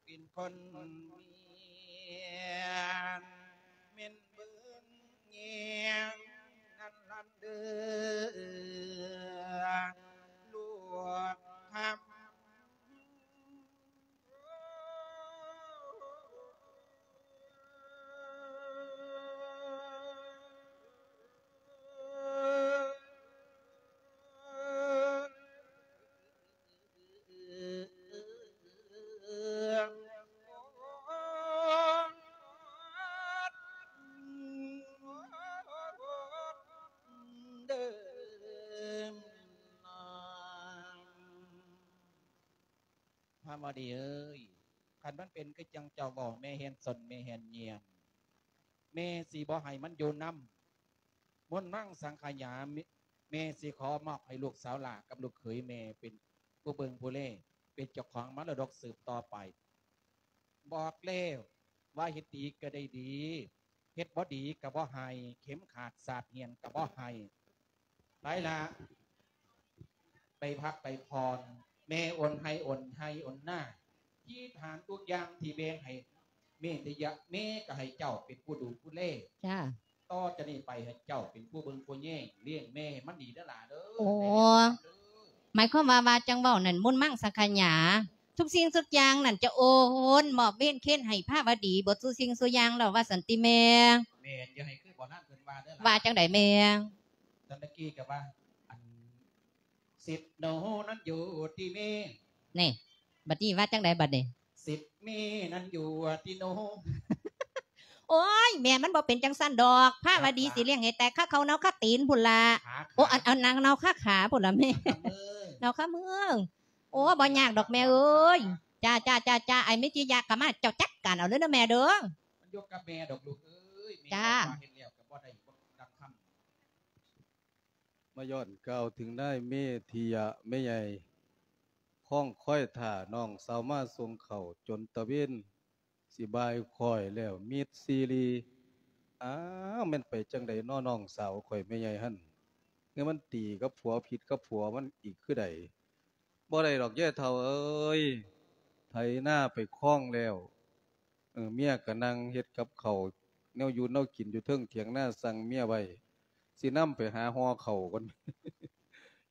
ເປັນຄົນເມຍ ແມ່ນເບິ່ງແຍງນັ້ນລະເດີ ລູກຄຳ. ພາວະດີເອີຍ ຄັນມັນເປັນຄືຈັ່ງເຈົ້າເວົ້າ ແມ່ແຮ່ນສົນ ແມ່ແຮ່ນຍ່ຽມ ແມ່ຊິບໍ່ໃຫ້ມັນຢູ່ນຳ. ມຸນມັງສັງຂະຍາ ແມ່ຊິຂໍມອບໃຫ້ລູກສາວຫຼ້າກັບລູກເຂີຍແມ່ ເປັນຜູ້ເບິ່ງຜູ້ແລ ເປັນເຈົ້າຂອງມໍລະດົກສືບຕໍ່ໄປ. ບອກແລ້ວວ່າເຮັດດີກໍໄດ້ດີ ເຮັດບໍ່ດີກໍບໍ່ໃຫ້ ເຂັມຂາດສາດຫຽນກໍບໍ່ໃຫ້. ໄປລະ ໄປພັກໄປຜ່ອນ ແມ່ອົນໄຮ່ອົນໄຮ່ອົນນາ ທີ່ຖານທຸກຢ່າງທີ່ແບ່ງໃຫ້ ແມ່ໄດ້ຍະ ແມ່ກໍໃຫ້ເຈົ້າເປັນຜູ້ດູຜູ້ແລ. ຈ້າ. ຕໍ່ຈາກນີ້ໄປໃຫ້ເຈົ້າເປັນຜູ້ເບິ່ງຜູ້ແຍງ ລ້ຽງແມ່ໃຫ້ມັນດີເດີຫຼ້າເດີ. ໂອ້ ໝາຍຄວາມວ່າ ວ່າຈັ່ງເວົ້ານັ້ນ ມຸນມັງສັງຂະຍາ ທຸກສິ່ງທຸກຢ່າງນັ້ນຈະໂອນມອບເວນເຄນໃຫ້ພາວະດີເບິດສູ່ສິ່ງສູ່ຢ່າງແລ້ວວ່າຊັ້ນຕິແມ່? ແມ່ນ ຢ່າໃຫ້ຄືບໍ່ນານເພິ່ນວ່າເດີຫຼ້າ. ວ່າຈັ່ງໃດແມ່? ຕອນຕະກີ້ກໍວ່າ ອັນ ສິດໜູນັ້ນຢູ່ທີ່ແມ່. ນີ້ ບັດນີ້ວ່າຈັ່ງໃດບັດນີ້? ສິດແມ່ນັ້ນຢູ່ທີ່ໜູ. ໂອ້ຍ ແມ່ ມັນບໍ່ເປັນຈັ່ງຊັ້ນດອກ ພາວະດີ ຄາຂາ ຊິລ້ຽງໃຫ້ແຕກຄາເຂົ້າເນົ່າຄາຕີນພຸ້ນລະ. ຄາຂາ. ໂອ້ ອັນ ອັນນາງເນົ່າຄາຂາພຸ້ນລະແມ່. ເນົ່າຄາເມືອງ. ໂອ້ ບໍ່ຍາກດອກແມ່ເອີຍ. ຈ້າ ຈ້າ ຈ້າ ຈ້າ ອ້າຍມີຕິຍະກະມາ ເຈົ້າຈັດການເອົາເລີຍເດີແມ່ເດີ. ມັນຢູ່ກັບແມ່ດອກລູກເອີຍ. ແມ່ ຈ້າ ບອກວ່າເຮັດແລ້ວກໍບໍ່ໄດ້ ບໍ່ດັງຄຳ. ມາຍ້ອນກ່າວເຖິງນາຍເມທິຍະແມ່ໃຫຍ່ ຄອງຄອຍຖ້ານ້ອງສາວມາສົ່ງເຂົ້າຈົນຕະເວນຊິບ່າຍຄ້ອຍແລ້ວ ມິດຊີຣີ. ອ້າວ ແມ່ນໄປຈັ່ງໃດນໍນ້ອງສາວຂ້ອຍແມ່ໃຫຍ່ຫັ້ນ? ຄືມັນຕີກັບຜົວ ຜິດກັບຜົວມັນອີກຄືໃດ? ບໍ່ໄດ້ດອກຍາຍເຖົ້າເອີຍ ໄຖນາໄປຄອງແລ້ວ. ເອີ ເມຍກໍນັ່ງເຮັດກັບເຂົ້າ ແນວຢູ່ແນວກິນຢູ່ເທິງຖຽງນາ ສັ່ງເມຍໄວ້ ຊິນຳໄປຫາຫໍ່ເຂົ້າກ່ອນ.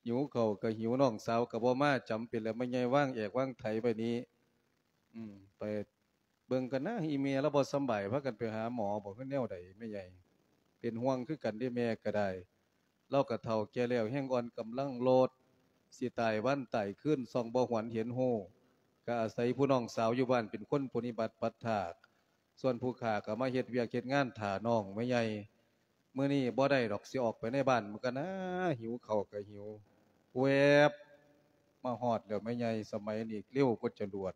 ຫິວເຂົ້າກໍຫິວ ນ້ອງສາວກໍບໍ່ມາ ຈຳເປັນແລ້ວ ແມ່ໃຫຍ່ວາງແອກວາງໄຖໄວ້ນີ້. ອືມ ໄປເບິ່ງກັນນະ ອີແມ່ລາວບໍ່ສຳບາຍ ພາກັນໄປຫາໝໍບໍ ຄືແນວໃດແມ່ໃຫຍ່? ເປັນຫ່ວງຄືກັນເດ້ ແມ່ກໍໄດ້. ລາວກໍເຖົ້າແກ່ແລ້ວ ແຮງອ່ອນກຳລັງໂລດ ຊິຕາຍວັນຕາຍຄືນ ສ່ອງບໍ່ຫວນເຫັນຮູ້ ກໍອາໄສຜູ້ນ້ອງສາວຢູ່ບ້ານເປັນຄົນປະຕິບັດປັດຖາກ ສ່ວນຜູ້ຂ້າກໍມາເຮັດວຽກເຮັດງານຖ້ານ້ອງແມ່ໃຫຍ່. ມື້ນີ້ບໍ່ໄດ້ດອກ ຊິອອກໄປໃນບ້ານມັນກໍນາ ຫິວເຂົ້າກໍຫິວ ແວບມາຮອດແລ້ວແມ່ໃຫຍ່. ສະໄໝນີ້ເລັວກວ່າຈະຫຼວດ.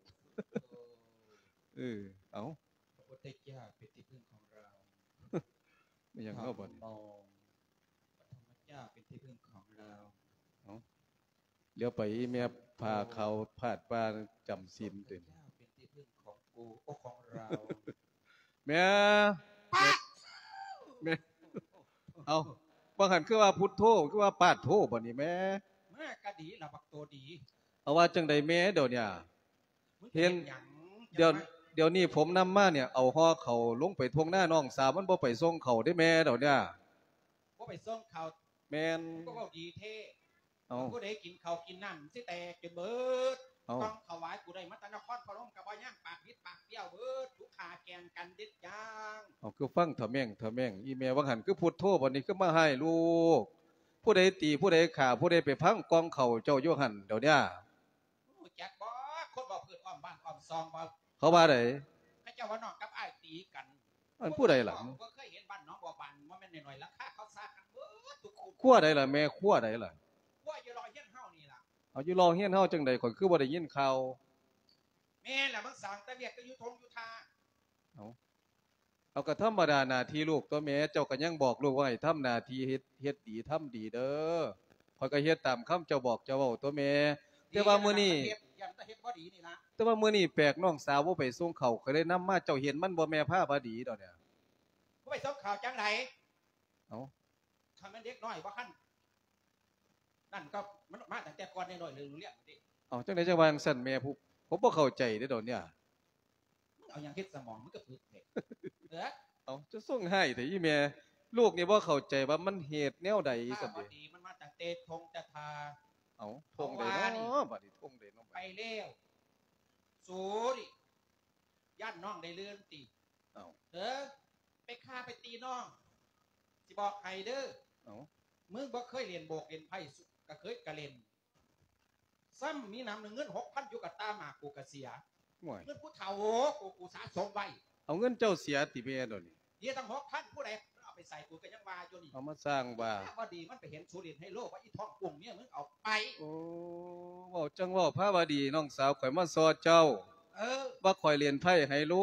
ເອີ ເອົ້າ ພະພຸດທະເຈົ້າເປັນທີ່ເພິ່ງຂອງເຮົາ. ແມ່ນຫຍັງເນາະບັດນີ້? ທຳມະ ພະທຳມະເຈົ້າເປັນທີ່ເພິ່ງຂອງເຮົາ. ເອົ້າ ຫຼຽວໄປອີ່ແມ່ຜ້າຂາວພາດວ່າຈຳສິນເຕັມ. ພະພຸດທະເຈົ້າເປັນທີ່ເພິ່ງຂອງກູ ໂອ ຂອງເຮົາ. ແມ່ ປາດ ແມ່ ເອົ້າ ວ່າຫັ້ນຄືວ່າພຸດໂທ ຄືວ່າປາດໂທບັດນີ້ແມ້? ມາກະດີລະບັກໂຕດີ. ເອົາ ວ່າຈັ່ງໃດແມ້ດຽວນີ້? ເຫັນ ດຽວ ດຽວນີ້ຜົມນຳມານີ້ ເອົາຫໍ່ເຂົ້າລົງໄປທົ່ງນານ້ອງສາວ ມັນບໍ່ໄປສົ່ງເຂົ້າເດ້ແມ້ດຽວນີ້. ບໍ່ໄປສົ່ງເຂົ້າ? ແມ່ນ. ກໍເວົ້າດີແທ້. ເອົ້າ ຜູ້ໃດກິນເຂົ້າກິນນ້ຳຊິແຕກຈົນເບີດ. ເອົ້າ ກ່ອງຖວາຍກູໄດ້ມາແຕ່ນະຄອນພະນົມກໍບໍ່ຍັງ ປາກບິດປາກບ້ຽວເບີດ ທຸກຂາແກ່ງກັນເດັດຢ່າງ. ເອົາ ຄືຟັງທະແມ່ງທະແມ່ງ ອີແມ່ວ່າຫັ້ນຄືພຸດໂທ ບັດນີ້ຄືມາຮ້າຍລູກ. ຜູ້ໃດຕີ ຜູ້ໃດຂ້າ ຜູ້ໃດໄປພັງກ່ອງເຂົ້າເຈົ້າຢູ່ຫັ້ນດຽວນີ້? ຮູ້ຈັກບໍ່ ຄົນເວົ້າພື້ນອ້ອມບ້ານອ້ອມຊ່ອງບໍ່? ເຂົາວ່າໃດ? ເຂົາເຈົ້າວ່ານ້ອງກັບອ້າຍຕີກັນ. ອັນຜູ້ໃດລະ? ບໍ່ເຄີຍເຫັນບ້ານໜອງບົວບານ ບໍ່ແມ່ນນ້ອຍໆ ຫຼັງຄາເຂົາສາກັນເບິດທຸກຄົນ. ຄົວໃດລະແມ່ ຄົວໃດລະ? ຄົວຢູ່ລໍຮຽນເຮົານີ້ລະ. ເອົາ ຢູ່ລໍຮຽນເຮົາຈັ່ງໃດ ຂ້ອຍຄືບໍ່ໄດ້ຍິນຂ່າວ? ແມ່ນລະ ມັນສ້າງແຕ່ວຽກແຕ່ຢູ່ທົ່ງຢູ່ທ່າ. ເອົາ ເອົາ ກໍທຳມະດາໜ້າທີ່ລູກຕົວະແມ່ ເຈົ້າກໍຍັງບອກລູກວ່າໃຫ້ທຳໜ້າທີ່ ເຮັດ ເຮັດດີທຳດີເດີ. ຂ້ອຍກໍເຮັດຕາມຄຳເຈົ້າບອກເຈົ້າເວົ້າຕົວະແມ່. ແຕ່ວ່າມື້ນີ້ ເຮັດ ຢ້ານແຕ່ເຮັດບໍ່ດີນີ້ລະ. ແຕ່ວ່າມື້ນີ້ແປກ ນ້ອງສາວບໍ່ໄປສົ່ງເຂົ້າ ຂ້ອຍເລີຍນຳມາ. ເຈົ້າເຫັນມັນບໍ່ແມ່ພາວະດີດຽວນີ້? ບໍ່ໄປສົ່ງເຂົ້າຈັ່ງໃດ? ເອົ້າ ຄັນແມ່ນເດັກນ້ອຍບໍ່ຄັນ ນັ້ນກໍມັນມາຕັ້ງແຕ່ກ່ອນນ້ອຍໆ ເລື່ອງໆ ເດ້. ເອົ້າ ຈັ່ງໃດຈັ່ງວ່າຈັ່ງຊັ້ນແມ່ ຜູ້ ຜົມບໍ່ເຂົ້າໃຈເດ້ດຽວນີ້. ມຶງເອົາຫຍັງເຮັດສະໝອງ ມຶງກໍປຶກແທ້. ເອີ ເອົ້າ ຈະສົ່ງຮ້າຍແທ້ອີແມ່. ລູກນີ້ບໍ່ເຂົ້າໃຈວ່າມັນເຮັດແນວໃດຊັ້ນເດ. ມັນມາຕັ້ງແຕ່ທົ່ງແຕ່ທ່າ. ເອົ້າ ທົ່ງໃດເນາະ ເອົາວ່ານີ້ ບັດນີ້ທົ່ງໃດເນາະ ໄປແລ້ວ. ສູນີ້ ຢ້ານນ້ອງໄດ້ລື່ນຕິ? ເອົ້າ ເອີ ໄປຂ້າໄປຕີນ້ອງ ຊິບອກໃຫ້ເດີ. ເອົ້າ ມຶງບໍ່ເຄີຍຫຼິ້ນໂບກຫຼິ້ນໄພ້ ກະເຄີຍກະຫຼິ້ນ. ຊ້ຳມີໜຳໜຶ່ງ ເງິນຫົກພັນຢູ່ກະຕ່າໝາກ ກູກະເສຍ. ໂອ້ຍ ເງິນຜູ້ເຖົ້າ ໂອ້ ກູ ກູສະສົມໄວ້. ເອົາເງິນເຈົ້າເສຍຕິແມ່ດຽວນີ້? ເສຍຕັ້ງຫົກພັນ ຜູ້ໃດເອົາໄປໃສ່ ກູກໍຍັງວ່າຢູ່ນີ້. ເອົາມາສ້າງວ່າ ພາວະດີມັນໄປເຫັນສູຫຼິ້ນໄຮໂລ ວ່າອີ່ທ້ອງກຸ້ງເມຍມຶງເອົາໄປ. ໂອ້ ເວົ້າຈັ່ງເວົ້າ ພາວະດີ ນ້ອງສາວຂ້ອຍມາຊໍ່ເຈົ້າ. ເອີ ວ່າຂ້ອຍຫຼິ້ນໄພ້ໄຮໂລ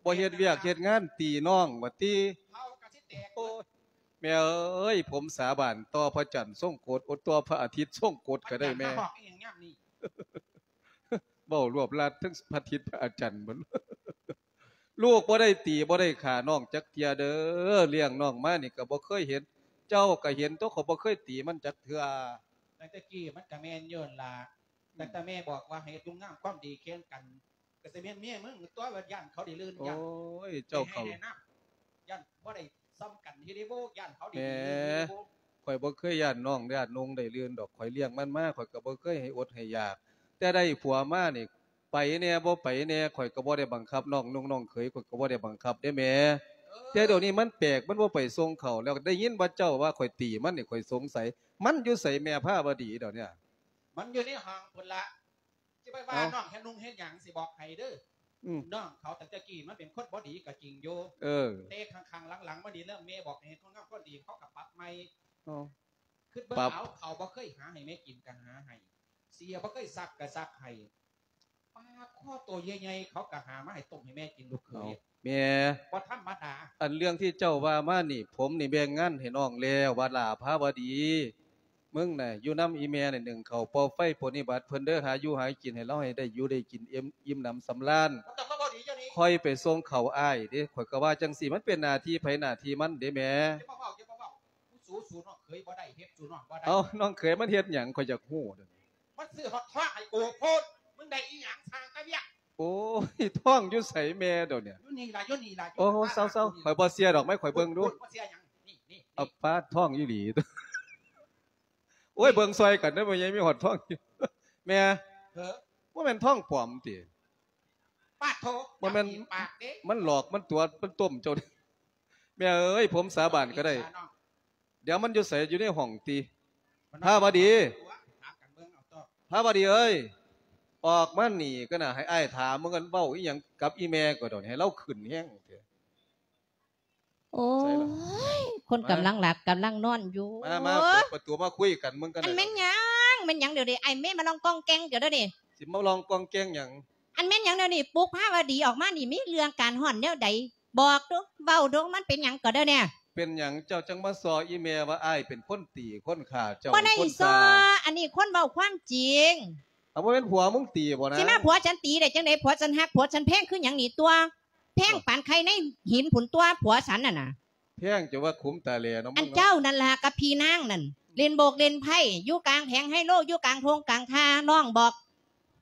ບໍ່ເຮັດວຽກເຮັດງານ ຕີນ້ອງວ່າຕິ. ເຮົາກະຊິແຕກ. ໂອ້ຍ ແມ່ເອີຍ ຜົມສາບານຕໍ່ພະຈັນຊົງກົດ ໂອ ຕໍ່ພະອາທິດຊົງກົດກໍໄດ້ແມ່. ເວົ້າລວບລັດ ທັງພະອາທິດພະອາຈັນໝົດ. ລູກບໍ່ໄດ້ຕີບໍ່ໄດ້ຂ້ານ້ອງຈັກເທື່ອເດີ. ລ້ຽງນ້ອງມານີ້ກໍບໍ່ເຄີຍເຫັນ ເຈົ້າກໍເຫັນຕົວະ ຂ້ອຍບໍ່ເຄີຍຕີມັນຈັກເທື່ອ. ຕັ້ງແຕ່ກີ້ມັນກໍແມ່ນຢູ່ຫັ້ນລະ. ອືມ ຕັ້ງແຕ່ແມ່ບອກວ່າໃຫ້ເຮັດຄຸນງາມຄວາມດີແຂ່ງກັນ ກໍຊິແມ່ນເມຍມຶງຕົວະ ວ່າຢ້ານເຂົາໄດ້ລື່ນ. ໂອ້ຍ ຢ້ານເຈົ້າເຂົ້າ ແມ່ນບໍ່ ຢ້ານບໍ່ໄດ້ສ່ຳກັນເຮັດໃດບໍ່ ຢ້ານເຂົາໄດ້ ແໝ ໄດ້ບໍ່. ຂ້ອຍບໍ່ເຄີຍຢ້ານນ້ອງ ຢ້ານນຸ່ງໄດ້ລື່ນດອກ. ຂ້ອຍລ້ຽງມັນມາ ຂ້ອຍກໍບໍ່ເຄີຍໃຫ້ອົດໃຫ້ຢາກ. ແຕ່ໄດ້ຜົວມານີ້ ໄປແດ່ບໍ່ໄປແດ່ ຂ້ອຍກໍບໍ່ໄດ້ບັງຄັບ. ນ້ອງນຸ່ງນ້ອງເຂີຍ ຂ້ອຍກໍບໍ່ໄດ້ບັງຄັບເດ້ແມ່. ເອີ ແຕ່ດຽວນີ້ມັນແປກ ມັນບໍ່ໄປສົ່ງເຂົ້າ ແລ້ວໄດ້ຍິນວ່າເຈົ້າວ່າຂ້ອຍຕີມັນນີ້ ຂ້ອຍສົງໄສ ມັນຢູ່ໃສແມ່ພາວະດີດຽວນີ້? ມັນຢູ່ໃນຫ້ອງພຸ້ນລະ. ຊິໄປວ່າ ເອົ້າ ນ້ອງເຮັດນຸ່ງເຮັດຫຍັງ ຊິບອກໃຫ້ເດີ. ອືມ ນ້ອງເຂົາຕັ້ງແຕ່ກີ້ມັນເປັນຄົນບໍ່ດີກໍຈິງຢູ່. ເອີ ແຕ່ຂ້າງໆ ຫຼັງໆ ມານີ້ເລີ່ມແມ່ບອກໃຫ້ເຮັດຄົນງາມຄົນດີ ເຂົາກໍປັບໃໝ່. ເອົ້າ ຄິດເບິ່ງ ປັບ ເອົາ ເຂົາບໍ່ເຄີຍຫາໃຫ້ແມ່ກິນກໍຫາໃຫ້ ເສຍບໍ່ເຄີຍຊັກກໍຊັກໃຫ້ ປາຄໍໂຕໃຫຍ່ໆ ເຂົາກໍຫາມາໃຫ້ຕົ້ມໃຫ້ແມ່ກິນ ລູກເຂີຍ. ເອົ້າ ແມ່ ບໍ່ທຳມະດາ. ອັນເລື່ອງທີ່ເຈົ້າວ່າມານີ້ ຜົມນີ້ແບ່ງງານໃຫ້ນ້ອງແລ້ວ ວ່າຫຼ້າພາວະດີ ມຶງນະ ຢູ່ນຳອີ່ແມ່ນີ້ ໜຶ້ງເຂົ້າ ເປົ່າໄຟ ປະນິບັດເພິ່ນເດີ ຫາຢູ່ຫາກິນໃຫ້ລາວ ໃຫ້ໄດ້ຢູ່ໄດ້ກິນ ອີ່ມ ອີ່ມໜຳສຳລານ. ບໍ່ຕ້ອງມາເວົ້າດີເຈົ້ານີ້. ຂ້ອຍໄປສົ່ງເຂົ້າອ້າຍເດ້ ຂ້ອຍກໍວ່າຈັ່ງຊີ້ ມັນເປັນໜ້າທີ່ໃຜໜ້າທີ່ມັນເດ້ແມ່. ຢ່າມາເວົ້າ ຢ່າມາເວົ້າ. ສູ້ ສູ້ນ້ອງເຂີຍບໍ່ໄດ້ ເຮັດສູ້ນ້ອງບໍ່ໄດ້. ເອົ້າ ນ້ອງເຂີຍມັນເຮັດຫຍັງ ຂ້ອຍຢາກຮູ້ດຽວນີ້. ມັນຊື້ຮອດທອງໃຫ້ກູໂພດ ມຶງໄດ້ອີ່ຫຍັງ ສ້າງແຕ່ວຽກ. ໂອ້ຍ ທອງຢູ່ໃສແມ່ດຽວນີ້? ຢູ່ນີ້ລະ ຢູ່ນີ້ລະ. ໂອ້ ເຊົາໆ ຂ້ອຍບໍ່ເຊື່ອດອກ ມາໃຫ້ຂ້ອຍເບິ່ງດູ. ບໍ່ເຊື່ອຫຍັງ? ນີ້ ນີ້ ເອົາ ປາດ ທອງອີ່ຫຼີ. ໂອ້ຍ ເບິ່ງຊ່ອຍກັນເດີ ແມ່ໃຫຍ່ມີຮອດທອງຢູ່. ແມ່ ເອີ ບໍ່ແມ່ນທອງປອມຕິ? ປາດໂທ ບໍ່ແມ່ນ ປາກເດ້ ມັນຫຼອກ ມັນຕົວະ ມັນຕົ້ມເຈົ້າ. ແມ່ເອີຍ ຜົມສາບານກໍໄດ້. ດຽວມັນຢູ່ໃສ? ຢູ່ໃນຫ້ອງຕິ? ພາວະດີ ພາວະດີເອີຍ ອອກມານີ້ກໍນະ ໃຫ້ອ້າຍຖາມເບິ່ງ ເວົ້າອີ່ຫຍັງກັບອີ່ແມ່ກໍດອກ ໃຫ້ລາວຂຶ້ນແຮງແທ້. ໂອ້ຍ ຄົນກຳລັງຫຼັບກຳລັງນອນຢູ່. ມາ ມາ ເປີດປະຕູມາຄຸຍກັນເບິ່ງກັນ. ອັນແມ່ນຫຍັງ ແມ່ນຫຍັງດຽວນີ້ ອ້າຍແມ່ມາຮ້ອງກ້ອງແກ້ງດຽວນີ້? ຊິມາຮ້ອງກ້ອງແກ້ງຫຍັງ? ອັນແມ່ນຫຍັງດຽວນີ້ ປຸກພາວະດີອອກມານີ້ ມີເລື່ອງການຮ້ອນແນວໃດ? ບອກດູ ເວົ້າດູ ມັນເປັນຫຍັງກໍເດີແນ່? ເປັນຫຍັງເຈົ້າຈັ່ງມາສໍ້ອີ່ແມ່ວ່າອ້າຍເປັນຄົນຕີຄົນຂ້າເຈົ້າ? ບໍ່ໄດ້ສໍ້ ອັນນີ້ຄົນເວົ້າຄວາມຈິງ. ເອົາ ບໍ່ແມ່ນຜົວມຶງຕີບໍ່ນະ? ຊິມາຜົວສັນຕີໄດ້ຈັ່ງໃດ? ຜົວສັນຮັກ ຜົວສັນແພງຄືຫຍັງນີ້ຕົວະ ແພງປານໄຂ່ໃນຫີນພຸ້ນຕົວະ ຜົວສັນນັ້ນນະ. ແພງຈົນວ່າຂຸມຕາແຫຼເນາະ ອັນເຈົ້ານັ້ນລະກັບພີ່ນາງນັ້ນ ເລ່ນໂບກເລ່ນໄພ້ຢູ່ກາງແຜງໄຮໂລ ຢູ່ກາງທົ່ງກາງທ່າ ນ້ອງບອກ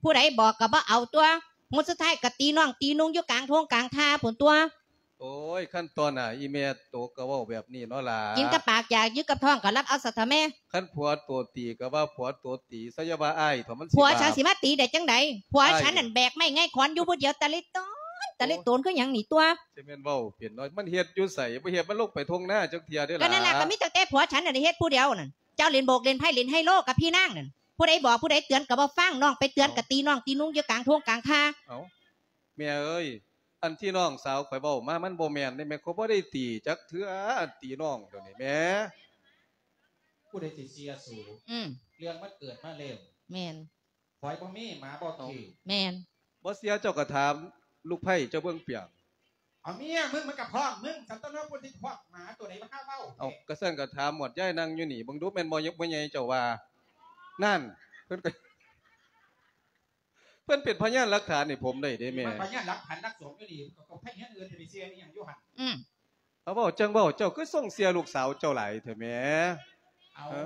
ຜູ້ໃດບອກກໍບໍ່ເອົາຕົວະ ມື້ສຸດທ້າຍກໍຕີນ້ອງຕີນຸ່ງຢູ່ກາງທົ່ງກາງທ່າພຸ້ນຕົວະ. ໂອ້ຍ ຄັນຕໍ່ໜ້າອີ່ແມ່ໂຕກໍເວົ້າແບບນີ້ເນາະຫຼ້າ ກິນກັບປາກຢາກຢູ່ກັບທ້ອງກໍລັບເອົາຊະເຖາະແມ່. ຄັນຜົວໂຕຕີກໍວ່າຜົວໂຕຕີຊະ ຢ່າວ່າອ້າຍເຖາະ ມັນຊິບາບ. ຜົວສັນຊິມາຕີໄດ້ຈັ່ງໃດ? ຜົວ ອ້າຍ ສັນນັ້ນແບກໄມ້ໄງຂອນຢູ່ຜູ້ດຽວ ຕາລິໂຕນ ຕາລິໂຕນຄືຫຍັງນີ້ຕົວະ. ຊິແມ່ນເວົ້າເປັນເນາະ ມັນເຮັດຢູ່ໃສ ບໍ່ເຫັນມັນລົງໄປທົ່ງນາຈັກເທື່ອເດ້ຫຼ້າ. ກໍນັ້ນລະ ກໍມີຕັ້ງແຕ່ຜົວສັນນັ້ນເຮັດຜູ້ດຽວນັ້ນ ເຈົ້າເລ່ນໂບກເລ່ນໄພ້ເລ່ນໄຮໂລກັບພີ່ນາງນັ້ນ ຜູ້ໃດບອກຜູ້ໃດເຕືອນກໍບໍ່ຟັງ ນ້ອງໄປເຕືອນກໍຕີນ້ອງຕີນຸ່ງຢູ່ກາງທົ່ງກາງທ່າ. ເອົ້າ ແມ່ເອີຍ ອັນທີ່ນ້ອງສາວຂ້ອຍເວົ້າມາມັນບໍ່ແມ່ນເດ້ແມ່ ຂ້ອຍບໍ່ໄດ້ຕີຈັກເທື່ອ ອັນຕີນ້ອງດຽວນີ້ແມ່. ຜູ້ໃດຊິເຊື່ອສູ? ອືມ ເລື່ອງມັນເກີດມາແລ້ວ. ແມ່ນ. ຂ້ອຍບໍ່ມີ ໝາບໍ່ເຄີຍ. ແມ່ນ. ບໍ່ເຊື່ອເຈົ້າກໍຖາມລູກໃພ້ເຈົ້າເບິ່ງປຽງ. ເອົາເມຍມຶງມັນກໍພ້ອມມຶງ ສັນຕະນະ ຜູ້ທີ່ພ້ອມໝາຕົວໃດມາຫາເວົ້າ. ເອົາ ກໍຊັ້ນກໍຖາມໝວດຍາຍນັ່ງຢູ່ນີ້ເບິ່ງດູ ແມ່ນບໍ່ ບໍ່ໃຫຍ່ເຈົ້າວ່າ. ນັ້ນ ເພິ່ນກໍ ເພິ່ນເປັນພະຍານຫຼັກຖານໃຫ້ຜົມໄດ້ເດ້ແມ່. ພະຍານຫຼັກຖານນັກສົງຢູ່ນີ້ ກໍ ກໍໃຜເຮັດອື່ນຈະໄປເຊື່ອອີ່ຫຍັງຢູ່ຫັ້ນ. ອືມ ເອົາ ເວົ້າຈັ່ງເວົ້າ ເຈົ້າຄືຊົງເຊື່ອລູກສາວເຈົ້າຫຼາຍແທ້ແມ່? ເອົາ ຮະ?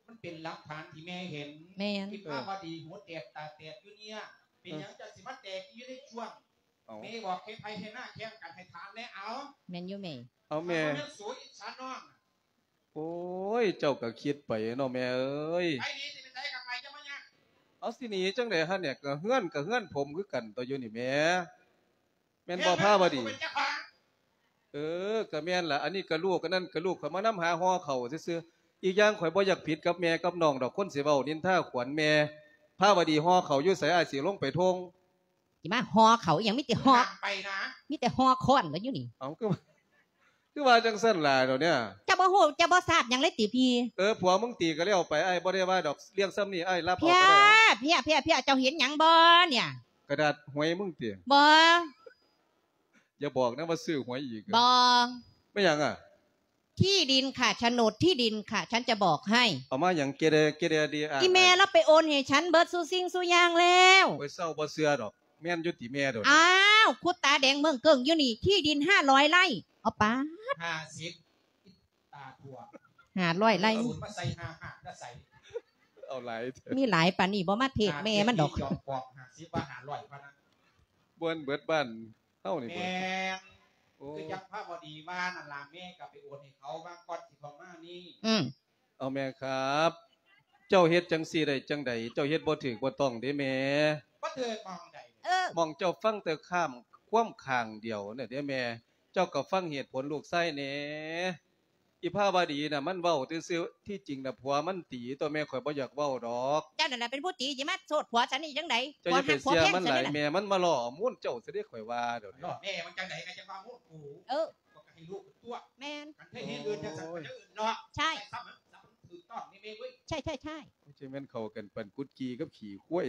ມັນເປັນຫຼັກຖານທີ່ແມ່ເຫັນ. ແມ່ນ. ທີ່ພາວະດີຫົວແຕກຕາແຕກຢູ່ເນ່ຍ ເປັນຫຍັງ ເອີ ຈັ່ງຊິມາແຕກຢູ່ໃນຊ່ວງ ເອົາ ແມ່ບອກເຮັດໄຮ່ເຮັດນາແຂ່ງກັນ ໃຫ້ຖາມແດ່ ເອົາ. ແມ່ນຢູ່ແມ່. ເອົາແມ່ ມັນບໍ່ແມ່ນສູອິດສານ້ອງ. ໂອ້ຍ ເຈົ້າກໍຄິດໄປເນາະແມ່ເອີຍ. ໄປໜີຊິໄປໃສກໍໄປ ຢ່າມາຍາກ. ເອົາ ຊິໜີຈັ່ງໃດຫັ້ນເນຍ ກໍເຮືອນ ກໍເຮືອນຜົມຄືກັນຕົວະຢູ່ນີ້ແມ່. ແມ່ນບໍ່ພາວະດີ? ເອີ ກໍແມ່ນລະ ອັນນີ້ກໍລູກ ອັນນັ້ນກໍລູກ ຂ້ອຍມານຳຫາຫໍ່ເຂົ້າຊື່ໆ. ອີກຢ່າງຂ້ອຍບໍ່ຢາກຜິດກັບແມ່ກັບນ້ອງດອກ ຄົນຊິເວົ້ານິນທາຂວັນແມ່. ພາວະດີຫໍ່ເຂົ້າຢູ່ໃສ ອ້າຍຊິລົງໄປທົ່ງ. ຊິມາຫໍ່ເຂົ້າອີ່ຫຍັງ ມີແຕ່ຫໍ່ ໄປນະ ມີແຕ່ຫໍ່ຄ້ອນລະຢູ່ນີ້. ເອົ້າ ຄື ຄືວ່າຈັ່ງຊັ້ນລະດຽວເນຍ. ເຈົ້າບໍ່ຮູ້ ເຈົ້າບໍ່ຊາບຫຍັງເລີຍຕິພີ່? ເອີ ຜົວມຶງຕີກໍແລ້ວໄປ ອ້າຍບໍ່ໄດ້ວ່າດອກ ເລື່ອງຊ່ຳນີ້ອ້າຍຮັບເອົາກໍໄດ້. ເພຍ ເພຍ ເພຍ ເຈົ້າເຫັນຫຍັງບໍ່ເນຍ? ກະດາດຫວຍມຶງຕິ? ບໍ່. ຢ່າບອກນະວ່າຊື້ຫວຍອີກ. ບໍ່. ແມ່ນຫຍັງອະ? ທີ່ດິນค่ะ โฉนดที่ดินค่ะ ฉันจะบอกให้. ເອົາມາຫຍັງ ເກເດ ເກເດດີອະ? ອີ່ແມ່ລາວໄປໂອນໃຫ້ສັນເບິດສູ່ສິ່ງສູ່ຢ່າງແລ້ວ. ໂອ້ຍ ເຊົາ ບໍ່ເຊື່ອດອກ. ແມ່ນຢູ່ຕິແມ່ໂດນ? ອ້າວ ຂຸດຕາແດງເມີ້ງເກິ່ງຢູ່ນີ້ ທີ່ດິນຫ້າຮ້ອຍໄຮ່ ເອົາປາດ ຫ້າສິບ ຕາທົ່ວ ຫ້າຮ້ອຍໄຮ່ ເອົາສູນມາໃສ່ ຫ້າຫ້າ ແລ້ວໃສ່ ເອົາຫຼາຍແທ້ ມີຫຼາຍປານນີ້ບໍ່ມາເທດແມ່ມັນດອກ ຈອມປອກ ຫ້າສິບ ວ່າ ຫ້າຮ້ອຍ ພະນະ ບໍ່ເບິດບ້ານເຮົານີ້. ແມ່ນ ໂອ້ ຄືຈັງພາວະດີວ່ານັ້ນລະ ແມ່ກໍໄປໂອນໃຫ້ເຂົາວາງກ່ອນຊິເຂົ້າມານີ້. ອືມ ເອົາແມ່ຄັບ ເຈົ້າເຮັດຈັ່ງຊີ້ໄດ້ຈັ່ງໃດ? ເຈົ້າເຮັດບໍ່ຖືກບໍ່ຕ້ອງເດ້ແມ່. ບໍ່ຖືກໝ່ອງໃດ? ເອີ ໝ່ອງເຈົ້າຟັງແຕ່ຂ້າມຄວາມຂ້າງດຽວນັ້ນເດ້ແມ່. ເຈົ້າກໍຟັງເຫດຜົນລູກຊາຍແດ່. ອີພາວະດີນະ ມັນເວົ້າຊື່ໆ ທີ່ຈິງນະ ຜົວມັນຕີຕົວະແມ່. ຂ້ອຍບໍ່ຢາກເວົ້າດອກ. ເຈົ້ານັ້ນລະເປັນຜູ້ຕີ ຊິມາໂທດຜົວສັນນີ້ຈັ່ງໃດ? ເຈົ້າຢ່າໄປເຊື່ອມັນຫຼາຍແມ່. ມັນມາລໍ້ມູນເຈົ້າຊະເດ້ ຂ້ອຍວ່າດຽວນີ້. ລໍ້ແມ່ມັນຈັ່ງໃດ ກໍຈັ່ງວ່າມູນກູ. ເອີ ກໍໃຫ້ລູກຕົວະ. ແມ່ນ. ຄັນເຄີຍເຮັດອື່ນຈັ່ງຊັ້ນກໍຈະອື່ນເນາະ. ໃຊ່. ໃສ່ຊ້ຳມັນ ຊ້ຳມັນຖືກຕ້ອງນີ້ແມ່ເວີຍ. ໃຊ່ໆໆ. ໂອ້ຍ ຈັ່ງແມ່ນເຂົ້າກັນປານກຸດກີ່ກັບຂີ້ຄວາຍ.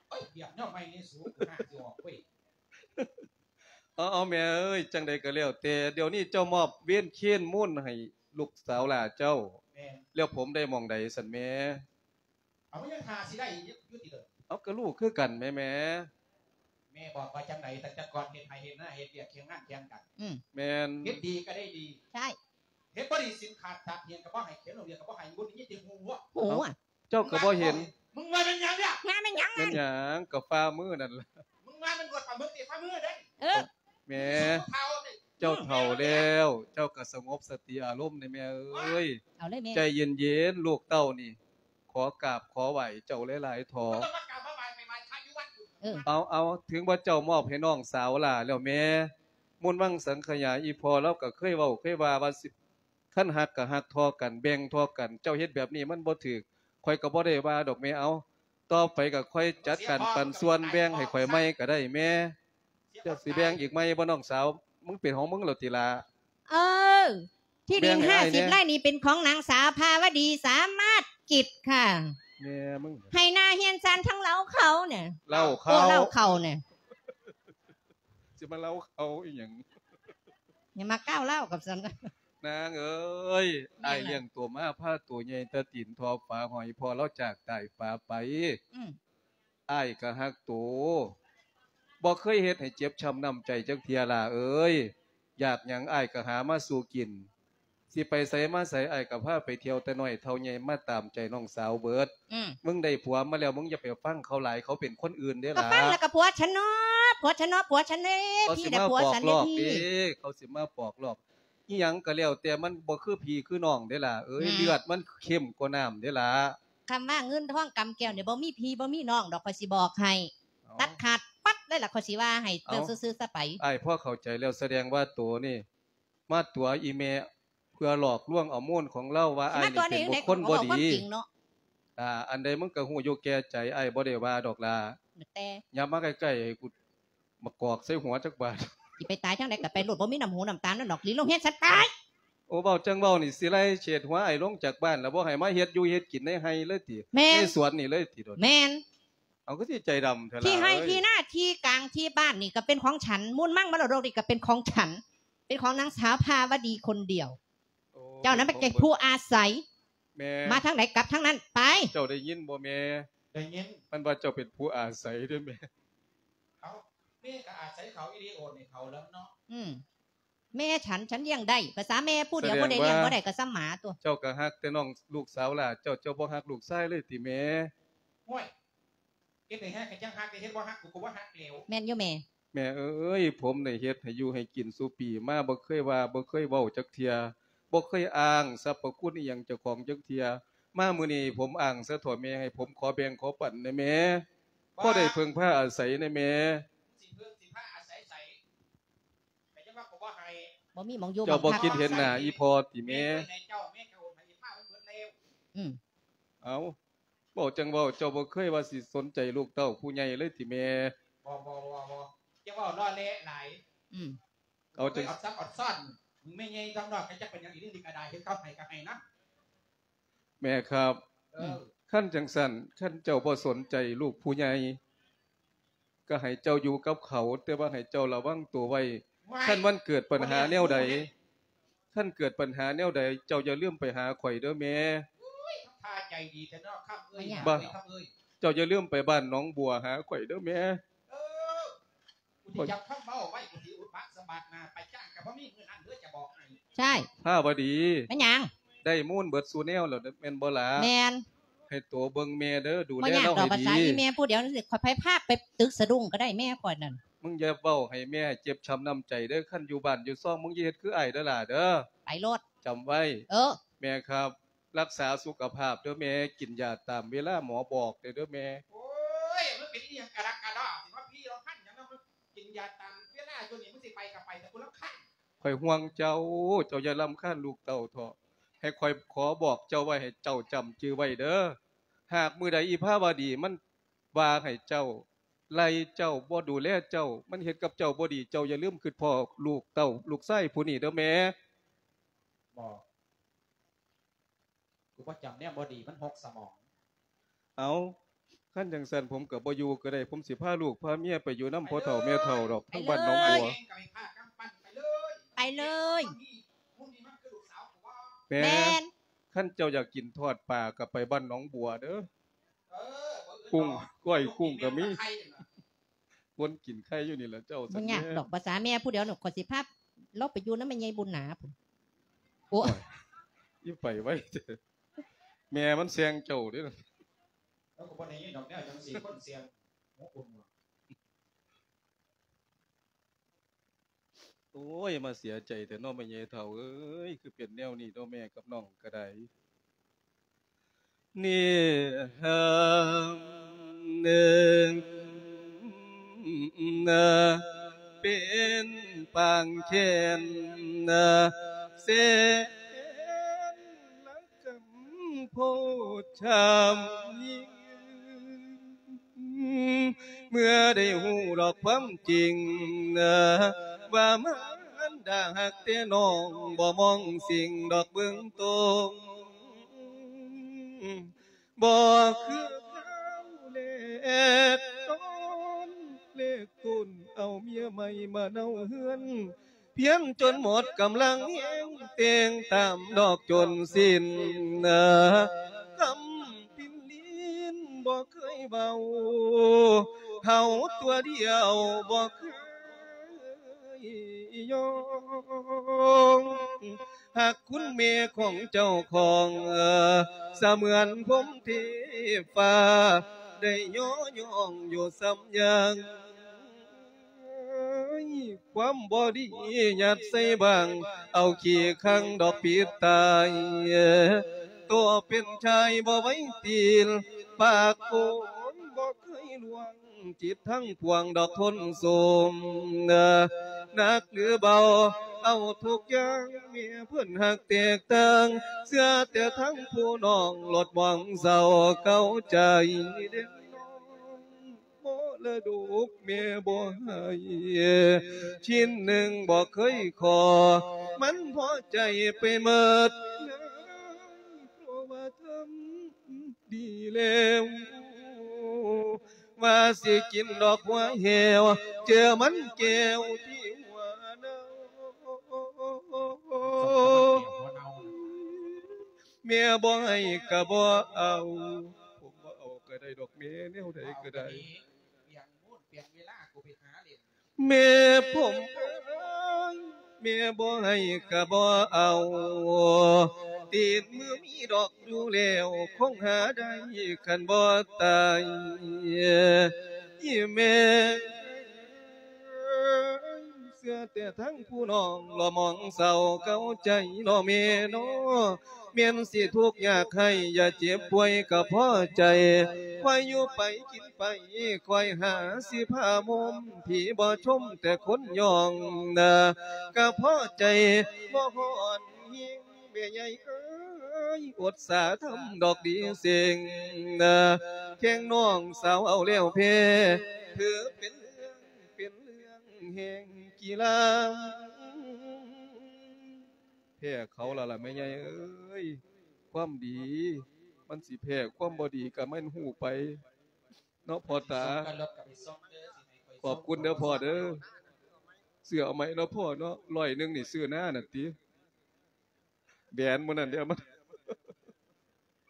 ໂອ້ຍ ບຽກແນວໃໝ່ນີ້ສູ ຫາຊິອອກເວີຍ. ເອົາໆ ແມ່ເອີຍ ຈັ່ງໃດກໍແລ້ວແຕ່ ດຽວນີ້ເຈົ້າມອບເວນເຄນມູນໃຫ້ລູກສາວຫຼ້າເຈົ້າ. ແມ່ນ. ແລ້ວຜົມໄດ້ໝ່ອງໃດຊັ້ນແມ່? ເອົາ ມັນຍັງຖ້າຊິໄດ້ຢູ່ຕິເດີ? ເອົາ ກໍລູກຄືກັນແໝ່. ແມ່ບອກວ່າຈັ່ງໃດ? ຕັ້ງແຕ່ກ່ອນເຮັດໄຮ່ເຮັດນາ ເຮັດວຽກຄຽງງານຄຽງກັນ. ອືມ ແມ່ນ. ເຮັດດີກໍໄດ້ດີ. ໃຊ່. ເຮັດບໍ່ດີ ສິນຂາດຕາດຫຽນກໍບໍ່ໃຫ້ ຂຽນໂຮງຮຽນກໍບໍ່ໃຫ້ ບໍ່ໄດ້ຍິນແຕ່ຫູ. ຫູ. ເອົ້າ ເຈົ້າກໍບໍ່ເຫັນ. ມຶງວ່າແມ່ນຫຍັງເນຍ? ຫາແມ່ນຫຍັງ? ແມ່ນຫຍັງ? ກໍຝ່າມືນັ້ນລະ. ມຶງວ່າມັນບວດປາໝຶກຕິ ຝ່າມືເດ້. ເອີ ແມ່ ເຈົ້າເຖົ້າແລ້ວ ເຈົ້າກໍສະຫງົບສະຕິອາລົມແດ່ແມ່ເອີຍ. ເອົາເລີຍແມ່ ໃຈເຢັນໆ ລູກເຕົ້ານີ້ ຂໍກາບຂໍໄຫວ້ເຈົ້າຫຼາຍໆເຖາະ. ບໍ່ຕ້ອງມາກາບມາໄຫວ້ ໄປໄຫວ້ພະຢູ່ວັດ. ເອີ ເອົາໆ ເຖິງວ່າເຈົ້າມອບໃຫ້ນ້ອງສາວຫຼ້າແລ້ວແມ່ ມູນວັງສັງຂະຫຍາ ອີ່ພໍ່ລາວກໍເຄີຍເວົ້າເຄີຍວ່າ ວ່າຊິ ຄັນຮັກກໍຮັກທໍ່ກັນ ແບ່ງທໍ່ກັນ ເຈົ້າເຮັດແບບນີ້ມັນບໍ່ຖືກ ຂ້ອຍກໍບໍ່ໄດ້ວ່າດອກແມ່. ເອົາ ຕໍ່ໄປກໍຄ່ອຍຈັດການປັນສ່ວນແບ່ງໃຫ້ຂ້ອຍໃໝ່ກໍໄດ້ແມ່. ເຈົ້າຊິແບ່ງອີກໃໝ່ບໍ່ນ້ອງສາວ? ມຶງເປັນຂອງມຶງແລ້ວຕິລະ? ເອີ ທີ່ດິນຫ້າສິບໄຮ່ນີ້ເປັນຂອງນາງສາວພາວະດີ ສາມາດກິດຄ່ະ. ແມ່ມຶງ ໄຮ່ນາເຮືອນຊານທັງເລົ້າເຂົານະ. ເລົ້າເຂົາ ເອີ ເລົ້າເຂົານະ. ຊິມາເລົ່າເຂົາອີ່ຫຍັງ? ຢ່າມາກ້າວເລົ່າກັບສັນ. ນາງເອີຍ ເອີຍ ອ້າຍລ້ຽງໂຕມາພາໂຕໃຫຍ່ ແຕ່ຕີນທໍ່ຝາຫອຍ ພໍ່ລາວຈາກຕາຍປາໄປ. ອືມ ອ້າຍກໍຮັກໂຕ ບໍ່ເຄີຍເຮັດໃຫ້ເຈັບຊ້ຳນ້ຳໃຈຈັກເທື່ອຫຼ້າເອີຍ. ຢາກຫຍັງ ອ້າຍກໍຫາມາສູ່ກິນ. ຊິໄປໃສມາໃສ ອ້າຍກໍພາໄປທ່ຽວແຕ່ນ້ອຍເທົ່າໃຫຍ່ ມາຕາມໃຈນ້ອງສາວເບິດ. ອືມ ມຶງໄດ້ຜົວມາແລ້ວ ມຶງຢ່າໄປຟັງເຂົາຫຼາຍ ເຂົາເປັນຄົນອື່ນເດ້ຫຼ້າ. ກໍຟັງແລ້ວກໍຜົວຊັ້ນເນາະ ຜົວຊັ້ນເນາະ ຜົວຊັ້ນເດ້ ເຂົາຊິມາປອກຫຼອກເດ້ ເຂົາຊິມາປອກຫຼອກ. ອີ່ຫຍັງກໍແລ້ວແຕ່ ມັນບໍ່ຄືພີ່ຄືນ້ອງເດ້ຫຼ້າເອີຍ. ອືມ ເລືອດມັນເຂັ້ມກວ່ານ້ຳເດ້ຫຼ້າ. ຄຳວ່າເງິນທອງກຳແກ້ວນີ້ ບໍ່ມີພີ່ບໍ່ມີນ້ອງດອກ ຂ້ອຍຊິບອກໃຫ້. ເອົ້າ ຕັດຂາດປັດເລີຍລະ ຂ້ອຍຊິວ່າໃຫ້ເຈົ້າ ເອົ້າ ຊື່ໆຊະໄປ. ອ້າຍພໍເຂົ້າໃຈແລ້ວ ສະແດງວ່າໂຕນີ້ມາຕົວະອີ່ແມ່ ເພື່ອຫຼອກລວງເອົາມູນຂອງລາວວ່າ ອ້າຍນີ້ເປັນບຸກຄົນບໍ່ດີ. ຊິມາຕົວະນີ້ຈັ່ງໃດ ກໍເວົ້າຄວາມຈິງເນາະ. ອ່າ ອັນໃດມຶງກໍຮູ້ຢູ່ແກ່ໃຈ ອ້າຍບໍ່ໄດ້ວ່າດອກຫຼ້າ. ແຕ່ ຢ່າມາໃກ້ໆ ໃຫ້ກູມາກອກໃສ່ຫົວຈັກບາດ. ຊິໄປຕາຍທາງໃດກໍໄປໂລດ ບໍ່ມີນ້ຳຫູນ້ຳຕານນັ້ນດອກ ຫຼີລົງເຮືອນຊັ້ນໄປ. ໂອ້ ເວົ້າຈັ່ງເວົ້ານີ້ ຊິໄລ່ເສດຫົວອ້າຍລົງຈາກບ້ານ ແລ້ວບໍ່ໃຫ້ມາເຮັດຢູ່ເຮັດກິນໃນໄຮ່ເລີຍຕິ? ແມ່ນ ໃນສວນນີ້ເລີຍຕິ? ໂດດ ແມ່ນ. ເອົາ ຄືຊິໃຈດຳແທ້ລະ ທີ່ໄຮ່ທີ່ນາທີ່ກາງທີ່ບ້ານນີ້ກໍເປັນຂອງສັນ ມູນມັງມະລະດົກນີ້ກໍເປັນຂອງສັນ ເປັນຂອງນາງສາວພາວະດີຄົນດຽວ. ໂອ້ ເຈົ້ານັ້ນມັນເປັນຜູ້ອາໄສ. ແມ່ ມາທາງໃດກັບທາງນັ້ນໄປ. ເຈົ້າໄດ້ຍິນບໍ່ແມ່? ໄດ້ຍິນ. ມັນວ່າເຈົ້າເປັນຜູ້ອາໄສເດີ້ແມ່. ເອົ້າ ແມ່ກໍອາໄສເຂົາອີ່ຫຼີ ໂອນໃຫ້ເຂົາແລ້ວເນາະ. ອືມ ແມ່ສັນ ສັນລ້ຽງໄດ້ ພາສາແມ່ຜູ້ດຽວ ສະແດງວ່າ ບໍ່ໄດ້ລ້ຽງບໍ່ໄດ້ກໍສ່ຳໝາຕົວະ. ເຈົ້າກໍຮັກແຕ່ນ້ອງລູກສາວຫຼ້າເຈົ້າ ເຈົ້າບໍ່ຮັກລູກຊາຍເລີຍຕິແມ່? ໂອ້ຍ ເຮັດໃຫ້ຮັກກໍຈັ່ງຮັກ ແຕ່ເຮັດບໍ່ຮັກ ກູກໍບໍ່ຮັກແລ້ວ. ແມ່ນຢູ່ແມ່. ແມ່ເອີຍ ຜົມໄດ້ເຮັດໃຫ້ຢູ່ໃຫ້ກິນສູ່ປີມາ ບໍ່ເຄີຍວ່າ ບໍ່ເຄີຍເວົ້າຈັກເທື່ອ ບໍ່ເຄີຍອ້າງສັບພະຄຸນອີ່ຫຍັງເຈົ້າຂອງຈັກເທື່ອ. ມາມື້ນີ້ຜົມອ້າງຊະເຖາະແມ່ ໃຫ້ຜົມຂໍແບ່ງຂໍປັນແດ່ແມ່. ບໍ່ ພໍໄດ້ເພິ່ງພາອາໄສແດ່ແມ່. ຊິເພິ່ງຊິພາອາໄສໃສ? ກໍຍັງວ່າກໍບໍ່ໃຫ້. ບໍ່ມີໝ່ອງຢູ່ ເຈົ້າບໍ່ຄິດເຫັນໜ້າອີ່ພໍ່ຕິແມ່? ແມ່ເອົາໃຫ້ເຈົ້າ ແມ່ກໍໂອນໃຫ້ອີ່ພາມັນເບິດແລ້ວ. ອືມ ເອົ້າ ເວົ້າຈັ່ງເວົ້າ ເຈົ້າບໍ່ເຄີຍວ່າຊິສົນໃຈລູກເຕົ້າຜູ້ໃຫຍ່ເລີຍຕິແມ່? ບໍ່ ບໍ່ ບໍ່ ບໍ່ ຢ່າເວົ້າຫຼໍ່ແຫຼຫຼາຍ. ອືມ ເອົາ ເອົາຈັ່ງ ເອົາຊັບເອົາຊ້ອນ ແມ່ໃຫຍ່ທາງນອກກໍຈັກເປັນຫຍັງອີ່ຫຼີນີ້ກໍໄດ້ ເຫັນເຂົາໃຫ້ກໍໃຫ້ນຳ. ແມ່ຄັບ ເອີ ຄັນຈັ່ງຊັ້ນ ຄັນເຈົ້າບໍ່ສົນໃຈລູກຜູ້ໃຫຍ່ ກໍໃຫ້ເຈົ້າຢູ່ກັບເຂົາ ແຕ່ວ່າໃຫ້ເຈົ້າລະວັງໂຕໄວ້. ວ້າຍ ຄັນມັນເກີດປັນຫາແນວໃດ ບໍ່ແມ່ນ ຄັນເກີດປັນຫາແນວໃດ ເຈົ້າຢ່າລືມໄປຫາຂ້ອຍເດີ້ແມ່. ໂອ້ຍ ທຳທ່າໃຈດີແທ້ເນາະ ຄຳເອີຍ ເອີຍ ຄຳເອີຍ ເຈົ້າຢ່າລືມໄປບ້ານໜອງບົວຫາຂ້ອຍເດີ້ແມ່. ເອີ ກູຊິຈັບຄຳເວົ້າໄວ້ ກູຊິອຸດປາກສະບາດໜ້າ ໄປຈ້າງກໍບໍ່ມີມື້ນັ້ນເດີ ຈະບອກໃຫ້. ໃຊ່ ພາວະດີ ແມ່ນຫຍັງ? ໄດ້ມູນເບິດສູ່ແນວແລ້ວແມ່ນບໍ່ຫຼ້າ? ແມ່ນ. ໃຫ້ໂຕເບິ່ງແມ່ເດີ ດູແລເຮົາໃຫ້ດີ. ບໍ່ຍາກດອກ ພາສາອີ່ແມ່ຜູ້ດຽວນີ້ ຂ້ອຍໄປພາໄປຕຶກສະດຸ້ງກໍໄດ້ແມ່ຂ້ອຍນັ້ນ. ມຶງຢ່າເວົ້າໃຫ້ແມ່ເຈັບຊ້ຳນ້ຳໃຈເດີ ຄັນຢູ່ບ້ານຢູ່ຊ່ອງ ມຶງຢ່າເຮັດຄືອ້າຍເດີຫຼ້າເດີ. ໄປໂລດ ຈຳໄວ້. ເອີ ແມ່ຄັບ ລັກສາສຸຂະພາບເດີແມ່ ກິນຢາຕາມເວລາໝໍບອກເດີແມ່. ໂອ້ຍ ມຶງເປັນອີ່ຫຍັງກະດັກກະດໍ້ ຊິມາພີລຳພັນຫຍັງນະ ມຶງກິນຢາຕາມເວລາຢູ່ນີ້ ມຶງຊິໄປກໍໄປ ແຕ່ກູລຳຄານ. ຂ້ອຍຫ່ວງເຈົ້າ ເຈົ້າຢ່າລຳຄານລູກເຕົ້າເຖາະ. ໃຫ້ຂ້ອຍຂໍບອກເຈົ້າໄວ້ ໃຫ້ເຈົ້າຈຳຈື່ໄວ້ເດີ. ຫາກມື້ໃດອີພາວະດີມັນວ່າໃຫ້ເຈົ້າ ໄລ່ເຈົ້າ ບໍ່ດູແລເຈົ້າ ມັນເຮັດກັບເຈົ້າບໍ່ດີ ເຈົ້າຢ່າລືມຄຶດພໍ້ລູກເຕົ້າ ລູກຊາຍຜູ້ນີ້ເດີແມ່. ບໍ່ ກູບໍ່ຈຳແນວບໍ່ດີ ມັນຫົກສະໝອງ. ເອົ້າ ຄັນຈັ່ງຊັ້ນ ຜົມກໍບໍ່ຢູ່ກໍໄດ້ ຜົມຊິພາລູກພາເມຍໄປຢູ່ນຳພໍ່ເຖົ້າແມ່ເຖົ້າດອກ ທາງບ້ານໜອງບົວ. ໄປເລີຍ ໄປເລີຍ. ແມ່ ແມ່ນ. ຄັນເຈົ້າຢາກກິນທອດປາກໍໄປບ້ານໜອງບົວເດີ. ເອີ ເບິ່ງ ກຸ້ງ ກ້ອຍກຸ້ງກໍມີ ຄົນກິນໄຂ່ຢູ່ນີ້ລະເຈົ້າ. ບໍ່ຍາກດອກ ພາສາແມ່ຜູ້ດຽວນີ້ ຂ້ອຍຊິພາລາວໄປຢູ່ນຳແມ່ໃຫຍ່ບຸນໜາພຸ້ນ. ໂອ້ຍ ອີໄປໄວແທ້ ແມ່ມັນແຊງເຈົ້າເດ້. ລາວກໍບໍ່ໄດ້ຍິນດອກແນວຈັ່ງຊີ້ ຄົນແຊງຫົວກຸ້ງ. ໂອ້ຍ ມາເສຍໃຈແທ້ເນາະແມ່ໃຫຍ່ເຖົ້າເອີຍ ຄືເປັນແນວນີ້ເນາະ ແມ່ກັບນ້ອງກໍໄດ້. ນີ້ເຮີ ເປັນປາງແຄ້ນ ແສນ ກຳໂພດຊ້ຳຍິ່ງ ເມື່ອໄດ້ຮູ້ດອກຄວາມຈິງ ວ່າມານດາຮັກແຕ່ນ້ອງ ບໍ່ມອງສິ່ງດອກເບື້ອງຕົ້ນ ບໍ່ຄືຄາວແລກຕອນ ແລກຕົ້ນເອົາເມຍໃໝ່ມາເນົາເຮືອນ ພຽນຈົນໝົດກຳລັງແຮງ ແຕ່ງຕາມດອກຈົນສິ້ນ ຄຳປິ່ນລີນບໍ່ເຄີຍເວົ້າ ເຮົາຕົວດຽວບໍ່ເຄີຍ ຍ້ອງ ຮັກຄຸນແມ່ຂອງເຈົ້າຂອງ ສະເໝືອນພົມເທບຟ້າ ໄດ້ຍໍຍ້ອງຢູ່ສ່ຳຍັງ. ຄວາມບໍ່ດີຍັດໃສ່ບັງ ເອົາຂີ້ຂັງດອກປິດຕາຍ ໂຕເປັນຊາຍບໍ່ໄຫວຕີນ ປາກໂກນບໍ່ເຄີຍລວງ ຈິດທັງພວງດອກທົນໂຊມ ໜັກຫຼືເບົາ ເອົາທຸກຢ່າງ ແມ່ເພິ່ນຮັກແຕກຕ່າງ ເຊື່ອແຕ່ທັງຜູ້ນ້ອງ ໂລດມອງເສົ້າເກົາໃຈ ເດັ່ນນ້ອງ ມໍລະດົກແມ່ບໍ່ໃຫ້ ຊິ້ນໜຶ່ງບໍ່ເຄີຍຂໍ ມັນພໍໃຈໄປໝົດ ເພາະວ່າທຳ ດີແລ້ວ ວ່າຊິກິນດອກຫົວແຫ້ວ ເຈີມັນແກ້ວທີ່ຫົວເນົ່າ ແມ່ບໍ່ໃຫ້ກະບໍ່ເອົາ ຜົມບໍ່ເອົາກະໄດ້ດອກແມ່ ແນວໃດກະໄດ້ ແມ່ຜົມເອີຍ ແມ່ບໍ່ໃຫ້ກະບໍ່ເອົາ ຕີນມືມີດອກຢູ່ແລ້ວ ຄົງຫາໄດ້ຄັນບໍ່ຕາຍ ອີ່ແມ່ເອີຍ ເຊື່ອແຕ່ທັງຜູ້ນ້ອງ ລະມອງເສົ້າເກົາໃຈເນາະແມ່ເນາະ ແມ່ນຊິທຸກຍາກໄຮ້ ຢ່າເຈັບປ່ວຍກະພໍໃຈ ຄອຍຢູ່ໄປກິນໄປ ຄອຍຫາຊິພາມົມ ຜີບໍ່ຊົມແຕ່ຄົນຍ້ອງນາ ກະພໍໃຈບໍ່ຮ້ອນຫິງ ແມ່ໃຫຍ່ເອີຍ ອົດສາທຳດອກດີເສັງນາ ແຂ່ງນ້ອງສາວເອົາແລ້ວແພ້ ຖືເປັນເລື່ອງ ເປັນເລື່ອງແຫ່ງກິລາ ແພ້ເຂົາລະລະແມ່ໃຫຍ່ເອີຍ ຄວາມດີມັນຊິແພ້ ຄວາມບໍ່ດີກະແມ່ນຮູ້ໄປເນາະພໍ່ຕາ ຂອບຄຸນເດີພໍ່ເດີ ຊື້ເອົາໃໝ່ເນາະພໍ່ເນາະ ຮ້ອຍໜຶ່ງນີ້ຊື້ນານັ້ນຕິ ແບນມື້ນັ້ນເດ້ ເອົາມາ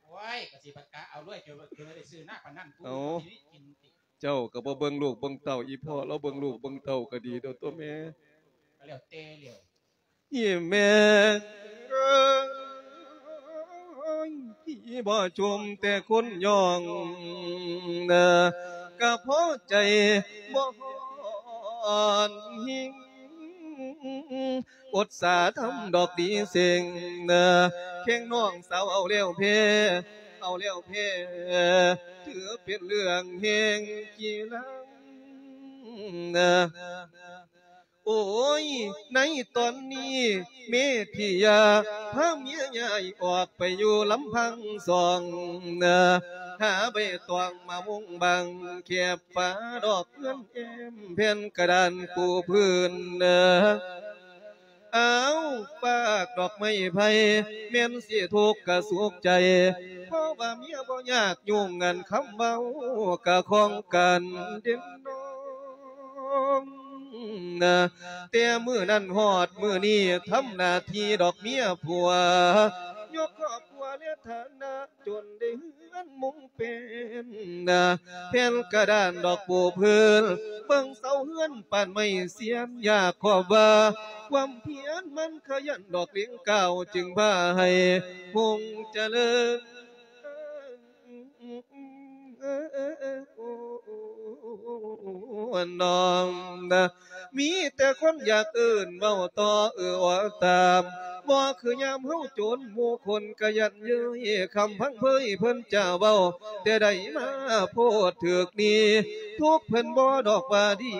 ໂອ້ຍ ກະຊິປະກາດເອົາລວຍ ເຈົ້າ ເຈົ້າໄດ້ຊື້ນາປານນັ້ນ ເອົາ ເຈົ້າກະບໍ່ເບິ່ງລູກເບິ່ງເຕົ້າ ອີ່ພໍ່ລາວເບິ່ງລູກເບິ່ງເຕົ້າກະດີໂດດຕົວະແມ່ ກະແລ້ວແຕ່ແລ້ວ ອີ່ແມ່ເອີຍ ຜີບໍ່ຊົມແຕ່ຄົນຍ້ອງນາ ກະພໍໃຈບໍ່ຮ້ອນຫິງ ອົດສາທຳດອກດີເສັງນາ ແຂ່ງນ້ອງສາວເອົາແລ້ວແພ້ ເອົາແລ້ວແພ້ ຖືເປັນເລື່ອງແຫ່ງກິລາ ໂອ້ຍ ໃນຕອນນີ້ເມທິຍາ ພາເມຍຍ້າຍອອກໄປຢູ່ລຳພັງສອງນາ ຫາໃບຕອງມາມຸງບັງ ແຄບຝາດອກເຮືອນແອ້ມ ແຜ່ນກະດານປູພື້ນນາ ອ້າວ ຟາກດອກໄມ້ໄຜ່ ແມ່ນຊິທຸກກະສຸກໃຈ ເພາະວ່າເມຍບໍ່ຍາກ ຫຍຸ້ງອັນຄຳເວົ້າກະຂອງກັນເດັ່ນນ້ອງນາ ແຕ່ມື້ນັ້ນຮອດມື້ນີ້ ທຳໜ້າທີ່ດອກເມຍຜົວ ຍົກຄອບຄົວແລະຖານະ ຈົນໄດ້ເຮືອນມຸງເປັນນາ ແຜ່ນກະດານດອກປູພື້ນ ເບິ່ງເສົາເຮືອນປານໄມ້ຊຽນ ຢາກຂອບວ່າ ຄວາມພຽນມັນຂະຫຍັນດອກເລັງກ້າວ ຈຶ່ງພາໃຫ້ຮຸ່ງຈະເລີນ ນ້ອງນາ ມີແຕ່ຄົນຢາກເອີ້ນເວົ້າຕໍ່ເອື້ອວ່າຕາມ ບໍ່ຄືຍາມເຮົາຈົນ ໝູ່ຄົນກະຢັນເຍີ້ຍ ຄຳພັງເຜີຍເພິ່ນຈະເວົ້າ ແຕ່ໃດມາໂພດຖືກດີ ທຸກເພິ່ນບໍ່ດອກວ່າດີ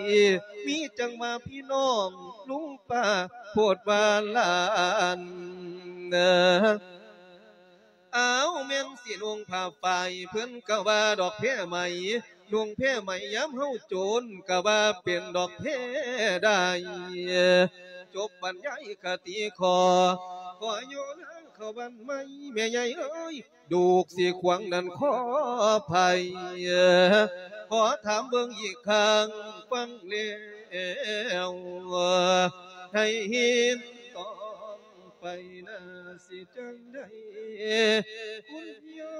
ມີຈັ່ງວ່າພີ່ນ້ອງລຸງປ້າໂພດວ່າຫຼານ ອ້າວ ແມ່ນຊິນຸ່ງຜ້າຝ້າຍ ເພິ່ນກະວ່າດອກແພໄໝ ນຸ່ງແພໄໝຍາມເຮົາໂຈນ ກະວ່າເປັນດອກແພໄດ້ ຈົບບັນຍາຍຄະຕິຂໍ ຂໍໂຍນາງເຂົ້າບ້ານໃໝ່ ແມ່ໃຫຍ່ເອີຍ ລູກຊິຂວາງນັ້ນຂໍໄພ ຂໍຖາມເບິ່ງອີກຄັ້ງ ຟັງແລ້ວໃຫ້ເຫັນຕ້ອງ ໄປນາຊິຈັ່ງໃດ ຄຸນຍາ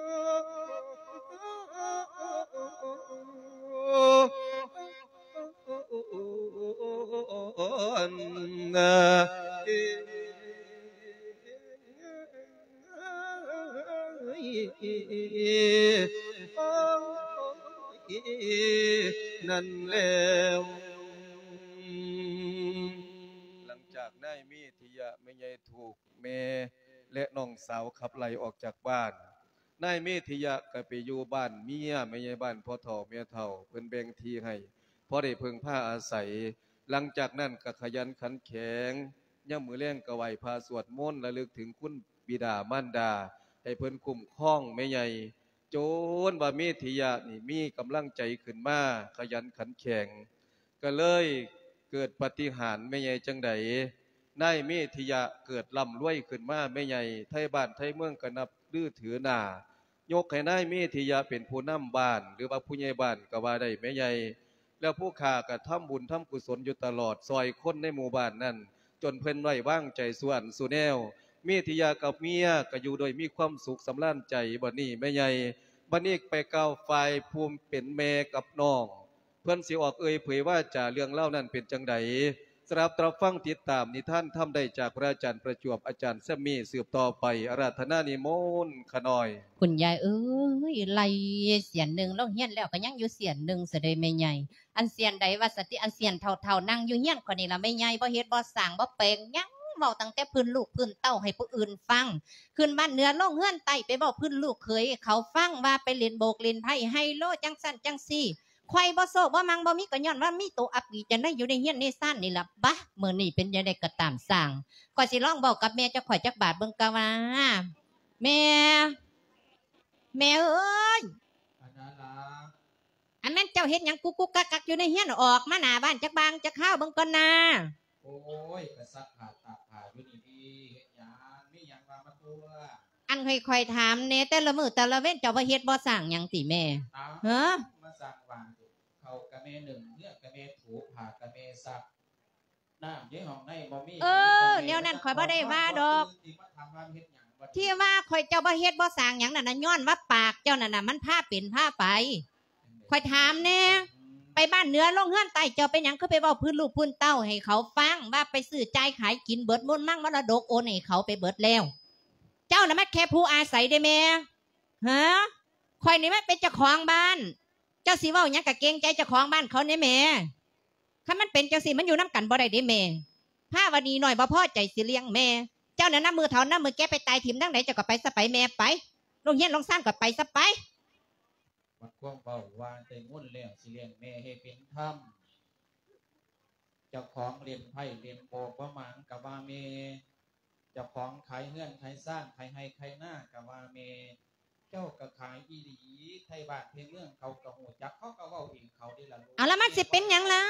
ຍ ນັ້ນແລ້ວ. ຫຼັງຈາກນາຍເມທິຍະ ແມ່ໃຫຍ່ຖືກແມ່ ແລະ ນ້ອງສາວຂັບໄລ່ອອກຈາກບ້ານ, ນາຍເມທິຍະກໍໄປຢູ່ບ້ານເມຍ ແມ່ໃຫຍ່ບ້ານ ພໍ່ເຖົ້າແມ່ເຖົ້າ ເພິ່ນແບ່ງທີ່ໃຫ້ພໍໄດ້ເພິ່ງພາອາໄສ. ຫຼັງຈາກນັ້ນກໍຂະຫຍັນຂັນແຂງ, ຍາມມື້ແລງກໍໄຫວ້ພະສວດມົນ ລະລຶກເຖິງຄຸນບິດາມານດາ ໃຫ້ເພິ່ນຄຸ້ມຄອງແມ່ໃຫຍ່, ຈົນວ່າເມທິຍະນີ້ມີກຳລັງໃຈຂຶ້ນມາ, ຂະຫຍັນຂັນແຂງ. ກໍເລີຍເກີດປາຕິຫານແມ່ໃຫຍ່ຈັ່ງໃດ, ນາຍເມທິຍະເກີດລ່ຳລວຍຂຶ້ນມາແມ່ໃຫຍ່, ໄທບ້ານໄທເມືອງກໍນັບຖືຖືໜ້າ, ຍົກໃຫ້ນາຍເມທິຍະເປັນຜູ້ນຳບ້ານ ຫຼືວ່າຜູ້ໃຫຍ່ບ້ານກໍວ່າໄດ້ແມ່ໃຫຍ່. ແລ້ວຜູ້ຂ້າກໍທຳບຸນທຳກຸສົນຢູ່ຕະຫຼອດ, ຊ່ອຍຄົນໃນໝູ່ບ້ານນັ້ນ ຈົນເພິ່ນໄວ້ວາງໃຈສູ່ອັນສູ່ແນວ. ເມທິຍະກັບເມຍກໍຢູ່ໂດຍມີຄວາມສຸກສຳລານໃຈ. ບັດນີ້ແມ່ໃຫຍ່ ບັດນີ້ໄປກ່າວຝ່າຍຜູ້ເປັນແມ່ກັບນ້ອງ ເພິ່ນຊິອອກເອີ່ຍເຜີຍວາຈາເລື່ອງລາວນັ້ນເປັນຈັ່ງໃດ? ສະດັບຕາຟັງຕິດຕາມນິທານທຳໄດ້ຈາກພະອາຈານປະຈວບ ອາຈານແຊມມີ ສືບຕໍ່ໄປ. ອາລາທະນານິມົນຂະນ້ອຍ. ຄຸນຍາຍເອີຍ ໄລ່ເສຍນໜຶ່ງ ລົງຮຽນແລ້ວກໍຍັງຢູ່ເສຍນໜຶ່ງຊະເດແມ່ໃຫຍ່. ອັນເສຍນໃດວ່າຊັ້ນຕິ? ອັນເສຍນເຖົ້າໆ ນັ່ງຢູ່ຮຽນຂ້ອຍນີ້ລະແມ່ໃຫຍ່, ບໍ່ເຮັດບໍ່ສ້າງ ບໍ່ແປງຫຍັງ, ເວົ້າຕັ້ງແຕ່ພື້ນລູກພື້ນເຕົ້າໃຫ້ຜູ້ອື່ນຟັງ. ຂຶ້ນບ້ານເໜືອລົງເຮືອນໃຕ້ ໄປເວົ້າພື້ນລູກເຂີຍໃຫ້ເຂົາຟັງ ວ່າໄປຫຼິ້ນໂບກຫຼິ້ນໄພ້ໄຮໂລ ຈັ່ງຊັ້ນຈັ່ງຊີ້. ຂ້ອຍບໍ່ໂຊກບໍ່ໝັ່ງບໍ່ມີ ກໍຍ້ອນວ່າມີໂຕອັບປີຈັນໄດຢູ່ໃນເຮືອນໃນຊານນີ້ລະ. ບາ ມື້ນີ້ເປັນຈັ່ງໃດກໍຕາມຊ່າງ, ຂ້ອຍຊິລອງເວົ້າກັບແມ່ເຈົ້າຂ້ອຍຈັກບາດເບິ່ງກະວ່າ. ແມ່ ແມ່ເອີຍ ອັນນັ້ນລະ ອັນແມ່ນເຈົ້າເຮັດຫຍັງກຸກກຸກກັກກັກຢູ່ໃນເຮືອນ? ອອກມາໜ້າບ້ານຈັກບາງຈັກຄາວເບິ່ງກ່ອນນາ. ໂອ້ຍ ກະຊັກຜ້າຕາກຜ້າຢູ່ນີ້ເດ. ເຮັດຫຍັງ? ມີຫຍັງວ່າມາຕົວະ. ອັນຂ້ອຍ ຂ້ອຍຖາມແດ່, ແຕ່ລະມື້ແຕ່ລະເວັນເຈົ້າບໍ່ເຮັດບໍ່ສ້າງຫຍັງຕິແມ່? ອ້າວ ເອີ ມາສ້າງວ່າງຕິ. ເຂົ້າກະແມ່ໜຶ້ງ, ເຮືອນກະແມ່ຖູ, ຜ້າກະແມ່ຊັກ, ນ້ຳຢູ່ຫ້ອງໃນບໍ່ມີ. ເອີ ແນວນັ້ນຂ້ອຍບໍ່ໄດ້ວ່າດອກ. ທີ່ມາຖາມວ່າເຮັດຫຍັງ? ທີ່ວ່າຂ້ອຍເຈົ້າບໍ່ເຮັດບໍ່ສ້າງຫຍັງນັ້ນນະ ຍ້ອນວ່າປາກເຈົ້ານັ້ນນະ ມັນພາເປັນພາໄປ. ຂ້ອຍຖາມແດ່, ໄປບ້ານເໜືອລົງເຮືອນໃຕ້ ເຈົ້າເປັນຫຍັງຄືໄປເວົ້າພື້ນລູກພື້ນເຕົ້າໃຫ້ເຂົາຟັງ ວ່າໄປຊື້ຈ່າຍຂາຍກິນເບິດມູນມັງ ມໍລະດົກໂອນໃຫ້ເຂົາໄປເບິດແລ້ວ? ເຈົ້ານະມັນແຄ່ຜູ້ອາໄສເດ້ແມ່. ຮະ? ຂ້ອຍນີ້ມັນເປັນເຈົ້າຂອງບ້ານ, ເຈົ້າຊິເວົ້າຫຍັງກະເກງໃຈເຈົ້າຂອງບ້ານເຂົາແດ່ແມ່. ຄັນມັນເປັນຈັ່ງຊີ້ ມັນຢູ່ນຳກັນບໍ່ໄດ້ເດ້ແມ່. ພາວະດີນ້ອຍບໍ່ພໍໃຈຊິລ້ຽງແມ່. ເຈົ້ານັ້ນນະ ມື້ເຖົ້ານຳມື້ແກ່ໄປຕາຍຖິ້ມທາງໃດ ເຈົ້າກໍໄປຊະໄປແມ່ ໄປ. ໂລງຮຽນໂລງຊານກໍໄປຊະໄປ. ບັດຄວາມເວົ້າວ່າໄດ້ເງິນແລ້ວ ຊິລ້ຽງແມ່ໃຫ້ເປັນທຳ. ເຈົ້າຂອງຫຼິ້ນໄພ້ຫຼິ້ນໂບກບໍ່ໝາງກະວ່າແມ່, ເຈົ້າຂອງຂາຍເຮືອນຂາຍຊານ ຂາຍໄຮ່ຂາຍນາກະວ່າແມ່. ເຈົ້າກະຂາຍອີ່ຫຼີ, ໄທບ້ານໄທເມືອງເຂົາກະຮູ້ຈັກ, ເຂົາກະເວົ້າເອງເຂົາເດ້ລະລູກ. ເອົາລະ ມັນຊິເປັນຫຍັງລະ?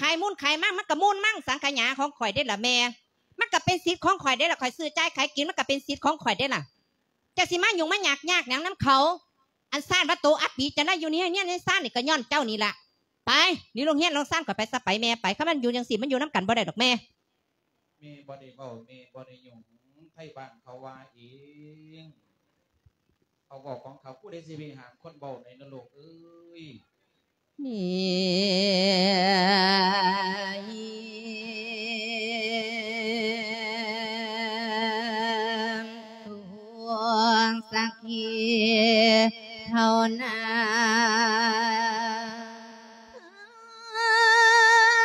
ຂາຍມູນຂາຍມັງ ມັນກະມູນມັງສັງຂະຫຍາຂອງຂ້ອຍເດ້ລະແມ່. ມັນກະເປັນສິດຂອງຂ້ອຍເດ້ລະ, ຂ້ອຍຊື້ຈ່າຍຂາຍກິນ ມັນກະເປັນສິດຂອງຂ້ອຍເດ້ລະ. ເຈົ້າຊິມາຫຍຸ້ງມາຍາກຍາກຫຍັງນຳເຂົາ? ອັນຊານວ່າໂຕອັບປີຈັນໄດຢູ່ໃນເຮືອນໃນຊານນີ້ ກໍຍ້ອນເຈົ້ານີ້ລະ. ໄປ ນີ້ໂລງຮຽນໂລງຊານຂ້ອຍໄປຊະໄປແມ່ໄປ. ຄັນມັນຢູ່ຈັ່ງຊີ້ ມັນຢູ່ນຳກັນບໍ່ໄດ້ດອກແມ່. ແມ່ບໍ່ໄດ້ເວົ້າ ແມ່ບໍ່ໄດ້ຫຍຸ້ງ. ໄທບ້ານເຂົາວ່າເອງ. ເຂົາເວົ້າຂອງເຂົາ, ຜູ້ໃດຊິໄປຫ້າມຄົນເວົ້າໄດ້ນະລູກເອີຍ. ນີ້ ພວກສັກຂີເທົ່ານັ້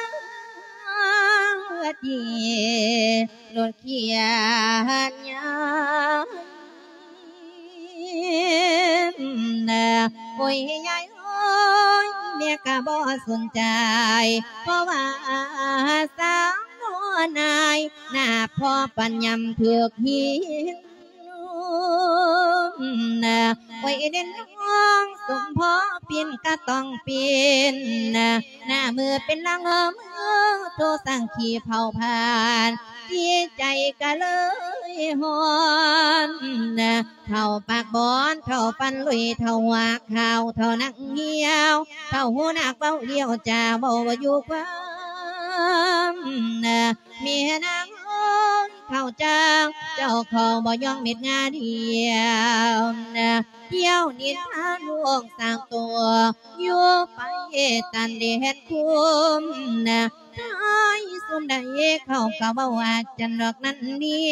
ນ ທີ່ລົດຂຽນຍາມນາ. ໂອ້ຍ ຍາຍເອີຍ ແມ່ກະບໍ່ສົນໃຈ ເພາະວ່າສາວນ້ອຍໜ້າພໍປັນຍາມຖືກຫີນ. ໂອ້ຍ ເດັ່ນນ້ອງສົມພໍປິ່ນກະຕ້ອງປິ່ນ ໜ້າມືເປັນຫຼັງເອີ ໂທສັງຂີເຜົາຜານ ຈິດໃຈກະເລີຍຮ້ອນ. ເຖົ້າປາກບອນ ເຖົ້າຟັນລຸຍ ເຖົ້າຫົວຂາວ ເຖົ້າໜັງຫ່ຽວ ເຖົ້າຫູໜາກເວົ້າລ້ຽວຈາ ເວົ້າບໍ່ຢູ່ຄວາມ. ແມ່ນາງເອີຍ ເຖົ້າຈາງ ເຈົ້າເຂົ້າບໍ່ຍອງເມັດງາດຽວ ທ່ຽວນິນທາລູກສາວຕົວ ຢູ່ໄປຕັນແດນຄຸ້ມ ທ້າຍ ຊຸມໃດເຂົາກໍເວົ້າວ່າຈັ່ງດອກນັ້ນນີ້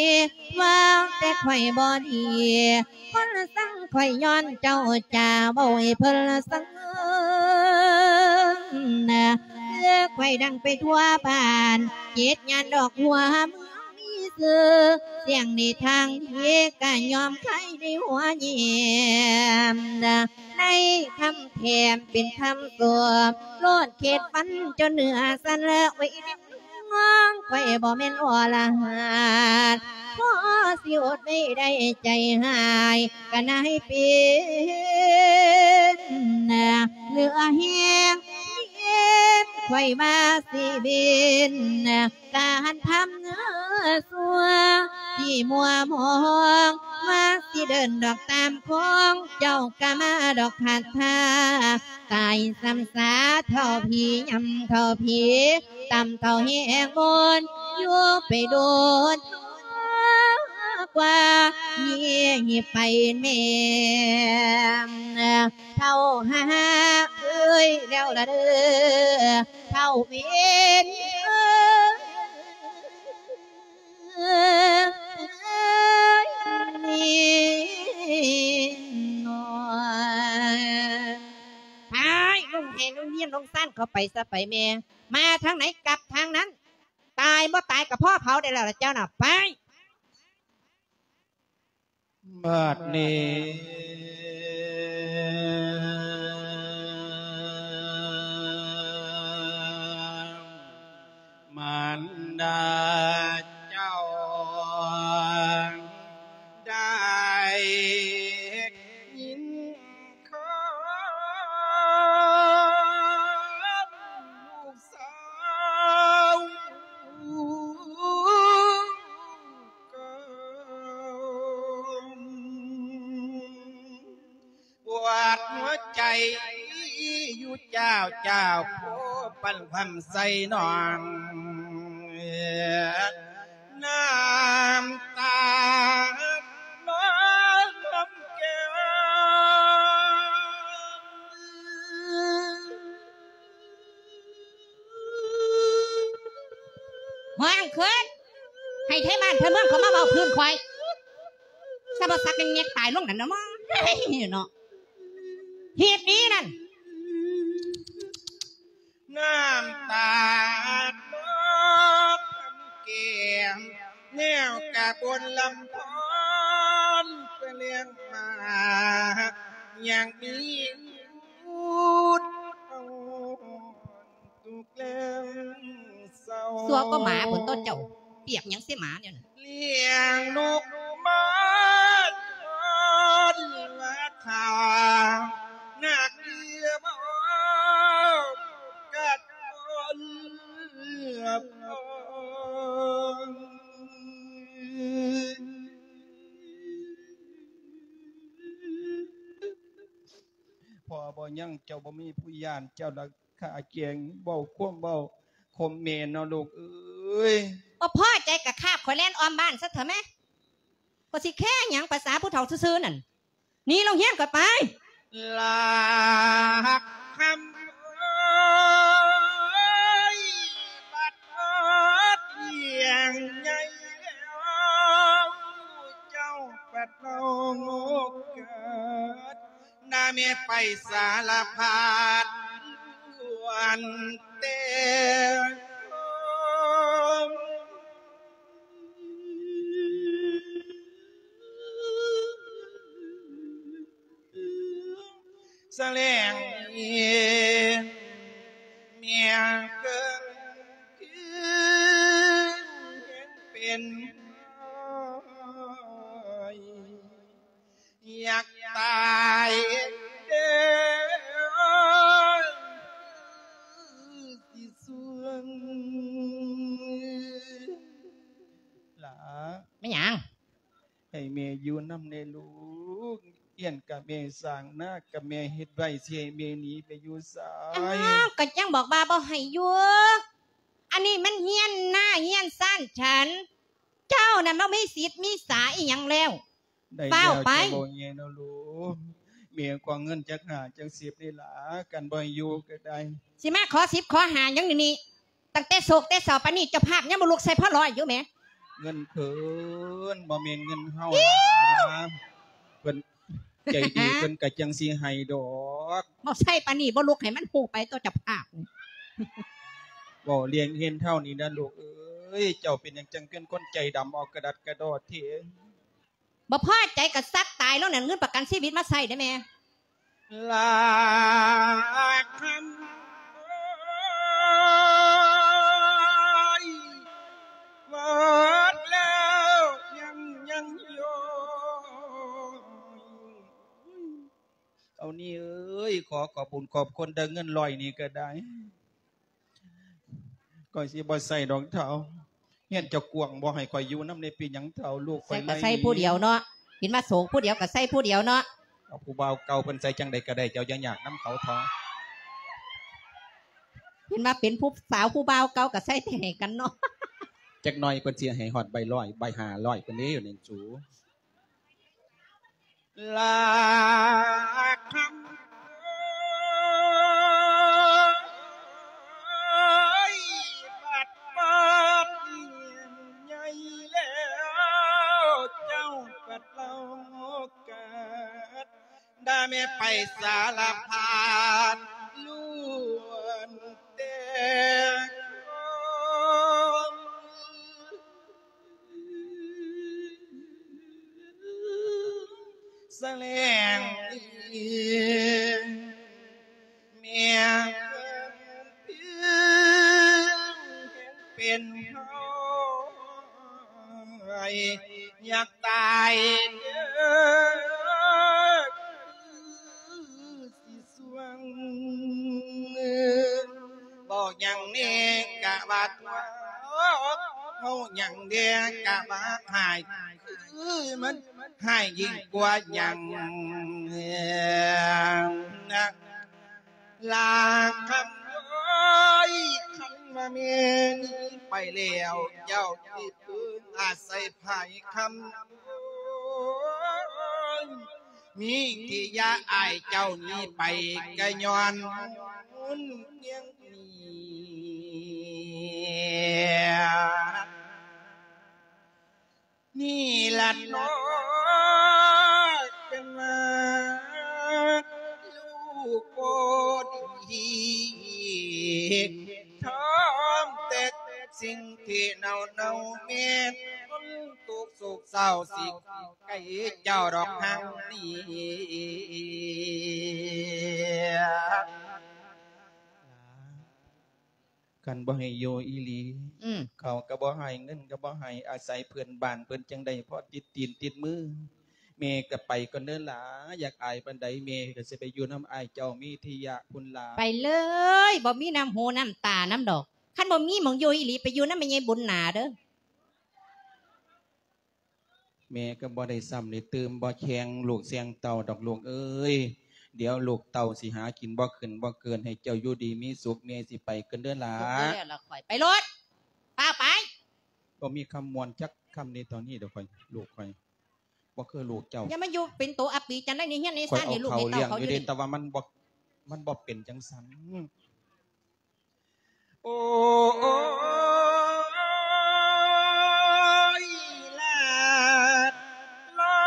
ວ່າແຕ່ຂ້ອຍບໍ່ດີ ຄົນຊັງຂ້ອຍຍ້ອນເຈົ້າຈາເວົ້າໃຫ້ເພິ່ນຊັງ ເອີ ຂ້ອຍດັງໄປທົ່ວບ້ານ ເຈັດຍານດອກຫົວເມືອງມີຊື່ ສຽງໃນທາງດີກໍຍອມຂາຍໃນຫົວແຍ້ມ ໃນຄຳແຖມເປັນຄຳສວມ ໂລດເຂດຟັນຈົນເນື້ອສັ່ນ ເອີຍ ນ້ອງຂ້ອຍບໍ່ແມ່ນອໍລະຫັດ ພໍຊິອົດໄວ້ໄດ້ໃຈຮ້າຍ ກະນາຍເປັນ ເຫຼືອແຮງ ເຫັນຂ້ອຍວ່າຊິເປັນ ການທຳເນື້ອຊົ່ວ ທີ່ມົວມອງ ວ່າຊິເດີນດອກຕາມຂອງ ເຈົ້າກະມາດອກຂັດທ່າ ຕາຍຊ້ຳຊາເທົ່າຜີ ຍຳເທົ່າຜີ ຕ່ຳເທົ່າແຮງບົນ ຢູ່ໄປໂດນ ກວ່ານີ້ໄປແມ່ນ ເທົ່າຫາເອີຍແລ້ວລະເດີ ເທົ່າເວນເອີຍ ນີ້ນ້ອຍ ໄປລົງແຮງລົງຮຽນລົງຊານເຂົ້າໄປຊະໄປແມ່ ມາທາງໃດກັບທາງນັ້ນ ຕາຍບໍ່ຕາຍກໍພໍເຜົາໄດ້ແລ້ວລະເຈົ້ານະ ໄປ. ບັດນີ້ມານດາເຈົ້າໄດ້ຍິນ ຄຳລູກສາວກໍປວດຫົວໃຈຢູ່ ເຈົ້າ ເຈົ້າ ຜູ້ປັນຄວາມໃສ່ນ້ອງ ນ້ຳຕານ້ອງນຳແກ້ມ ຫ້ອງຂຶ້ນ ໃຫ້ໄທບ້ານໄທເມືອງເຂົາມາເວົ້າພື້ນຂ້ອຍ ສະບໍ່ສັກແງກຕາຍລົງນັ້ນນະມະ ເນາະ ຮີດໜີນັ້ນ. ນ້ຳຕານອກແກ້ມ ແນວກະບົນລຳພອນ ເພື່ອລ້ຽງມາ ຍັງມີບຸນ ທຸກແລງເສົ້າ ຊົ່ວກໍໝາພຸ້ນຕົວະເຈົ້າ ປຽກຫຍັງໃສ່ໝາແນວນັ້ນ ລ້ຽງລູກມາຄອນລະທາ ໜັກເອີຍບໍ່ກັດຄົນລະພອນ ພໍ່ບໍ່ຍັງ ເຈົ້າບໍ່ມີຜູ້ຢ້ານ ເຈົ້າລະຂ້າແກງ ເວົ້າຄວາມເວົ້າຂົ່ມແມ່ເນາະລູກເອີຍ ບໍ່ພໍໃຈກະຄາບຂ້ອຍແລ່ນອ້ອມບ້ານຊະເຖາະແມ້ ກໍຊິແຄຫຍັງ ປະສາຜູ້ເຖົ້າຊື່ໆນັ້ນ ໜີໂລງຮຽນກໍໄປ ລັກຄຳເອີຍ ບັດຮອດລ້ຽງໃຫຍ່ແລ້ວ ເຈົ້າບັດເວົ້າງອກກາດ ໜ້າແມ່ໄປສາລະພັດ ອັນແຕ່ ສະແຫຼງເມຍເກີນຄືເຫັນເປັນ ຢາກຕາຍເດີ ຊິສວງ ຫຼ້າ ແມ່ນຫຍັງ? ໃຫ້ແມ່ຢູ່ນຳແດ່ລູກ ເຮືອນກະແມ່ສ້າງ ນາກະແມ່ເຮັດໄວ້ ຊິໃຫ້ແມ່ໜີໄປຢູ່ໃສ? ອ້າວ ກໍຍັງບອກວ່າບໍ່ໃຫ້ຢູ່ ອັນນີ້ມັນເຮືອນນາເຮືອນຊານສັນ ເຈົ້ານັ້ນບໍ່ມີສິດມີສາອີ່ຫຍັງແລ້ວ ໄດ້ແລ້ວ ຟ້າວໄປ ເຈົ້າເວົ້າແຍ່ເນາະລູກ ແມ່ຂໍເງິນຈັກຫ້າຈັກສິບນີ້ລະ ຄັນບໍ່ໃຫ້ຢູ່ກໍໄດ້ ຊິມາຂໍສິບຂໍຫ້າຫຍັງດຽວນີ້ ຕັ້ງແຕ່ໂສກແຕ່ເສົ້າປານນີ້ ເຈົ້າພາບຍັງບໍ່ລຸກໃສ່ພະລອຍຢູ່ແໝ. ເງິນເພິ່ນ ບໍ່ແມ່ນເງິນເຮົານະ ເພິ່ນໃຈດີ ເພິ່ນກໍຈັ່ງຊິໃຫ້ດອກ. ເວົ້າໃສ່ປານນີ້ ບໍ່ລຸກໃຫ້ມັນຮູ້ໄປຕົວະເຈົ້າພາບນີ້. ເວົ້າເລື່ອງເຫັນເທົ່ານີ້ນະລູກເອີຍ ເຈົ້າເປັນຫຍັງຈັ່ງເປັນຄົນໃຈດຳ ເອົາກະດັດກະດໍແທ້? ບໍ່ພໍໃຈກໍສັກຕາຍແລ້ວນັ້ນ ເງິນປະກັນຊີວິດມາໃຊ້ເດ້ແມ່. ລາຄຳເອີຍ ໝົດແລ້ວຍັງ ຍັງຢູ່. ເອົານີ້ເອີຍ ຂໍຂອບບຸນຂອບຄຸນເດີ ເງິນຮ້ອຍນີ້ກໍໄດ້. ຂ້ອຍຊິບໍ່ໃສ່ດອກເຖົ້າ. ເຮືອນເຈົ້າກວ້າງບໍ່ ໃຫ້ຂ້ອຍຢູ່ນຳແດ່ ເປັນຫຍັງເຖົ້າ ລູກຂ້ອຍ ໃສ່ກໍໃສ່ຜູ້ດຽວເນາະ ເຫັນວ່າໂສກຜູ້ດຽວກໍໃສ່ຜູ້ດຽວເນາະ. ເອົາຜູ້ບ່າວເກົ່າເພິ່ນໃສ່ຈັ່ງໃດກໍໄດ້ ເຈົ້າຢ່າຍາກນຳເຂົາເຖາະ. ເຫັນວ່າເປັນຜູ້ສາວຜູ້ບ່າວເກົ່າກໍໃສ່ແຕ່ໃຫ້ກັນເນາະ. ຈັກໜ່ອຍເພິ່ນຊິໃຫ້ຮອດໃບຮ້ອຍ ໃບຫ້າຮ້ອຍ ເພິ່ນເດ້ຢູ່ນີ້ສູ. ລາຄຳເອີຍ ບັດບາດໃຫຍ່ແລ້ວ ເຈົ້າບັດເລົ່າກາດ ດາແມ່ໄປສາລະພາດລ້ວນແຕ່ ສະແຫຼງດີ ແມ່ເປັນເຮົາ ຢາກຕາຍເດີ ຊິ ເວົ້າຫຍັງແດ່ກະວ່າຕົວະ ເວົ້າຫຍັງແດ່ກະວ່າຮ້າຍ ຄືມັນຮ້າຍຍິ່ງກວ່າຫຍັງນະ ລາຄຳເອີຍ. ຄັນວ່າແມ່ນີ້ໄປແລ້ວ ເຈົ້າຊິເພິ່ງອາໄສໃຜຄຳເອີຍ? ມີທີ່ຢາກອາຍເຈົ້າໜີໄປ ກະຍ້ອນຫຸນຫຍັງນີ້ ນີ້ລະເນາະ ເປັນວ່າລູກບໍ່ດີ ທຳແຕ່ສິ່ງທີ່ເນົ່າໆ ແມ່ນຄົນທຸກໂສກເສົ້າ ຊິ ໄກເຈົ້າດອກຫາງນີ້ ຄັນບໍ່ໃຫ້ຢູ່ອີ່ຫຼີ ອືມ ເຂົ້າກໍບໍ່ໃຫ້ ເງິນກໍບໍ່ໃຫ້ ອາໄສເພື່ອນບ້ານເພິ່ນຈັ່ງໄດ້ພໍຕິດຕີນຕິດມື. ແມ່ກໍໄປກ່ອນເດີຫຼາ ຢາກອາຍປານໃດ ແມ່ກໍຊິໄປຢູ່ນຳອ້າຍເຈົ້າມີທິຍະພຸ້ນຫຼາ. ໄປເລີຍ ບໍ່ມີນ້ຳຫູນ້ຳຕານຳດອກ. ຄັນບໍ່ມີໝ່ອງຢູ່ອີ່ຫຼີ ໄປຢູ່ນຳແມ່ໃຫຍ່ບຸນໜາເດີ. ແມ່ກໍບໍ່ໄດ້ຊ້ຳໄດ້ຕື່ມ ບໍ່ແຂ່ງລູກແຂ່ງເຕົ້າດອກລູກເອີຍ. ດຽວລູກເຕົ້າຊິຫາກິນບໍ່ຂຶ້ນບໍ່ເກີນ ໃຫ້ເຈົ້າຢູ່ດີມີສຸກ. ແມ່ຊິໄປກ່ອນເດີຫຼາ. ໄປໂລດ ຟ້າວໄປ. ບໍ່ມີຄຳມ່ວນຈັກຄຳໃນຕອນນີ້ດອກຂ້ອຍ ລູກຂ້ອຍ ບໍ່ຄືລູກເຈົ້າ. ຢ່າມາຢູ່ເປັນໂຕອັບປີຈັນໄດ໋ ໃນເຮືອນໃນຊານນີ້ ລູກໃຫ້ເຕົ້າເຂົາຢູ່ນີ້. ແຕ່ວ່າມັນບໍ່ ມັນບໍ່ເປັນຈັ່ງຊັ້ນ. ໂອ້ຍ ລາດ ລາ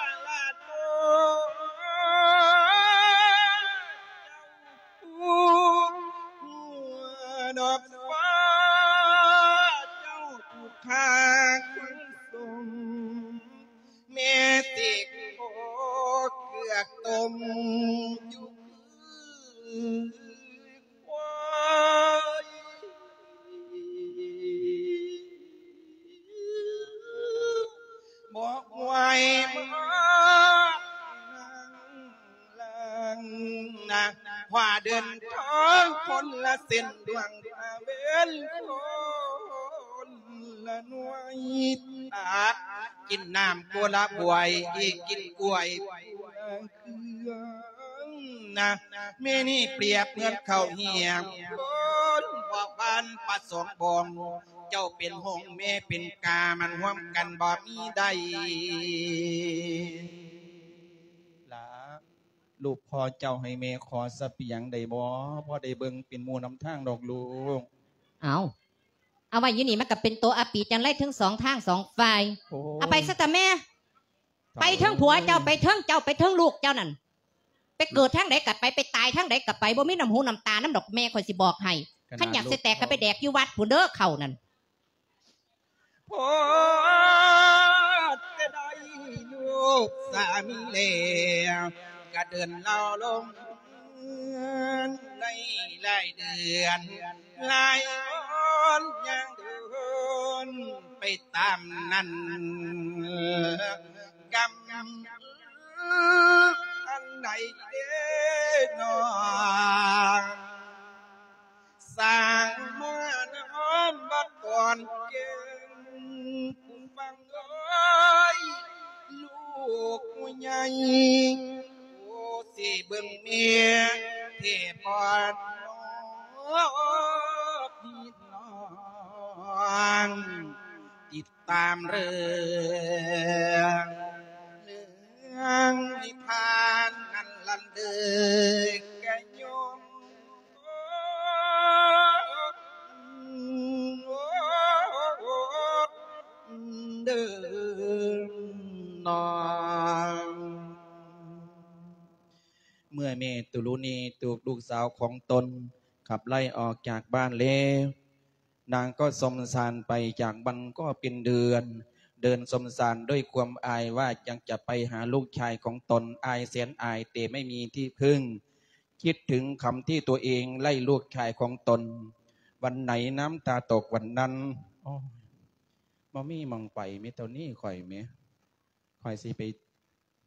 ດ ລາດ ໂອ້ ເຈົ້າຜູ້ຫົວດອກຟ້າ ເຈົ້າຜູ້ຂ້າຄົນສົມ ແມ່ຕິກໂອເກືອກຕົ້ມຢູ່ ຄວາຍ ບໍ່ໄຫວມານັ່ງຫຼັງນະ ພາເດີນທາງຄົນລະເສັ້ນ ດວງຕາເວັນຄົນລະໜ່ວຍ ຕັກກິນນ້ຳຄົນລະຖ້ວຍ ກິນກ້ວຍ ເຄືອງນະ ແມ່ນີ້ປຽບເໝືອນເຂົ້າຮຽງ ຄົນບໍ່ບານປາສອງບ່ອງ ເຈົ້າເປັນຫົງແມ່ເປັນກາ ມັນຮ່ວມກັນບໍ່ມີໄດ້. ຫຼາ ລູກພໍ່ເຈົ້າໃຫ້ແມ່ຂໍສະບຽງໄດ້ບໍ່? ພໍໄດ້ເບິ່ງເປັນໝູ່ນຳທາງດອກລູກ. ເອົາ ເອົາໄວ້ຢູ່ນີ້ ມັນກໍເປັນໂຕອາປີຈັງໄລເທິງສອງທາງສອງຝ່າຍ. ໂອ້ຍ ເອົາໄປຊະຕາແມ່. ໄປເທິງຜົວເຈົ້າ ໄປເທິງເຈົ້າ ໄປເທິງລູກເຈົ້ານັ້ນ ໄປເກີດທາງໃດກໍໄປ ໄປຕາຍທາງໃດກໍໄປ ບໍ່ມີນ້ຳຫູນ້ຳຕານຳດອກ ແມ່ຂ້ອຍຊິບອກໃຫ້. ຄັນຢາກຊິແຕກກໍໄປແດກຢູ່ວັດພຸ້ນເດີ ເຂົ້ານັ້ນ. ພໍແຕ່ໄດ້ລູກສາມີແລ້ວ ກະເດີນລາວລົງໄດ້ຫຼາຍເດືອນ ຫຼາຍອ່ອນຍ່າງເດີນໄປຕາມນັ້ນ ກຳອັນໃດເດນ້ອງ ສ້າງມານອມບັກກ່ອນເກັ່ງ ຜູ້ຟັງເອີຍ ລູກຜູ້ໃຫຍ່ ໂອ້ ຊິເບິ່ງແມ່ເທບອດນ້ອງ ພີ່ນ້ອງ ຕິດຕາມເລື່ອງ ເລື່ອງນິພານນັ້ນລັນເດີກະຍົມ ເດີນ້ອງ. ເມື່ອແມ່ຕຸລຸນີ ລູກສາວຂອງຕົນ ຂັບໄລ່ອອກຈາກບ້ານແລ້ວ ນາງກໍສົມສານໄປຈາກວັນກໍເປັນເດືອນ ເດີນສົມສານດ້ວຍຄວາມອາຍວ່າຍັງຈະໄປຫາລູກຊາຍຂອງຕົນ ອາຍແສນອາຍ ແຕ່ໄມ່ມີທີ່ເພິ່ງ ຄິດເຖິງຄຳທີ່ຕົວເອງໄລ່ລູກຊາຍຂອງຕົນ ວັນໃດນ້ຳຕາຕົກວັນນັ້ນ. ໂອ້ຍ ບໍ່ມີໝ່ອງໄປ ມີເທົ່ານີ້ຂ້ອຍແໝ ຂ້ອຍຊິໄປ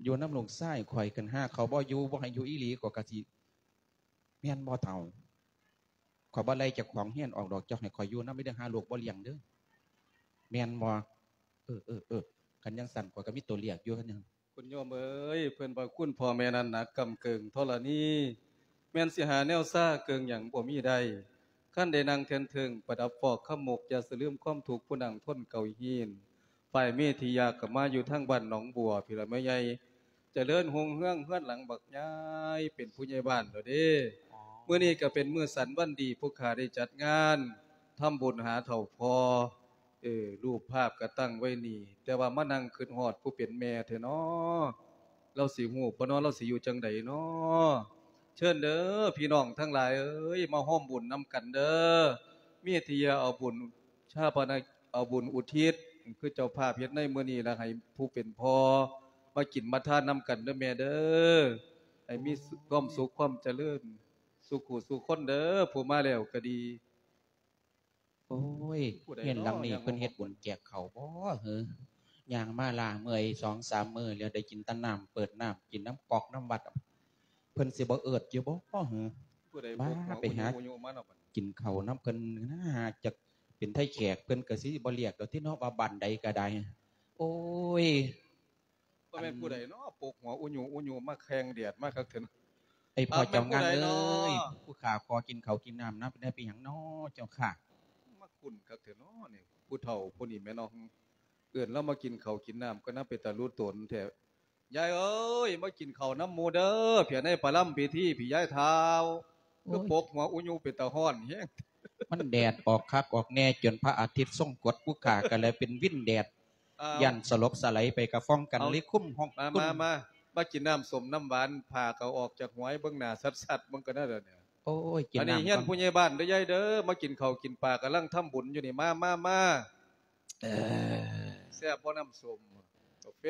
ຢູ່ນຳລູກຊາຍຂ້ອຍ ຄັນຫາກເຂົາບໍ່ຢູ່ ບໍ່ໃຫ້ຢູ່ອີ່ຫຼີ ຂ້ອຍກໍຊິ ແມ່ນບໍ່ເຖົ້າ? ຂ້ອຍບໍ່ໄລ່ເຈົ້າຂອງເຮືອນອອກດອກ ເຈົ້າໃຫ້ຂ້ອຍຢູ່ນຳເດີ ຫາລູກບໍ່ລ້ຽງເດີ ແມ່ນບໍ່? ເອີ ເອີ ເອີ ຄັນຈັ່ງຊັ້ນ ຂ້ອຍກໍມີຕົວເລືອກຢູ່ ຄັນຈັ່ງ ຄຸນໂຍມເອີຍ ເພິ່ນວ່າຄຸນພໍ່ແມ່ນັ້ນໜັກກ້ຳເກີງທໍລະນີ ແມ່ນຊິຫາແນວຊາເກີງຫຍັງບໍ່ມີໄດ້ ຄັນໄດ້ນັ່ງແທ່ນເທິງ ປະດັບຟອກຄຳມົກ ຢ່າສະລືມຄວາມທຸກຜູ້ນັ່ງທົນເກົາຮີນ ຝ່າຍເມທິຍາກໍມາຢູ່ທາງບ້ານໜອງບົວພີ້ລະແມ່ໃຫຍ່ ຈະເລີນຮຸ່ງເຮືອງເຮືອນຫຼັງບັກໃຫຍ່ ເປັນຜູ້ໃຫຍ່ບ້ານແລ້ວເດ້. ອໍ ມື້ນີ້ກໍເປັນມື້ສັນວັນດີ ພວກຂ້າໄດ້ຈັດງານທຳບຸນຫາເຖົ້າພໍ່ ເອີ ຮູບພາບກໍຕັ້ງໄວ້ນີ້ ແຕ່ວ່າມານັ່ງຄຶດຮອດຜູ້ເປັນແມ່ແທ້ນໍ ລາວຊິຮູ້ບໍ່ນໍ ລາວຊິຢູ່ຈັ່ງໃດນໍ? ເຊີນເດີພີ່ນ້ອງທັງຫຼາຍເອີຍ ມາຮ່ວມບຸນນຳກັນເດີ ມີທີ່ຈະເອົາບຸນຊາປະນະ ເອົາບຸນອຸທິດ ຄືເຈົ້າພາບເຮັດໃນມື້ນີ້ ລະໃຫ້ຜູ້ເປັນພໍ່ມາກິນມາທານນຳກັນເດີແມ່ເດີ ໃຫ້ມີຄວາມສຸກຄວາມຈະເລີນ ສູ່ຄູ່ສູ່ຄົນເດີ ຜູ້ມາແລ້ວກໍດີ. ໂອ້ຍ ເຮືອນຫຼັງນີ້ເພິ່ນເຮັດບຸນແຈກເຂົ້າບໍ່ເຫີ? ຍ່າງມາລ້າເມື່ອຍສອງສາມມື້ແລ້ວ ໄດ້ກິນແຕ່ນ້ຳ ເປີດນ້ຳກິນນຳກອກນຳວັດ ເພິ່ນຊິບໍ່ເອີ້ນຢູ່ບໍ່ເຫີ? ມາ ໄປຫາກິນເຂົ້ານຳເພິ່ນນະ ຫາຈັກເປັນໄທແຂກ ເພິ່ນກໍຊິບໍ່ລຽກດອກຕິເນາະ ວ່າບ້ານໃດກໍໄດ້. ໂອ້ຍ ບໍ່ແມ່ນຜູ້ໃດເນາະ ປົກຫົວອຸຍຸອຸຍຸມາແຂ່ງແດດມາຄັກເຖິງ ໄອ້ພໍ່ເຈົ້າງານເອີຍ ຜູ້ຂ້າຂໍກິນເຂົ້າກິນນ້ຳນຳໄດ້ເປັນຫຍັງເນາະເຈົ້າຂ້າ? ມາຄຸ້ນຄັກເຖິງເນາະນີ້ ຜູ້ເຖົ້າຜູ້ນີ້ແມ່ນເນາະ ເອີ້ນລາວມາກິນເຂົ້າກິນນ້ຳກໍນຳເປັນຕາລຸຕົນແທ້. ຍາຍເອີຍ ມາກິນເຂົ້ານຳໝູ່ເດີ ພຽໃນປະລຳພິທີພີ້ ຍາຍທ້າວ ຄືປົກຫົວອຸຍຸເປັນຕາຮ້ອນແຮງ. ມັນແດດອອກຄັກອອກແນ່ ຈົນພະອາທິດຊົງກົດ ຜູ້ຂ້າກໍເລີຍເປັນວິນແດດ ຢ້ານສະຫຼົບສະໄຫຼໄປກະຟອງກັນ ເລີຍຄຸມຫ້ອງ ມາ ມາ ມາ ມາກິນນ້ຳສົ້ມນ້ຳຫວານ ພາກໍອອກຈາກຫົວໃຫ້ເບິ່ງໜ້າຊັດໆ ເບິ່ງກັນເດີ. ໂອ້ຍ ກິນນ້ຳ ອັນນີ້ເຮືອນຜູ້ໃຫຍ່ບ້ານເດີຍາຍເດີ ມາກິນເຂົ້າກິນປາ ກຳລັງທຳບຸນຢູ່ນີ້ ມາ ມາ ມາ. ເອີ ແຊບບໍ່ນ້ຳສົ້ມ ກາແຟ?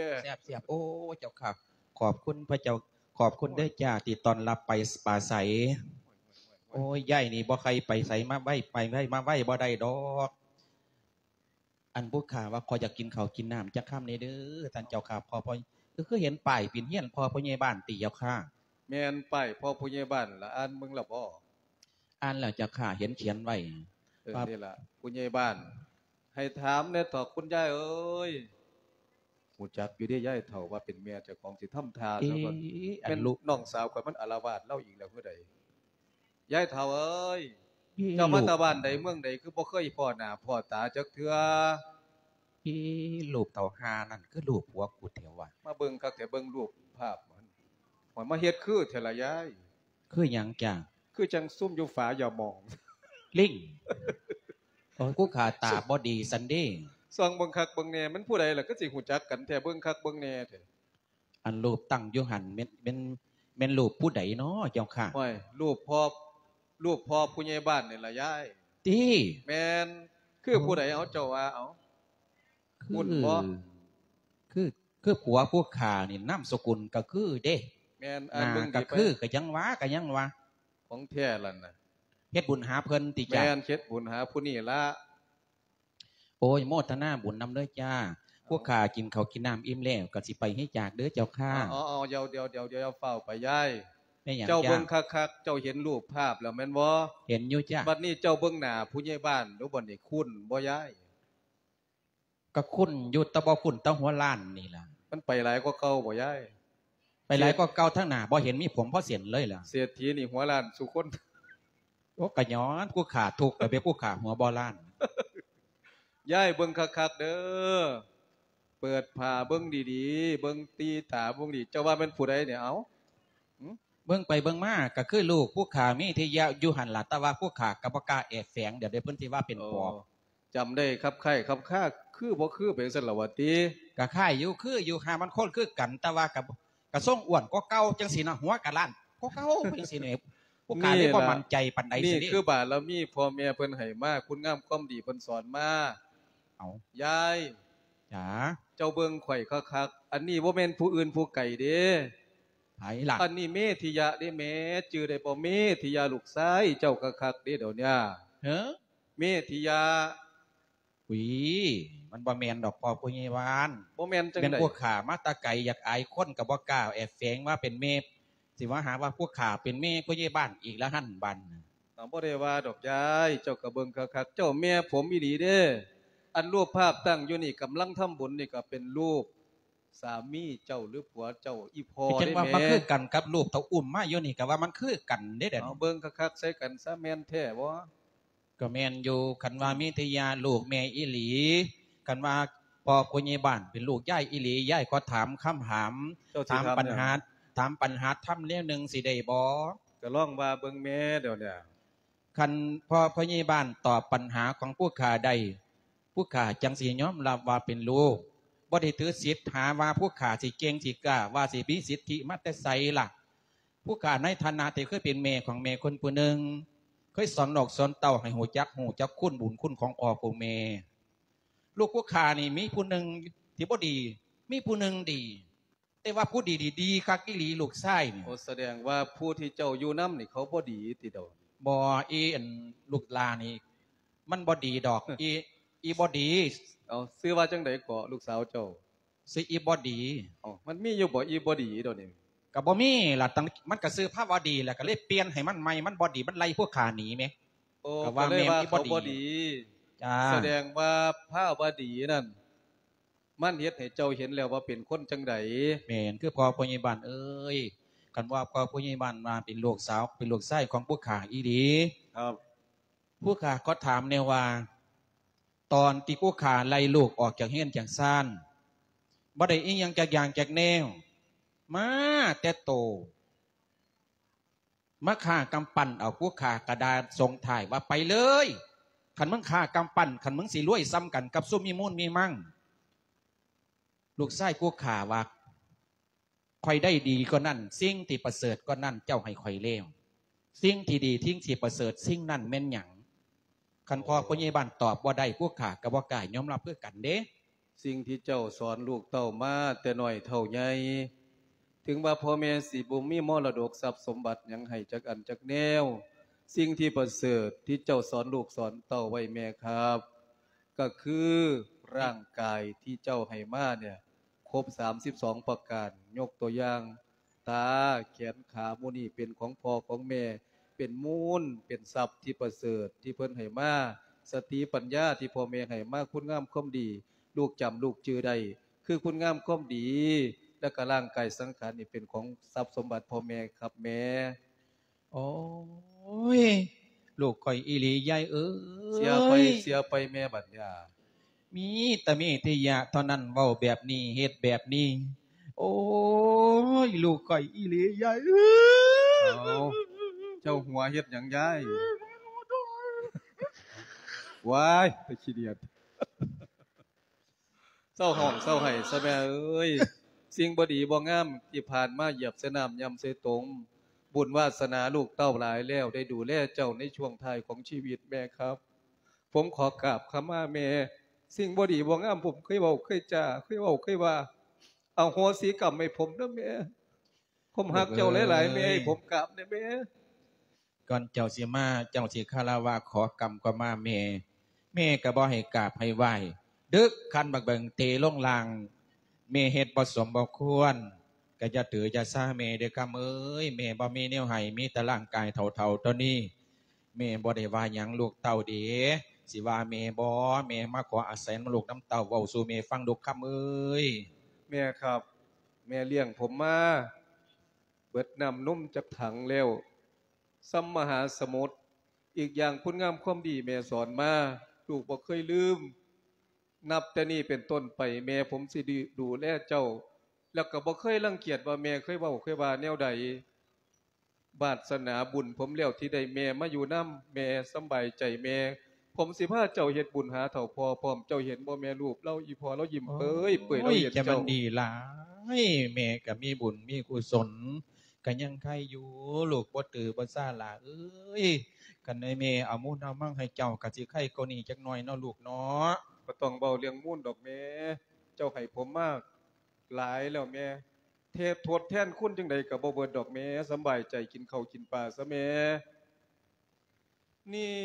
ແຊບໆ ໂອ້ ເຈົ້າຂ້າ ຂອບຄຸນພະເຈົ້າ ຂອບຄຸນເດີຈ້າ ທີ່ຕ້ອນຮັບໄປປາໄສ. ໂອ້ຍ ຍາຍນີ້ບໍ່ໃຄ່ໄປໃສມາໄວ ໄປໄວມາໄວບໍ່ໄດ້ດອກ. ອັນບຸກຂ້າວ່າ ຂໍຢາກກິນເຂົ້າກິນນ້ຳຈັກຄຳແດ່ເດີທ່ານເຈົ້າຂ້າ. ພໍ່ ພໍ່ ຄືເຫັນປ້າຍເປັນເຮືອນພໍ່ຜູ້ໃຫຍ່ບ້ານຕິເຈົ້າຂ້າ? ແມ່ນ ປ້າຍພໍ່ຜູ້ໃຫຍ່ບ້ານລະ ອ່ານເບິ່ງລະບໍ່? ອ່ານແລ້ວເຈົ້າຂ້າ ເຫັນຂຽນໄວ້. ເອີ ນີ້ລະ ຜູ້ໃຫຍ່ບ້ານ ໃຫ້ຖາມແດ່ເຖາະ ຄຸນຍາຍເອີຍ. ຮູ້ຈັກຢູ່ເດ້ຍາຍເຖົ້າວ່າເປັນແມ່ເຈົ້າຂອງຊິທຳທ່າ ເອ ຊະກ່ອນ ອັນ ແມ່ນລູກນ້ອງສາວຂ້ອຍມັນອາລະວາດລາວອີກແລ້ວຄືໃດ? ຍາຍເຖົ້າເອີຍ ເອີ ເຈົ້າມາແຕ່ບ້ານໃດເມືອງໃດ ຄືບໍ່ເຄີຍພໍ້ໜ້າພໍ້ຕາຈັກເທື່ອ? ເອີ ຮູບເຖົ້າຫ່ານັ້ນ ຄືຮູບຜົວກູແທ້ວະ? ມາເບິ່ງຄັກແທ້ ເບິ່ງຮູບພາບມັນ ຂ້ອຍມາເຮັດຄືແທ້ລະຍາຍ. ຄືຫຍັງຈ້າ? ຄືຈັ່ງຊຸມຢູ່ຝາຢ່າໝອງ ລິງ. ໂອ້ຍ ຄູຂາຕາບໍ່ດີຊັ້ນເດ. ສ່ອງເບິ່ງຄັກເບິ່ງແນ່ ແມ່ນຜູ້ໃດລະ ຄືຊິຮູ້ຈັກກັນແທ້ ເບິ່ງຄັກເບິ່ງແນ່ແທ້. ອັນຮູບຕັ້ງຢູ່ຫັ້ນແມ່ນ ແມ່ນ ແມ່ນຮູບຜູ້ໃດນໍເຈົ້າຂ້າ? ໂອ້ຍ ຮູບພໍ່ ຮູບພໍ່ຜູ້ໃຫຍ່ບ້ານນີ້ລະຍາຍ. ຕິ? ແມ່ນ. ຄືຜູ້ໃດເອົາ ເຈົ້າວ່າເອົາ? ຄຸ້ນບໍ່? ຄື ຄື ຄືຜົວຜູ້ຂ້ານີ້ນາມສະກຸນກະຄືເດ. ແມ່ນ. ອ່ານເບິ່ງດີໄປ ກະຄື ກະຍັງວ່າ ກະຍັງວ່າ ຂອງແທ້ລະນະ. ເຮັດບຸນຫາເພິ່ນຕິຈ້າ? ແມ່ນ ເຮັດບຸນຫາຜູ້ນີ້ລະ. ໂອ້ຍ ໂມທະນາບຸນນຳເດີຈ້າ. ເອົາ ພວກຂ້າກິນເຂົ້າກິນນ້ຳອີ່ມແລ້ວ ກໍຊິໄປໃຫ້ຈາກເດີເຈົ້າຂ້າ. ເອົາ ເອົາ ເອົາ ດຽວ ດຽວ ດຽວ ດຽວ ຟ້າວໄປຍາຍ. ແມ່ນຫຍັງ ເຈົ້າ ຈ້າ? ເບິ່ງຄັກໆ ເຈົ້າເຫັນຮູບພາບແລ້ວແມ່ນບໍ່? ເຫັນຢູ່ຈ້າ. ບັດນີ້ເຈົ້າເບິ່ງໜ້າຜູ້ໃຫຍ່ບ້ານດູ ບັດນີ້ຄຸ້ນບໍ່ຍາຍ? ກໍຄຸ້ນຢູ່ ແຕ່ບໍ່ຄຸ້ນແຕ່ຫົວລ້ານນີ້ລະ. ມັນໄປຫຼາຍກວ່າເກົ່າບໍ່ຍາຍ? ໄປຫຼາຍກວ່າເກົ່າ ທາງໜ້າບໍ່ເຫັນມີຜົມພໍເສັ້ນເລີຍລະ. ເສດຖີນີ້ຫົວລ້ານສູ່ຄົນ. ໂອ້ ກະຍ້ອນຜູ້ຂ້າທຸກ ກະເປັນຜູ້ຂ້າຫົວບໍ່ລ້ານ. ຍາຍເບິ່ງຄັກໆເດີ ເປີດຜ້າເບິ່ງດີໆ ເບິ່ງຕີຕາເບິ່ງດີ ເຈົ້າວ່າແມ່ນຜູ້ໃດນີ້ ເອົາ? ຫື? ເບິ່ງໄປເບິ່ງມາກະຄືລູກຜູ້ຂ້າມີທີ່ຍະຢູ່ຫັ້ນລະ ແຕ່ວ່າຜູ້ຂ້າກະບໍ່ກ້າແອບແຝງ ດຽວເດເພິ່ນຊິວ່າເປັນປອບ. ໂອ້ ຈຳໄດ້ຄັບຄ້າຍຄັບຄາ ຄືບໍ່ຄືໄປຈັ່ງຊັ້ນລະຫວາຕິ? ກະຄ້າຍຢູ່ ຄືຢູ່ ຫາມັນຄົນຄືກັນ ແຕ່ວ່າກະ ກະຊົງອ້ວນກວ່າເກົ່າຈັ່ງຊີ້ນະ ຫົວກະລ້ານກວ່າເກົ່າຈັ່ງຊີ້ນີ້ ຜູ້ຂ້າເລີຍບໍ່ໝັ້ນໃຈປານໃດ. ນີ້ຄືບາລະມີພໍ່ແມ່ເພິ່ນໃຫ້ມາ ຄຸນງາມຄວາມດີເພິ່ນສອນມາ. ເອົາ ຍາຍ. ຈ້າ. ເຈົ້າເບິ່ງຂ້ອຍຄັກໆ ອັນນີ້ບໍ່ແມ່ນຜູ້ອື່ນຜູ້ໄກເດ້. ໃຜລະ? ອັນນີ້ເມທິຍະເດ້ແມ່ ຈື່ໄດ້ບໍ່? ເມທິຍະລູກຊາຍເຈົ້າຄັກໆເດ້ດຽວນີ້. ເຮີ? ເມທິຍະ. ອຸຍ ມັນບໍ່ແມ່ນດອກພໍ່ຜູ້ໃຫຍ່ບ້ານ. ບໍ່ແມ່ນຈັ່ງໃດ? ແມ່ນພວກຂ້າມາແຕ່ໄກ ຢາກອາຍຄົນກໍບໍ່ກ້າແອບແຝງວ່າເປັນແມ່ ຊິມາຫາວ່າພວກຂ້າເປັນແມ່ຜູ້ໃຫຍ່ບ້ານອີກລະຫັ້ນບາດນີ້. ເຮົາບໍ່ໄດ້ວ່າດອກຍາຍ ເຈົ້າກໍເບິ່ງຄັກໆ ເຈົ້າແມ່ຜົມອີ່ຫຼີເດ້. ອັນຮູບພາບຕັ້ງຢູ່ນີ້ ກຳລັງທຳບຸນນີ້ ກໍເປັນຮູບສາມີເຈົ້າ ຫຼື ຜົວເຈົ້າ ອີ່ພໍ່ເດ້ແມ່. ເປັນຫຍັງວ່າມາຄືກັນກັບຮູບເຂົາອຸ້ມມາຢູ່ນີ້ ກໍວ່າມັນຄືກັນເດ້. ເອົາເບິ່ງຄັກໆໃສ່ກັນຊະ ແມ່ນແທ້ບໍ່? ກໍແມ່ນຢູ່ ຄັນວ່າມີແຕ່ຍາລູກແມ່ອີ່ຫຼີ ຄັນວ່າພໍ່ຜູ້ໃຫຍ່ບ້ານເປັນລູກຍາຍອີ່ຫຼີ ຍາຍຂໍຖາມຄຳຖາມ ເຈົ້າຊິຖາມ ຖາມບັນຫາ ຫຍັງ? ຖາມບັນຫາທຳແນວໜຶ່ງຊິໄດ້ບໍ່? ກໍລອງວ່າເບິ່ງແມ່ດຽວນີ້. ຄັນພໍ່ຜູ້ໃຫຍ່ບ້ານຕອບບັນຫາຂອງຜູ້ຂ້າໄດ້ ຜູ້ຂ້າຈັ່ງຊິຍອມຮັບວ່າເປັນລູກ ບໍ່ໄດ້ຖືສິດຫາວ່າຜູ້ຂ້າຊິເກັ່ງຊິກ້າ ວ່າຊິມີສິດທິມາແຕ່ໃສລະ. ຜູ້ຂ້າໃນຖານະທີ່ເຄີຍເປັນແມ່ຂອງແມ່ຄົນຜູ້ໜຶ່ງ ເຄີຍສອນລູກສອນເຕົ້າໃຫ້ຮູ້ຈັກ ຮູ້ຈັກຄຸນບຸນຄຸນຂອງພໍ່ຂອງແມ່. ລູກຜູ້ຂ້ານີ້ມີຜູ້ໜຶ່ງທີ່ບໍ່ດີ ມີຜູ້ໜຶ່ງດີ ແຕ່ວ່າຜູ້ດີນີ້ດີຄັກອີ່ຫຼີ ລູກຊາຍນີ້. ໂອ້ ສະແດງວ່າຜູ້ທີ່ເຈົ້າຢູ່ນຳນີ້ເຂົາບໍ່ດີຕິດອກ? ບໍ່ ອີ່ອັນລູກຫຼ້ານີ້ມັນບໍ່ດີດອກ ອີ່ ອີ່ບໍ່ດີ. ເອົາ ຊື່ວ່າຈັ່ງໃດເກາະ ລູກສາວເຈົ້າ? ຊື່ອີ່ບໍ່ດີ. ເອົ້າ ມັນມີຢູ່ບໍ່ ອີ່ບໍ່ດີດຽວນີ້? ກໍບໍ່ມີລະ ຕັ້ງ ມັນກໍຊື່ພາວະດີລະ ກໍເລີຍປ່ຽນໃຫ້ມັນໃໝ່ ມັນບໍ່ດີ ມັນໄລ່ພວກຂ້າໜີແໝ. ໂອ້ ກໍວ່າແມ່ນອີ່ບໍ່ດີ. ຈ້າ. ສະແດງວ່າພາວະດີນັ້ນ ມັນເຮັດໃຫ້ເຈົ້າເຫັນແລ້ວວ່າເປັນຄົນຈັ່ງໃດ? ແມ່ນ ຄືພໍ່ຜູ້ໃຫຍ່ບ້ານເອີຍ ຄັນວ່າພໍ່ຜູ້ໃຫຍ່ບ້ານວ່າເປັນລູກສາວ ເປັນລູກຊາຍຂອງພວກຂ້າອີ່ຫຼີ. ຄັບ. ຜູ້ຂ້າຂໍຖາມແດ່ວ່າ ຕອນທີ່ຜູ້ຂ້າໄລ່ລູກອອກຈາກເຮືອນຈາກຊານ ບໍ່ໄດ້ອີ່ຫຍັງຈັກຢ່າງຈັກແນວ ມາແຕ່ໂຕ ມາຂ້າກຳປັ້ນເອົາ ຜູ້ຂ້າກະດ່າສົ່ງທ້າຍວ່າ ໄປເລີຍ ຄັນມຶງຂ້າກຳປັ້ນ ຄັນມຶງຊິລວຍສ່ຳກັນກັບຊຸມມີມູນມີມັງ. ລູກຊາຍຜູ້ຂ້າວ່າ ຂ້ອຍໄດ້ດີກວ່ານັ້ນ ສິ່ງທີ່ປະເສີດກວ່ານັ້ນເຈົ້າໃຫ້ຂ້ອຍແລ້ວ ສິ່ງທີ່ດີ ສິ່ງທີ່ປະເສີດ ສິ່ງນັ້ນແມ່ນຫຍັງ? ຄັນພໍ່ຜູ້ໃຫຍ່ບ້ານຕອບບໍ່ໄດ້ ພວກຂ້າກໍບໍ່ກ້າຍອມຮັບຄືກັນເດ້. ສິ່ງທີ່ເຈົ້າສອນລູກເຕົ້າມາແຕ່ນ້ອຍເທົ່າໃຫຍ່ ເຖິງວ່າພໍ່ແມ່ຊິບໍ່ມີມໍລະດົກຊັບສົມບັດຫຍັງໃຫ້ຈັກອັນຈັກແນວ ສິ່ງທີ່ປະເສີດທີ່ເຈົ້າສອນລູກສອນເຕົ້າໄວ້ແມ່ຄັບ ກໍຄືຮ່າງກາຍທີ່ເຈົ້າໃຫ້ມາເນຍ ຄົບສາມສິບສອງປະການ ຍົກຕົວຢ່າງ ຕາ ແຂນ ຂາ ໝູ່ນີ້ເປັນຂອງພໍ່ຂອງແມ່ ເປັນມູນ ເປັນຊັບທີ່ປະເສີດທີ່ເພິ່ນໃຫ້ມາ ສະຕິປັນຍາທີ່ພໍ່ແມ່ໃຫ້ມາ ຄຸນງາມຄວາມດີ ລູກຈຳລູກຈື່ໄດ້ ຄືຄຸນງາມຄວາມດີ ແລະກະຮ່າງກາຍສັງຂານນີ້ເປັນຂອງຊັບສົມບັດພໍ່ແມ່ຄັບແມ່. ໂອ້ຍ ລູກຂ້ອຍອີ່ຫຼີ ຍາຍເອີຍ. ເສຍໄປ ເສຍໄປແມ່ບັດຍາ. ມີແຕ່ເມທິຍະເທົ່ານັ້ນ ເວົ້າແບບນີ້ ເຮັດແບບນີ້. ໂອ້ຍ ລູກຂ້ອຍອີ່ຫຼີ ຍາຍເອີຍ. ເອົາ ເຈົ້າຫົວເຮັດຫຍັງ ຍາຍ? ວ້າຍ ຕາຂີ້ດຽດ. ເຊົາຮ້ອງເຊົາໄຫ້ຊະແມ່ເອີຍ. ສິ່ງບໍ່ດີບໍ່ງາມທີ່ຜ່ານມາຢຽບໃສ່ນ້ຳ ຫຍ້ຳໃສ່ຕົມ. ບຸນວາສະໜາລູກເຕົ້າຫຼາຍແລ້ວ ໄດ້ດູແລເຈົ້າໃນຊ່ວງທ້າຍຂອງຊີວິດແມ່ຄັບ. ຜົມຂໍກາບຂະມາແມ່. ສິ່ງບໍ່ດີບໍ່ງາມ ຜົມເຄີຍເວົ້າເຄີຍຈາ ເຄີຍເວົ້າເຄີຍວ່າ. ອະໂຫສິກຳໃຫ້ຜົມເດີແມ່. ຜົມຮັກເຈົ້າຫຼາຍໆແມ່. ເອີຍ ໃຫ້ຜົມກາບແດ່ແມ່. ກ່ອນເຈົ້າຊິມາ ເຈົ້າຊິຄາລະວະຂໍກຳຂະມາແມ່. ແມ່ກໍບໍ່ໃຫ້ກາບໃຫ້ໄຫວ້. ດຶກຄັນບັກເບິ່ງເຕລົງລ່າງ. ແມ່ເຮັດບໍ່ສົມບໍ່ຄວນ ກໍຢ່າຖືຢ່າຊາແມ່ເດີຄຳເອີຍ. ແມ່ບໍ່ມີແນວໃຫ້ ມີແຕ່ຮ່າງກາຍເຖົ້າໆເທົ່ານີ້. ແມ່ບໍ່ໄດ້ວ່າຫຍັງລູກເຕົ້າເດ. ຊິວ່າແມ່ບໍ່? ແມ່ມາຂໍອາໄສນຳລູກນຳເຕົ້າ ເວົ້າສູ່ແມ່ຟັງລູກຄຳເອີຍ. ແມ່ຄັບ ແມ່ລ້ຽງຜົມມາເບິດນ້ຳນົມຈັກຖັງແລ້ວ ສ່ຳມະຫາສະໝຸດ. ອີກຢ່າງຄຸນງາມຄວາມດີແມ່ສອນມາ ລູກບໍ່ເຄີຍລືມ. ນັບແຕ່ນີ້ເປັນຕົ້ນໄປ ແມ່ຜົມຊິດູ ດູແລເຈົ້າ ແລ້ວກໍບໍ່ເຄີຍລັງກຽດວ່າແມ່ເຄີຍເວົ້າເຄີຍວ່າແນວໃດ. ວາດສະໜາບຸນຜົມແລ້ວທີ່ໄດ້ແມ່ມາຢູ່ນຳ. ແມ່ສຳບາຍໃຈແມ່. ຜົມຊິພາເຈົ້າເຮັດບຸນຫາເຖົ້າພໍ່ພ້ອມ. ເຈົ້າເຫັນບໍ່ແມ່ ຮູບລາວ ອີ່ພໍ່ລາວຍິ້ມເປີຍເປີຍ ລາວເຫັນເຈົ້າ. ໂອ້ຍ ຈະມັນດີຫຼາຍ. ແມ່ກໍມີບຸນມີກຸສົນ ກໍຍັງໄຄຢູ່ ລູກບໍ່ຕື້ບໍ່ຊາຫຼ້າເອີຍ. ຄັນໃຫ້ແມ່ເອົາມູນເອົາມັງໃຫ້ເຈົ້າ ກໍຊິໄຄກວ່ານີ້ຈັກໜ້ອຍເນາະລູກເນາະ. ບໍ່ຕ້ອງເວົ້າເລື່ອງມູນດອກແມ່. ເຈົ້າໃຫ້ຜົມມາຫຼາຍແລ້ວແມ່. ເທດ ທົດແທນຄຸນຈັ່ງໃດກໍບໍ່ເບິດດອກແມ່. ສຳບາຍໃຈກິນເຂົ້າກິນປາຊະແມ່. ນີ້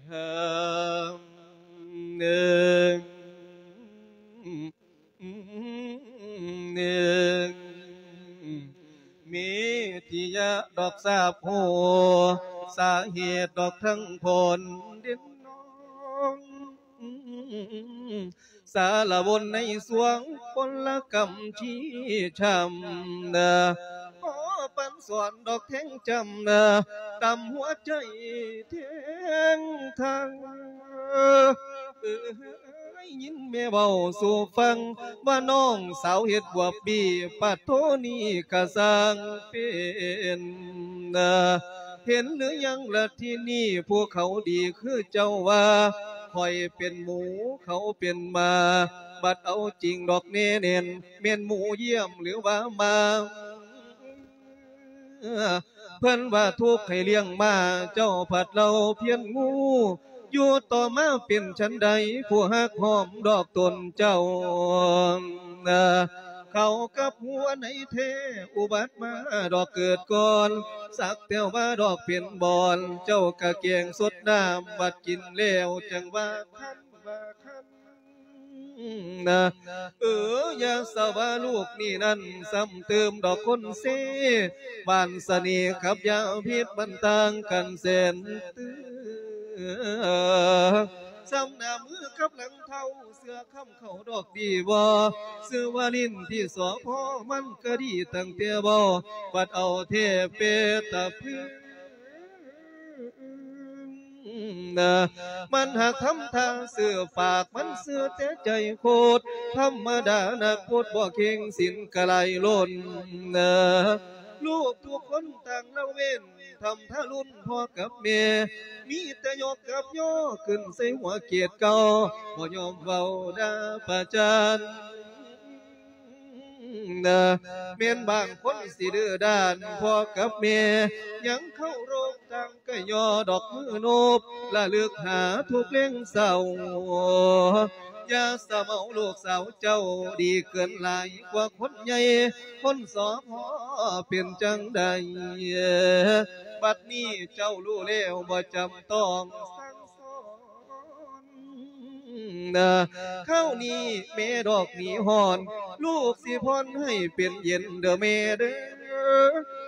ເອີ ມີທີ່ຢາກດອກຊາບຮູ້ ສາເຫດດອກທັງພົ້ນດິນນ້ອງ ສາລະວົນໃນສວງພົນລະກຳທີ່ຊ້ຳນາ ຂໍປັນສອນດອກແທງຈຳນາ ຕຳຫົວໃຈແທງທາງ. ເອີຍ ຍິນແມ່ເວົ້າສູ່ຟັງວ່າ ນ້ອງສາວເຮັດບວບບີ ປາດໂທນີ້ກະຊ່າງເປັນນາ. ເຫັນຫຼືຍັງລະທີນີ້ ຜູ້ເຂົາດີຄືເຈົ້າວ່າ ຂ້ອຍເປັນໝູ ເຂົາເປັນໝາ ບັດເອົາຈິງດອກແນ່ແໜ້ນ ແມ່ນໝູຢ້ຽມຫຼືວ່າໝາ. ເພິ່ນວ່າທຸກໃຫ້ລ້ຽງມາ ເຈົ້າພັດເລົ່າພຽນງູ ຢູ່ຕໍ່ມາເປັນຊັ້ນໃດ ຜູ້ຮັກຫອມດອກຕົນເຈົ້າ ເຂົາກັບຫົວໃນແທ້ ອຸບັດມາດອກເກີດກ່ອນ ສັກແຕ່ວ່າດອກເປັນບອນ ເຈົ້າກະແກງສົດນ້ຳ ບັດກິນແລ້ວຈັ່ງວ່າຄັນ ວ່າຄັນ. ນະ ເອີ ຢ່າສະວ່າລູກນີ້ນັ້ນ ຊ້ຳເຕີມດອກຄົນເຊ ຫວານສະເໜ່ກັບຢາພິດມັນຕ່າງກັນແສນເຕີ. ຊ້ຳໜ້າມືກັບຫຼັງເທົ້າ ເສື້ອຄ້ຳເຂົ້າດອກດີບໍ່ ຊື່ວ່າຫຼິ້ນທີ່ສອພ ມັນກະດີຕັ້ງແຕ່ເວົ້າ ບັດເອົາແທ້ເປຕະພຶ. ນະ ມັນຫາກທຳທ່າຊື່ປາກ ມັນຊື່ແຕ່ໃຈໂຄດ ທຳມະດານັກພຸດບໍ່ເຄັ່ງ ສິນກະໄຫຼລົ້ນນະ. ລູກທຸກຄົນຕ່າງລະເວັ້ນ ທຳທາລຸນພໍ່ກັບແມ່ ມີແຕ່ຍົກກັບຍໍຂຶ້ນໃສ່ຫົວເກດເກົ່າ ບໍ່ຍອມເວົ້າດ່າປະຈານ. ນະ ແມ່ນບາງຄົນຊິດື້ດ້ານພໍ່ກັບແມ່ ຍັງເຄົາລົບຕ່າງກະຍໍດອກມືໂນບ ລະລຶກຫາທຸກເລັງເສົ້າ. ຢ່າສະເໝົາລູກສາວເຈົ້າ ດີເກີນຫຼາຍກວ່າຄົນໃຫຍ່ ຄົນສອພ ເປັນຈັ່ງໃດ ບັດນີ້ເຈົ້າຮູ້ແລ້ວ ບໍ່ຈຳຕ້ອງສັ່ງສອນ. ນະ ຄາວນີ້ແມ່ດອກໜີຮ້ອນ ລູກຊິຜ່ອນໃຫ້ເປັນເຢັນເດີແມ່ເດີ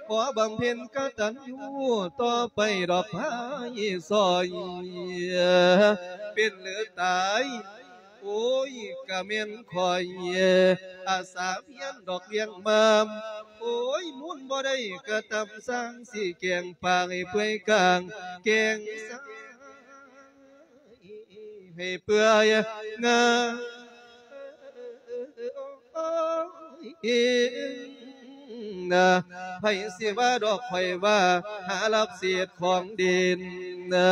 ຂໍບຳເພັນກະຕັນຍູຕໍ່ໄປດອກພາຍຊ່ອຍ ເປັນຫຼືຕາຍ ໂອ້ຍ ກະແມ່ນຂ້ອຍ ອາສາພຽນດອກລ້ຽງມາ ໂອ້ຍ ມູນບໍ່ໄດ້ກະຕຳ ຊ່າງຊິແກງປາໃຫ້ເປື່ອຍກາງ ແກງຊາ ໃຫ້ເປື່ອຍງາ ນະ ໃຜຊິວ່າດອກຂ້ອຍວ່າ ຫາລັບເສດຂອງດິນນະ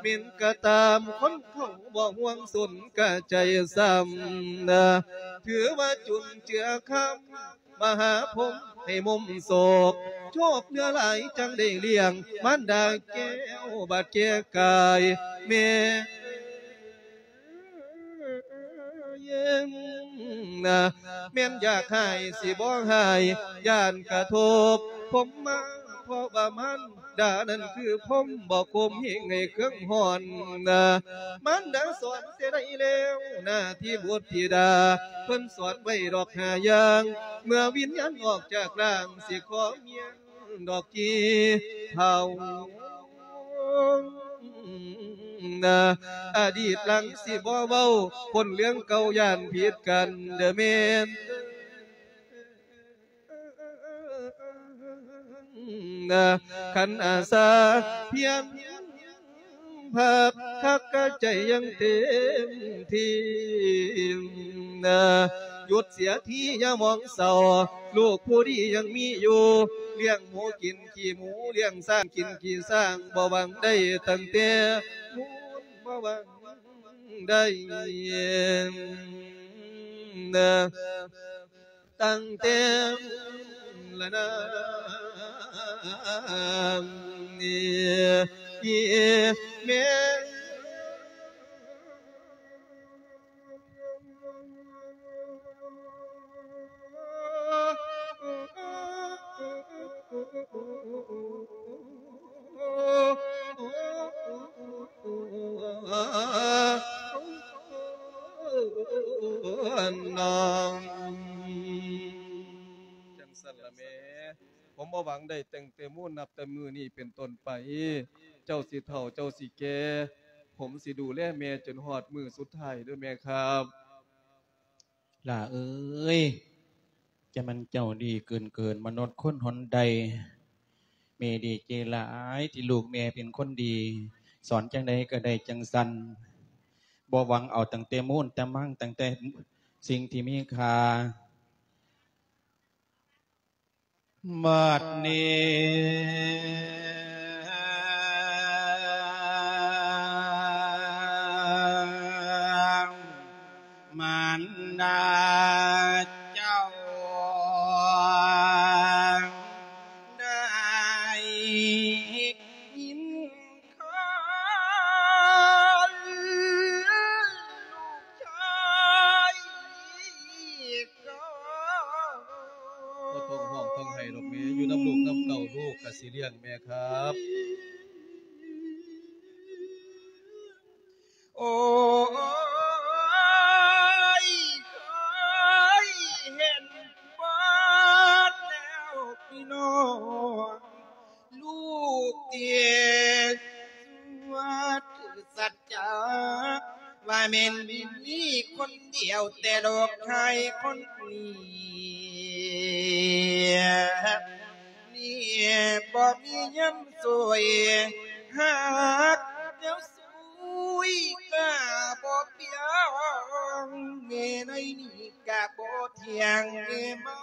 ແມ່ນກະຕາມ ຄົນເຂົາບໍ່ຫ່ວງສົນກະໃຈຊ້ຳນະ ຖືວ່າຈຸນເຈືອຄຳ ມະຫາພົມໃຫ້ມຸມໂສກ ໂຊກເຫຼືອຫຼາຍຈັ່ງໄດ້ລ້ຽງ ມານດາແກ້ວບາດແກ່ກາຍ ແມ່ ນະ ແມ່ນຢາກຫາຍຊິບໍ່ຫາຍ ຢ້ານກະທົບພົມມາ ເພາະວ່າມານດານັ້ນຄືພົມບໍ່ຄົມ ເຮັດໃຫ້ເຄື່ອງຮ້ອນນະ ມານດາສອນແຕ່ໃດແລ້ວ ໜ້າທີ່ບຸດທິດາ ເພິ່ນສອນໄວ້ດອກຫ້າຢ່າງ ເມື່ອວິນຍານອອກຈາກຮ່າງ ຊິຂໍເມຍ ດອກທີ່ເຖົ້ານະ ອະດີດຫຼັງຊິບໍ່ເວົ້າ ຄົນເລື່ອງເກົ່າຢ້ານຜິດກັນເດີແມ່ນນະ ຄັນອາສາພຽງ ພັກ ຮັກກະໃຈຍັງເຕັມທີ່ນະ ຢຸດເສຍທີຢ່າມອງເສົ້າ ລູກຜູ້ດີຍັງມີຢູ່ ລ້ຽງໝູກິນຂີ້ໝູ ລ້ຽງຊ້າງກິນຂີ້ຊ້າງ ບໍ່ຫວັງໄດ້ຕັ້ງແຕ່ມູນ ບໍ່ຫວັງໄດ້ນະ ຕັ້ງແຕ່ລະນາ ແມ່ ນ້ອງ ຈັ່ງຊັ້ນລະແມ່ ຜົມບໍ່ຫວັງໄດ້ຕັ້ງແຕ່ມູນ ນັບແຕ່ມື້ນີ້ເປັນຕົ້ນໄປ ເຈົ້າຊິເຖົ້າ ເຈົ້າຊິແກ່ ຜົມຊິດູແລແມ່ຈົນຮອດມື້ສຸດທ້າຍເດີແມ່ຄັບ. ຫຼ້າເອີຍ ຈະແມ່ນເຈົ້າດີເກີນເກີນມະນຸດຄົນຫົນໃດ. ແມ່ດີໃຈຫຼາຍທີ່ລູກແມ່ເປັນຄົນດີ ສອນຈັ່ງໃດກໍໄດ້ຈັ່ງຊັ້ນ ບໍ່ຫວັງເອົາຕັ້ງແຕ່ມູນແຕ່ມັງ ຕັ້ງແຕ່ສິ່ງທີ່ມີຄ່າ. ບັດນີ້ມານດາເຈົ້າໄດ້ຍິນ ຂອງລູກຊາຍກໍ ບໍ່ຕ້ອງຮ້ອງຕ້ອງໄຫ້ດອກແມ່ ຢູ່ນຳລູກນຳເຕົ້າ ລູກກະຊິລ້ຽງແມ່ຄັບ. ໂອ້ຍ ເຄີຍເຫັນເບິດແລ້ວພີ່ນ້ອງ ລູກເຕັດສວດສັດຈະ ວ່າແມ່ນມີຄົນດຽວແຕ່ໂລກໃຫ້ຄົນນີ້ ນີ້ບໍ່ມີຍາມຊ່ວຍ ຫາກແນວຊ່ວຍກະບໍ່ພຽງ ແມ່ໃນນີ້ກະບໍ່ທ່ຽງ ແມ່ມາ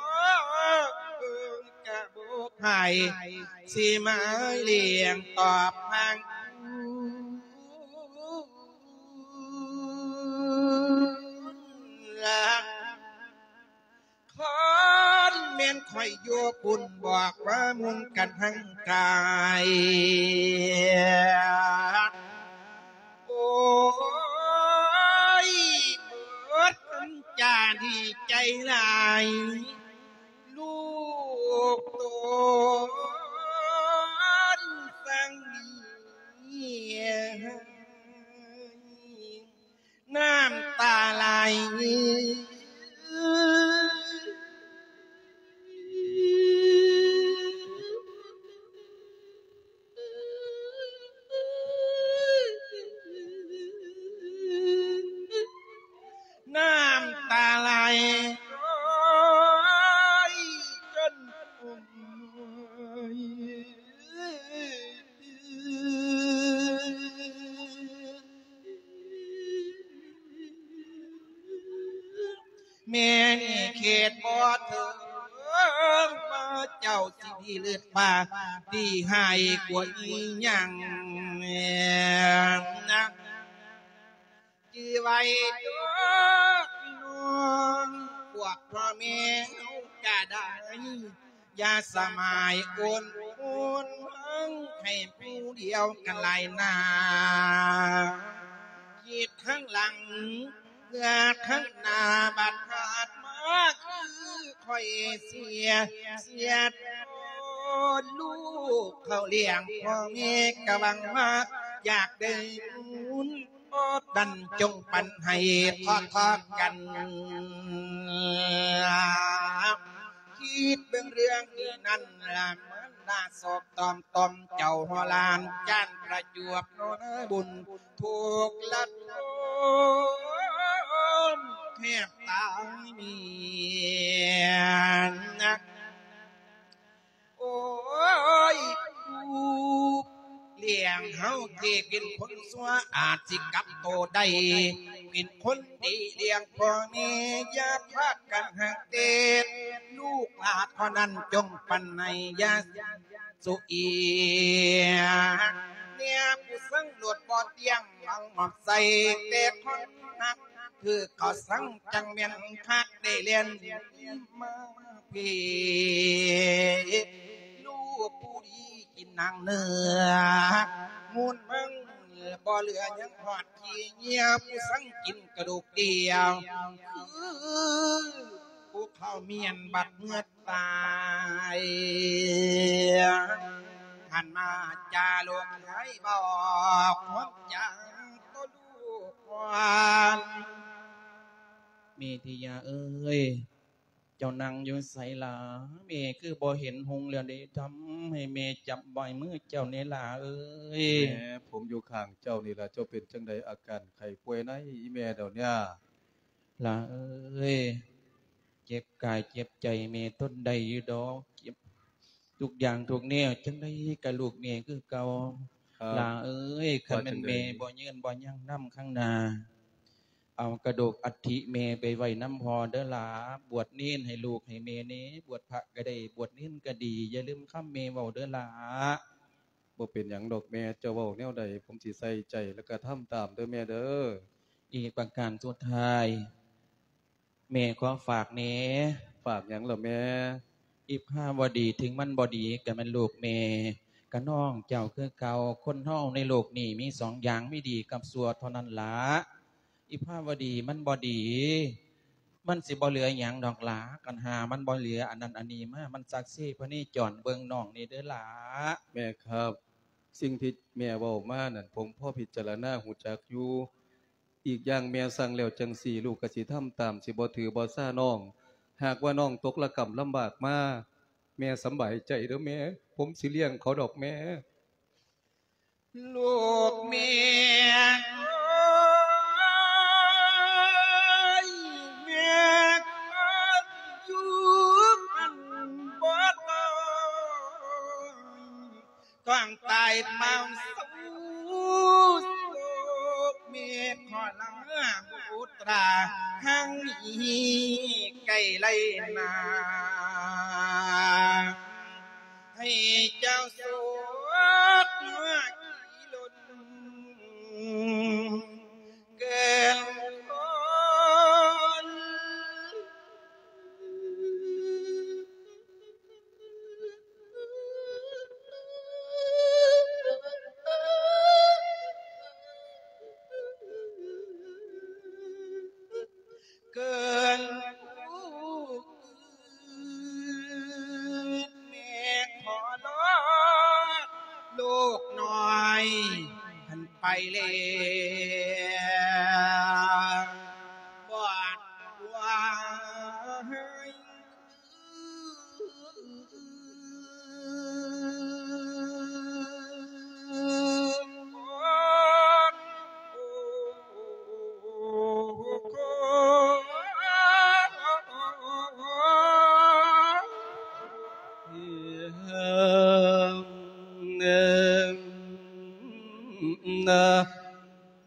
ເບິ່ງກະບໍ່ໃຫ້ ຊິມາລ້ຽງຕອບທາງ ລະ ຄັນແມ່ນຂ້ອຍຢູ່ພຸ້ນ ບອກວ່າມຸນກັນທັງກາຍ ໂອ້ຍ ເບິດຄຳຈາດີໃຈຫຼາຍ ລູກໂຕນສັງດີ ນ້ຳຕາໄຫຼ ນ້ຳຕາໄຫຼ ໂອ້ຍ ຈົນ ແມ່ນີ້ເຂດບໍ່ເຖິງ ວ່າເຈົ້າຊິດີເລີດວ່າ ດີຮ້າຍກວ່າອີ່ຫຍັງ. ຈື່ໄວ້ເດີນ້ອງ ພວກພໍ່ແມ່ເຮົາກະໄດ້ ຢ່າສະໝາຍໂອນໂອນ ໃຫ້ຜູ້ດຽວກັນຫຼາຍໜ້າ ຄິດທາງຫຼັງ ເມື່ອທາງໜ້າບັດພາດມາ ຄືຂ້ອຍເສຍ ເສຍໂຕລູກເຂົ້າລ້ຽງ ພໍ່ແມ່ກະຫວັງວ່າ ຢາກໄດ້ບຸນ ບໍ່ທັນ ຈົ່ງປັນໃຫ້ທອດໆກັນ ຄິດເບິ່ງເລື່ອງນີ້ນັ້ນລະ ມານາສອກຕອມຕ່ອມເຈົ້າຫົວຫຼານ ຈານປະຈວບເນາະນາຍບຸນ ທຸກລະທົນແທບຕາຍເມຍ ໂອ້ຍ ຜູ້ລ້ຽງເຮົາທີ່ເປັນຄົນຊົ່ວ ອາດຊິກັບໂຕໄດ້ ເປັນຄົນດີລ້ຽງພໍ່ແມ່ ຢ່າພາກັນຮັກແຕ່ລູກຫຼານເທົ່ານັ້ນ ຈົ່ງປັນໃຫ້ຢ່າສຸເອຍ ແນວຜູ້ສັງໂລດບໍ່ຕຽງ ຫວັງມອບໃສ່ແຕ່ຄົນຮັກ ຄືເຂົາສັງຈັງແມ່ນຄັກ ໄດ້ແລ່ນມາພີ້ ລູກຜູ້ດີກິນໜັງເນື້ອ ມູນມັງບໍ່ເຫຼືອ ຍັງຮອດຂີ້ເຫຍື້ອ ຜູ້ສັງກິນກະດູກດຽວ ຄືຜູ້ເຂົາມຽນບັດເໝືອດຕາຍ ຫັນມາຈາລູກໃຫ້ບອກຄວາມຈາງ ໂຕລູກຄວາມ ເມທິຍາເອີຍ ເຈົ້ານັ່ງຢູ່ໃສຫຼ້າ? ແມ່ຄືບໍ່ເຫັນຮຸ່ງແລ້ວເດ ທຳໃຫ້ແມ່ຈັບໄວ້ມືເຈົ້າແດ່ຫຼ້າເອີຍ. ແມ່ ຜົມຢູ່ຂ້າງເຈົ້ານີ້ລະ ເຈົ້າເປັນຈັ່ງໃດ ອາການໄຂ້ປ່ວຍໃນອີ່ແມ່ດຽວນີ້? ຫຼ້າເອີຍ ເຈັບກາຍເຈັບໃຈແມ່ທົນໄດ້ຢູ່ດອກ ເຈັບທຸກຢ່າງທຸກແນວ ຈັ່ງໃດກະລູກແມ່ຄືເກົ່າ. ຫຼ້າເອີຍ ຄັນແມ່ນແມ່ບໍ່ຍືນບໍ່ຍັງນຳຂ້າງໜ້າ ເອົາກະດູກອັດຖິແມ່ໄປໄວ້ນຳພໍ່ເດີຫຼ້າ ບວດເນນໃຫ້ລູກໃຫ້ແມ່ແດ່ ບວດພະກະໄດ້ ບວດເນນກະດີ ຢ່າລືມຄຳແມ່ເວົ້າເດີຫຼ້າ. ບໍ່ເປັນຫຍັງດອກແມ່ ເຈົ້າເວົ້າແນວໃດ ຜົມຊິໃສ່ໃຈ ແລະກະທຳຕາມເດີແມ່ເດີ. ອີກປະການສຸດທ້າຍ ແມ່ຂໍຝາກແດ່. ຝາກຫຍັງລະແມ່? ອີພາວະດີ ເຖິງມັນບໍ່ດີກະແມ່ນລູກແມ່ ກະນ້ອງເຈົ້າຄືເກົ່າ. ຄົນເຮົາໃນໂລກນີ້ມີສອງຢ່າງ ມີດີກັບຊົ່ວເທົ່ານັ້ນລະ. ອີພາວະດີ ມັນບໍ່ດີ ມັນຊິບໍ່ເຫຼືອຫຍັງດອກຫຼ້າ ຄັນຫາມັນບໍ່ເຫຼືອອັນນັ້ນອັນນີ້ມາ ມັນຊັກເຊພະເນຈອນ ເບິ່ງນ້ອງແດ່ເດີຫຼ້າ. ແມ່ຄັບ ສິ່ງທີ່ແມ່ເວົ້າມານັ້ນ ຜົມພໍພິຈາລະນາຮູ້ຈັກຢູ່. ອີກຢ່າງແມ່ສັ່ງແລ້ວຈັ່ງຊີ້ ລູກກະຊິທຳຕາມ ຊິບໍ່ຖືບໍ່ຊານ້ອງ. ຫາກວ່ານ້ອງຕົກລະກຳລຳບາກມາ ແມ່ສຳບາຍໃຈເດີແມ່ ຜົມຊິລ້ຽງເຂົາດອກແມ່. ລູກແມ່ເອີຍ ແມ່ກໍຢູ່ອັນບໍ່ໄດ້ ຕ້ອງຕາຍເປົ່າເຊົາ ໂລກແມ່ຂໍລາບຸດຕາ ທາງນີ້ໃກ້ໄລນາ ໃຫ້ເຈົ້າໂຊກມາຂີ່ລົນ ເກີນຄົນ ເກີນຜູ້ອື່ນ ແມ່ຂໍລາລູກນ້ອຍ ຫັ້ນໄປແລ້ວ ບອດວ່າ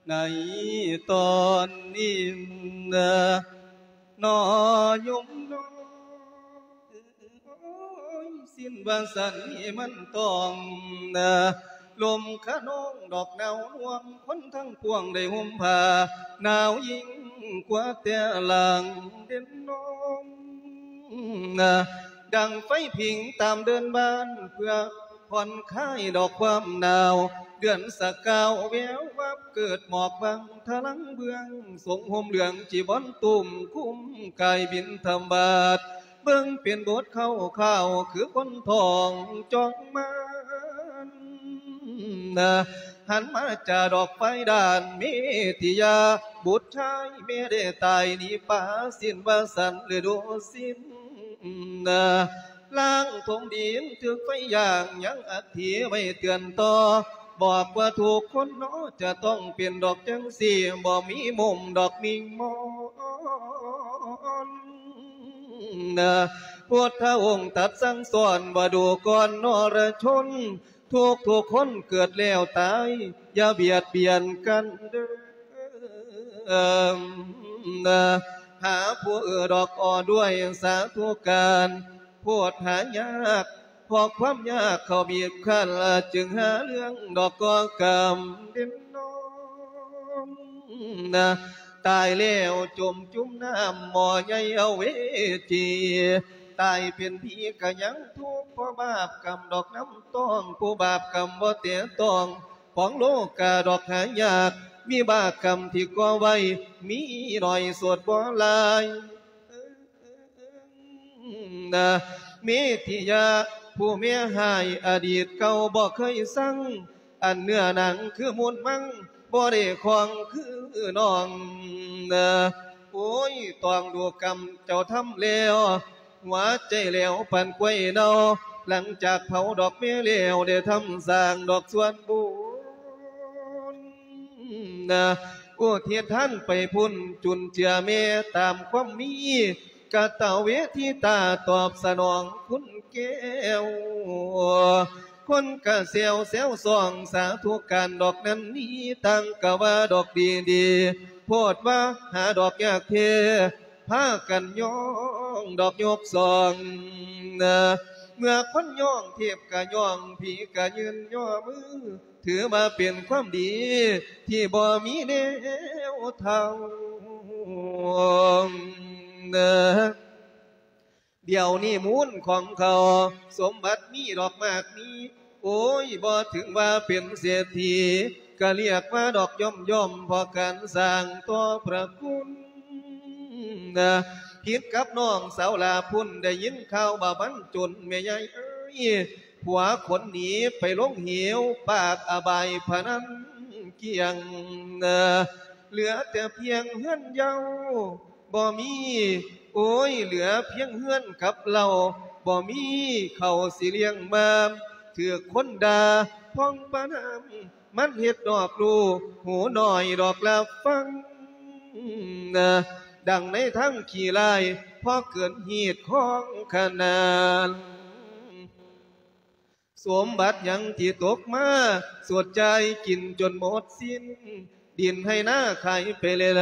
ໃນຕອນນີ້ນະ ນອໂຍມນ້ອຍ ສິ້ນວ່າຊັ້ນນີ້ມັນຕ້ອງນະ ລົມຂະນອງດອກໜາວນວມ ຄົນທັງປວງໄດ້ຫົ່ມຜ້າ ໜາວຍິ່ງກວ່າແຕ່ຫຼັງເດັ່ນນອນ ດັ່ງໄຟຜິງຕາມເດີ່ນບ້ານ ເພື່ອຜ່ອນຄາຍດອກຄວາມໜາວ ເດືອນສະກາວແວວວັບ ເກີດໝອກບາງທະລັງເບື້ອງ ສົງຫົ່ມເຫຼືອງຈີວອນ ຕຸ້ມຄຸມກາຍບິນທະບາດ ເບິ່ງເປັນບົດຄ່າວໆ ຄືຄົນທ້ອງຈອງມານ ຫັນມາຈາດອກໄຟດ້ານເມທິຍາ ບຸດຊາຍແມ່ໄດ້ຕາຍໜີປາສິ້ນວ່າສັນລະດູສິ້ນ ລ້າງຖົງດິນຖືກໄຟຢ່າງ ຍັງອັດຖິໄວ້ເຕືອນຕໍ່ ບອກວ່າທຸກຄົນເນາະ ຈະຕ້ອງເປັນດອກຈັ່ງຊີ້ ບໍ່ມີມຸມດອກມິງມອນ ພຸດທະອົງຕັດສັ່ງສອນວ່າ ດູກ່ອນນະລະຊົນ ທຸກໆຄົນເກີດແລ້ວຕາຍ ຢ່າບຽດບຽນກັນເດີ ຫາຜູ້ອື່ນດອກ ອອ ດ້ວຍສາທຸການ ໂພດຫາຍາກ ເພາະຄວາມຍາກເຂົາບີບຄັ້ນ ຈຶ່ງຫາເລື່ອງດອກກໍ່ກຳເດັ່ນນອນ ຕາຍແລ້ວຈົມຈຸ່ມນ້ຳໝໍ້ໃຫຍ່ເອົາເວຈີ ຕາຍເປັນຜີກະຍັງທຸກ ເພາະບາບກຳດອກນຳຕ້ອງ ຜູ້ບາບກຳບໍ່ແຕະຕ້ອງ ຂອງໂລກາດອກຫາຍາກ ວິບາກກຳທີ່ກໍ່ໄວ້ ມີໜ້ອຍໂສດບໍ່ຫຼາຍ ເມທິຍາ ຜູ້ເມຍຮ້າຍອະດີດເກົ່າບໍ່ເຄີຍຊັງ ອັນເນື້ອໜັງຄືມູນມັງ ບໍ່ໄດ້ຄອງຄືນ້ອງ ໂອ້ຍ ຕ້ອງດູກຳເຈົ້າທຳແລ້ວ ຫົວໃຈແຫຼວປານກ້ວຍເນົ່າ ຫຼັງຈາກເຜົາດອກເມແລ້ວ ໄດ້ທຳສ້າງດອກສ່ວນບຸນ ອຸທິດທານໄປພຸ້ນ ຈຸນເຈືອແມ່ຕາມຄວາມມີ ກະຕະເວທິຕາຕອບສະໜອງຄຸນແກ້ວ ຄົນກະແຊວແຊວຊ່ອງ ສາທຸການດອກນັ້ນນີ້ ຕ່າງກະວ່າດອກດີໆ ໂພດວ່າຫາດອກຍາກແທ້ ພາກັນຍ້ອງດອກຍົກສອງ ເມື່ອຄົນຍ້ອງເທບກະຍ້ອງ ຜີກະຍື່ນຍໍມື ຖືວ່າເປັນຄວາມດີ ທີ່ບໍ່ມີແນວເທົ່າ ດຽວນີ້ມູນຂອງເຂົາ ສົມບັດມີດອກມາກມີ ໂອ້ຍ ບໍ່ເຖິງວ່າເປັນເສດຖີ ກະລຽກວ່າດອກຢ່ອມໆ ເພາະການສ້າງຕໍ່ພະຄຸນ ຜິດກັບນ້ອງສາວຫຼ້າພຸ້ນ ໄດ້ຍິນຂ່າວວ່າມັນຈົນ ແມ່ໃຫຍ່ເອີຍ ຜົວຂົນໜີໄປລົງເຫວ ປາກອະບາຍພະນັນກ້ຽງ ເຫຼືອແຕ່ພຽງເຮືອນເຍົາບໍ່ມີ ໂອ້ຍ ເຫຼືອພຽງເຮືອນກັບເຫຼົ້າ ບໍ່ມີເຂົ້າຊິລ້ຽງມາ ຖືກຄົນດ່າພອງປານນ້ຳ ມັນເຮັດດອກລູກຫູໜ້ອຍດອກລະຟັງ ດັ່ງໃນທາງຂີ້ຮ້າຍ ພໍເກີນຮີດຂອງຂະໜານ ສົມບັດຫຍັງທີ່ຕົກມາ ສວດຈ່າຍກິນຈົນໝົດສິ້ນ ດິນໄຮ່ນາຂາຍໄປແລ້ວ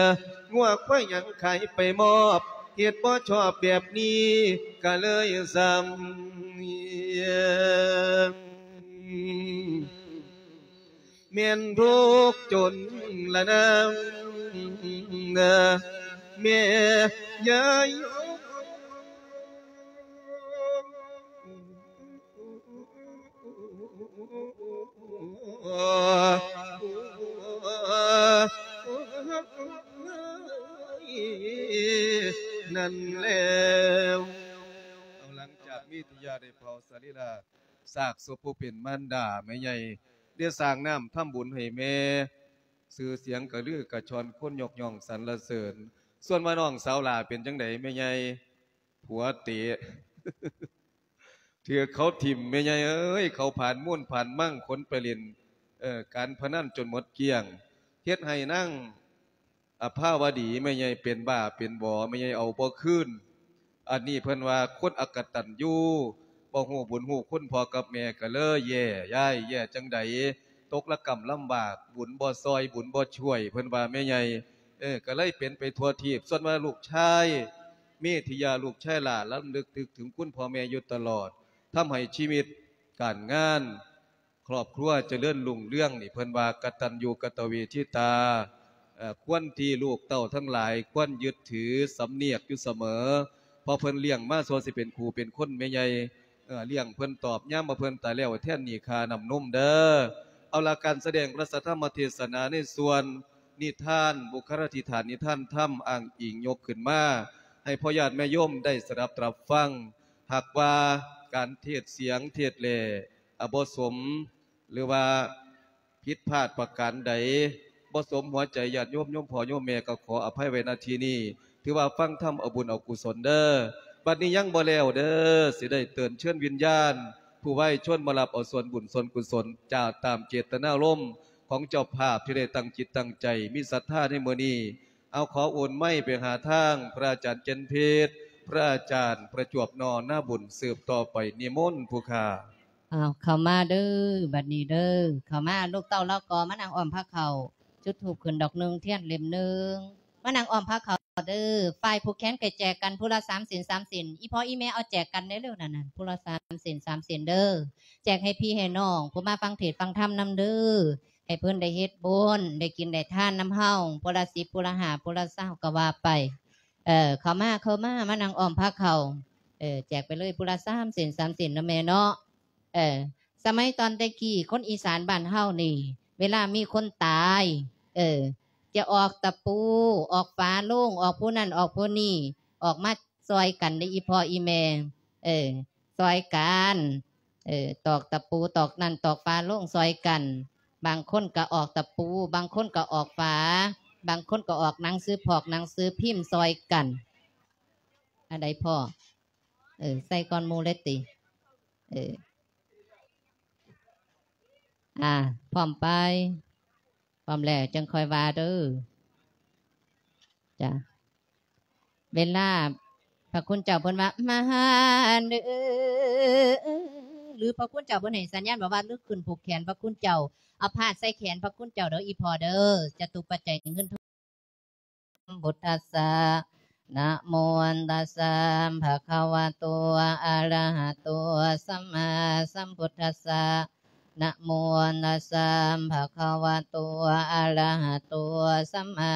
ງົວຄວາຍຫຍັງຂາຍໄປມອບ ເຮັດບໍ່ຊອບແບບນີ້ ກະເລີຍຊ້ຳ ແມ່ນທຸກຈົນລະນາງ ແມ່ຍາຍ ນັ້ນແລ້ວ ເອົາ ຫຼັງຈາກມີທິຍາໄດ້ເຜົາສະລີລະ ຊາກສົບຜູ້ເປັນມານດາແມ່ໃຫຍ່ ໄດ້ສ້າງນ້ຳທຳບຸນໃຫ້ແມ່ ຊື່ສຽງກະລືກະຊ່ອນ ຄົນຍົກຍ້ອງສັນລະເສີນ. ສ່ວນວ່ານ້ອງສາວຫຼ້າເປັນຈັ່ງໃດແມ່ໃຫຍ່? ຜົວເຕະ ຖືກເຂົາຖິ້ມແມ່ໃຫຍ່ເອີຍ ເຂົາຜານມູນຜານມັງ ຂົນໄປຫຼິ້ນ ເອີ ການພະນັນຈົນໝົດກ້ຽງ ເຮັດໃຫ້ນາງ ອະພາວະດີ ແມ່ໃຫຍ່ເປັນບ້າເປັນບອ ແມ່ໃຫຍ່ເອົາບໍ່ຄືນ. ອັນນີ້ເພິ່ນວ່າຄົນອະກະຕັນຍູ ບໍ່ຮູ້ບຸນຮູ້ຄຸນພໍ່ກັບແມ່ ກະເລີຍແຍ່ ຍາຍແຍ່ຈັ່ງໃດ ຕົກລະກຳລຳບາກ ບຸນບໍ່ຊ່ອຍ ບຸນບໍ່ຊ່ວຍ ເພິ່ນວ່າແມ່ໃຫຍ່ ເອີ ກະເລີຍເປັນໄປທົ່ວທີບ. ສ່ວນວ່າລູກຊາຍ ເມທິຍາ ລູກຊາຍຫຼ້າ ລຳລຶກນຶກເຖິງຄຸນພໍ່ແມ່ຢູ່ຕະຫຼອດ ທຳໃຫ້ຊີວິດການງານ ຄອບຄົວຈະເລີນຮຸ່ງເຮືອງນີ້ ເພິ່ນວ່າກະຕັນຍູກະຕະເວທິຕາ ເອີ ຄວນທີ່ລູກເຕົ້າທັງຫຼາຍຄວນຍຶດຖືສຳນຽກຢູ່ສະເໝີ ເພາະເພິ່ນລ້ຽງມາຊົ່ວຊິເປັນຄູ່ເປັນຄົນແມ່ໃຫຍ່ ເອີ ລ້ຽງເພິ່ນຕອບຍາມວ່າເພິ່ນຕາຍແລ້ວ ແທນໜີ້ຄ່ານ້ຳນົມເດີ. ເອົາລະ ການສະແດງພະທຳມະເທດສະໜາໃນສ່ວນນິທານ ບຸກຄະລາທິຖານນິທານທຳ ອ້າງອີງຍົກຂຶ້ນມາ ໃຫ້ພໍ່ຍາດແມ່ໂຍມໄດ້ສະດັບຕະຮັບຟັງ. ຫາກວ່າການເທດສຽງເທດແຫຼ ອາ ບໍ່ສົມ ຫຼືວ່າຜິດພາດປະການໃດ ບໍ່ສົມຫົວໃຈຍາດໂຍມ ໂຍມພໍ່ໂຍມແມ່ ກໍຂໍອະໄພໄວ້ ນະ ທີ່ນີ້ ຖືວ່າຟັງທຳເອົາບຸນເອົາກຸສົນເດີ. ບັດນີ້ຍັງບໍ່ແລ້ວເດີ ຊິໄດ້ເຕີນເຊີນວິນຍານ ຜູ້ວາຍຊົນມາຮັບເອົາສ່ວນບຸນສ່ວນກຸສົນ ຈາກຕາມເຈດຕະນາລົມຂອງເຈົ້າພາບທີ່ໄດ້ຕັ້ງຈິດຕັ້ງໃຈ ມີສັດທາໃນມື້ນີ້. ເອົາ ຂໍໂອນໄມໄປຫາທາງພະອາຈານເຈັນເພັດ ພະອາຈານປະຈວບ ນໍ ນາບຸນ ສືບຕໍ່ໄປ ນິມົນຜູ້ຂ້າ. ອ້າວ ເຂົ້າມາເດີ ບັດນີ້ເດີ ເຂົ້າມາ ລູກເຕົ້າລາວກໍມານັ່ງອ້ອມພາເຂົ້າ ຈຸດທູບຂຶ້ນດອກໜຶ່ງ ທຽນເຫຼັ້ມໜຶ່ງ ມານັ່ງອ້ອມພາເຂົ້າເດີ. ຝ່າຍຜູກແຂນກໍແຈກກັນຜູ້ລະສາມເສັ້ນ ສາມເສັ້ນ ອີ່ພໍ່ອີ່ແມ່ເອົາແຈກກັນແດ່ເດີ ນັ້ນໆ ຜູ້ລະສາມເສັ້ນ ສາມເສັ້ນເດີ ແຈກໃຫ້ພີ່ໃຫ້ນ້ອງ ຜູ້ມາຟັງເທດຟັງທຳນຳເດີ ໃຫ້ເພິ່ນໄດ້ເຮັດບຸນ ໄດ້ກິນໄດ້ທານນຳເຮົາ ຜູ້ລະສິບ ຜູ້ລະຫ້າ ຜູ້ລະຊາວ ກໍວ່າໄປ. ເອີ ເຂົ້າມາ ເຂົ້າມາ ມານັ່ງອ້ອມພາເຂົ້າ ເອີ ແຈກໄປເລີຍ ຜູ້ລະສາມເສັ້ນ ສາມເສັ້ນເນາະແມ່ເນາະ. ເອີ ສະໄໝຕອນແຕ່ກີ້ ຄົນອີສານບ້ານເຮົານີ້ ເວລາມີຄົນຕາຍ ເອີ ຈະອອກຕະປູ ອອກຝາໂລງ ອອກຜູ້ນັ້ນອອກຜູ້ນີ້ ອອກມາຊ່ອຍກັນເດ້ ອີ່ພໍ່ອີ່ແມ່ ເອີ ຊ່ອຍກັນ ເອີ ຕອກຕະປູ ຕອກນັ້ນຕອກຝາໂລງຊ່ອຍກັນ. ບາງຄົນກໍອອກຕະປູ ບາງຄົນກໍອອກຝາ ບາງຄົນກໍອອກໜັງສືພອກ ໜັງສືພິມຊ່ອຍກັນ. ອັນໃດພໍ່? ເອີ ໃສ່ກ່ອນໝູ່ເລີຍຕິ? ເອີ ອ່າ ພ້ອມໄປ? ພ້ອມແລ້ວຈັ່ງຄ່ອຍວ່າເດີ. ຈ້າ ເວລາພະຄຸນເຈົ້າເພິ່ນວ່າ ມາເດີ ຫຼືພະຄຸນເຈົ້າເພິ່ນໃຫ້ສັນຍານບອກວ່າ ລຸກຂຶ້ນຜູກແຂນພະຄຸນເຈົ້າ ເອົາພາດໃສ່ແຂນພະຄຸນເຈົ້າເດີ ອີ່ພໍ່ເດີ ຈະຕຸປັດໄຈເງິນທອງ. ສຳພຸດທັດສະ ນະໂມຕັດສະ ພະຄະວະໂຕ ອະລະຫະໂຕ ສຳມາສຳພຸດທັດສະ ນະໂມຕັດສະ ພະຄະວະໂຕ ອະລະຫະໂຕ ສຳມາ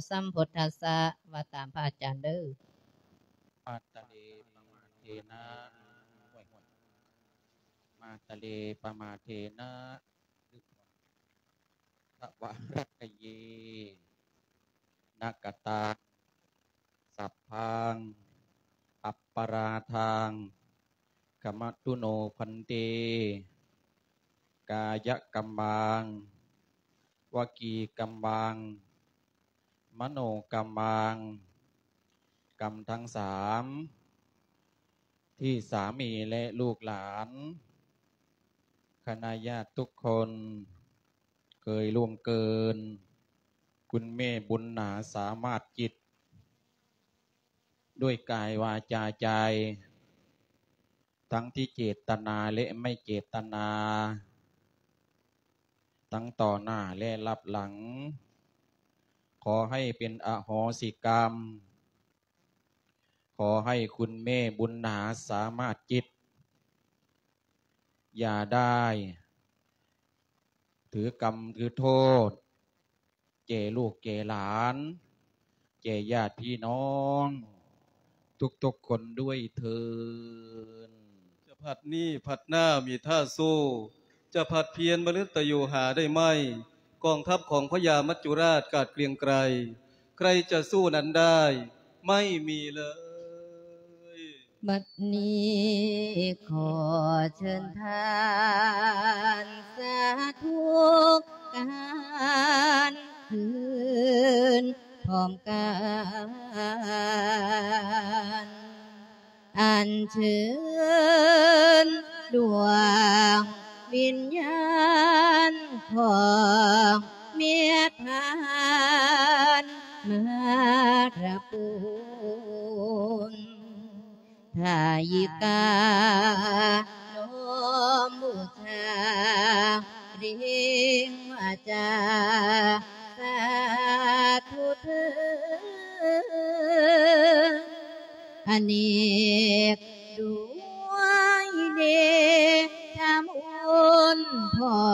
ສຳພຸດທັດສະ. ວ່າຕາມພະອາຈານເດີ. ມາຕະເລ ປະມາເທນະ ມາຕະເລ ປະມາເທນະ ທະວາຣັກກະເຍ ນະກະຕັງ ສັບພັງ ອັບປະລາທັງ ຂະມະຕຸໂນ ພັນເຕ ກາຍະກຳມັງ ວະຈີກຳມັງ ມະໂນກຳມັງ ກຳທັງສາມ ທີ່ສາມີ ແລະ ລູກຫຼານ ຄະນະຍາດທຸກຄົນ ເຄີຍລ່ວງເກີນ ຄຸນແມ່ບຸນໜາ ສາມາດຈິດ ດ້ວຍກາຍ ວາຈາ ໃຈ ທັງທີ່ເຈດຕະນາ ແລະ ໄມ່ເຈດຕະນາ ທັງຕໍ່ໜ້າ ແລະ ລັບຫຼັງ ຂໍໃຫ້ເປັນອະໂຫສິກຳ ຂໍໃຫ້ຄຸນແມ່ບຸນໜາ ສາມາດຈິດ ຢ່າໄດ້ຖືກຳຖືໂທດ ແກ່ລູກແກ່ຫຼານ ແກ່ຍາດພີ່ນ້ອງທຸກໆຄົນດ້ວຍເທີ້ນ. ຈະພັດນີ້ພັດໜ້າມີທ່າສູ້ ຈະພັດພຽນມະລຶດຕະຢູ່ຫາໄດ້ໄໝ? ກອງທັບຂອງພະຍາມັດຈຸລາດກາດເກຣງໄກ ໃຄຈະສູ້ນັ້ນໄດ້ ໄມ່ມີເລີຍ. ບັດນີ້ຂໍເຊີນທ່ານສາທຸການ ຄືນພ້ອມກັນ ອັນເຊີນດວງວິນຍານຂອງເມຍທ່ານມາລະປູນ ທາຍິການ້ອມບູຊາ ເລັ່ງວາຈາສາທຸເທີ້ນ ອະເນກດ້ວຍເດຊະມຸນ ພໍ່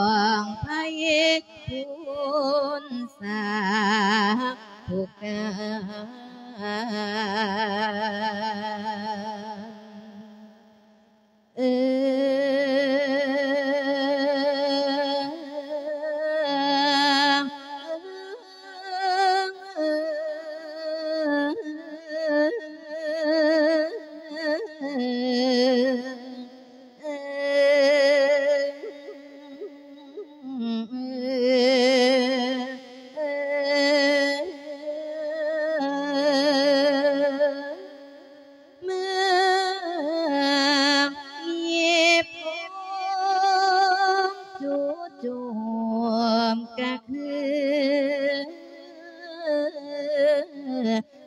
ທຸກການ ເອີ ເມື່ອມີພວກຈູ່ໂຈມກະຄື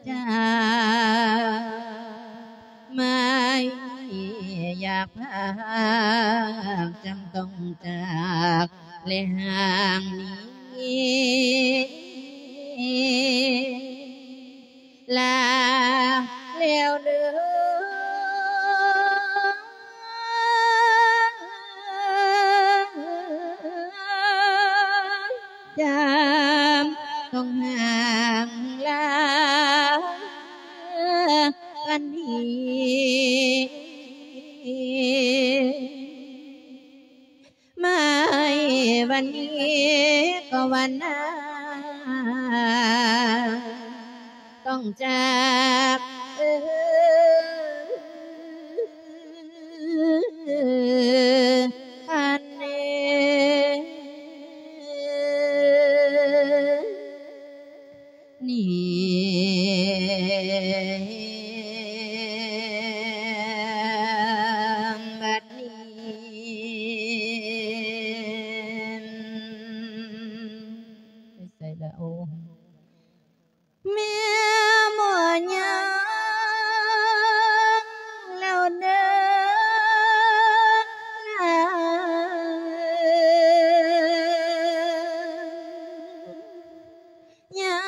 ຈາກ ໝາຍຢາກພາກ ຈຳຕ້ອງຈາກ ແລະຫ່າງໜີ ລາແລ້ວເດີ ຈຳຕ້ອງຫ່າງລາກັນອີກ ມາໃຫ້ວັນນີ້ກໍວັນໜ້າ ຕ້ອງຈາກ ເອີ ອັນນີ້ ນີ້ ບັດນີ້ ໄປໃສລະ ໂອ້ ແມ່ໝໍຍາງແລ້ວເດີ ຍາ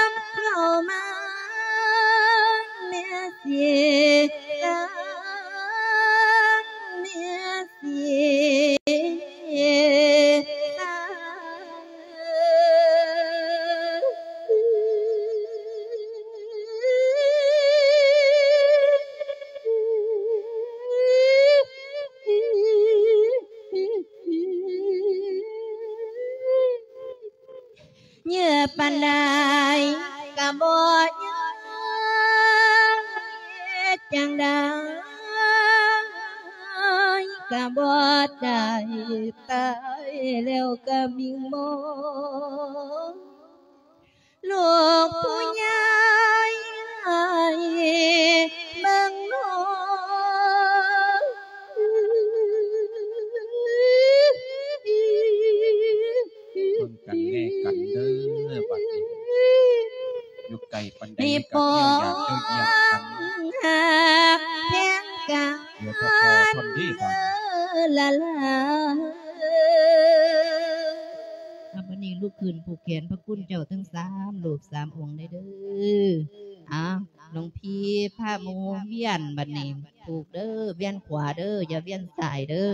ມເຂົ້າມາ ແມ່ຊິຕາມ ແມ່ຊິຕາມ ເຍອະປານໃດກະບໍ່ຍອມ ເຮັດຈັ່ງໃດກະບໍ່ໄດ້ ຕາຍແລ້ວກະວິງວອນ ລູກຜູ້ໃຫຍ່ໃຫ້ເບິ່ງໜໍ ເບິ່ງກັນແລກັນເດີບັດນີ້ ຢູ່ໄກປານໃດກໍເອີ່ຍຢາກເອີ່ຍຢາກກັນ ໃຫ້ປອງຮັກແພງກັນ ເຫຼືອແຕ່ພໍເທົ່ານີ້ບາດນີ້ ລະລາ. ອາ ບັດນີ້ລຸກຂຶ້ນຜູກແຂນພະຄຸນເຈົ້າທັງສາມຮູບສາມອົງເດີ. ອາ ຫຼວງພີ່ພາໝູ່ວຽນ ບັດນີ້ຜູກເດີ ວຽນຂວາເດີ ຢ່າວຽນຊ້າຍເດີ.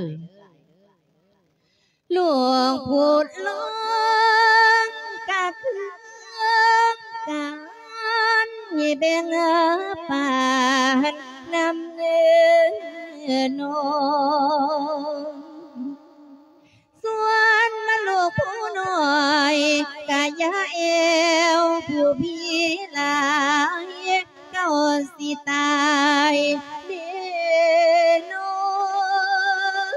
ຫຼວງຜູ້ຫຼວງກະຄືກັນ ແບ່ງປານນຳເດີນ້ອງ. ສ່ວນມາລູກຜູ້ນ້ອຍກະຢ່າແອວຜູ້ພີ່ຫຼາຍ ເຈົ້າຊິຕາຍເດນ້ອງ.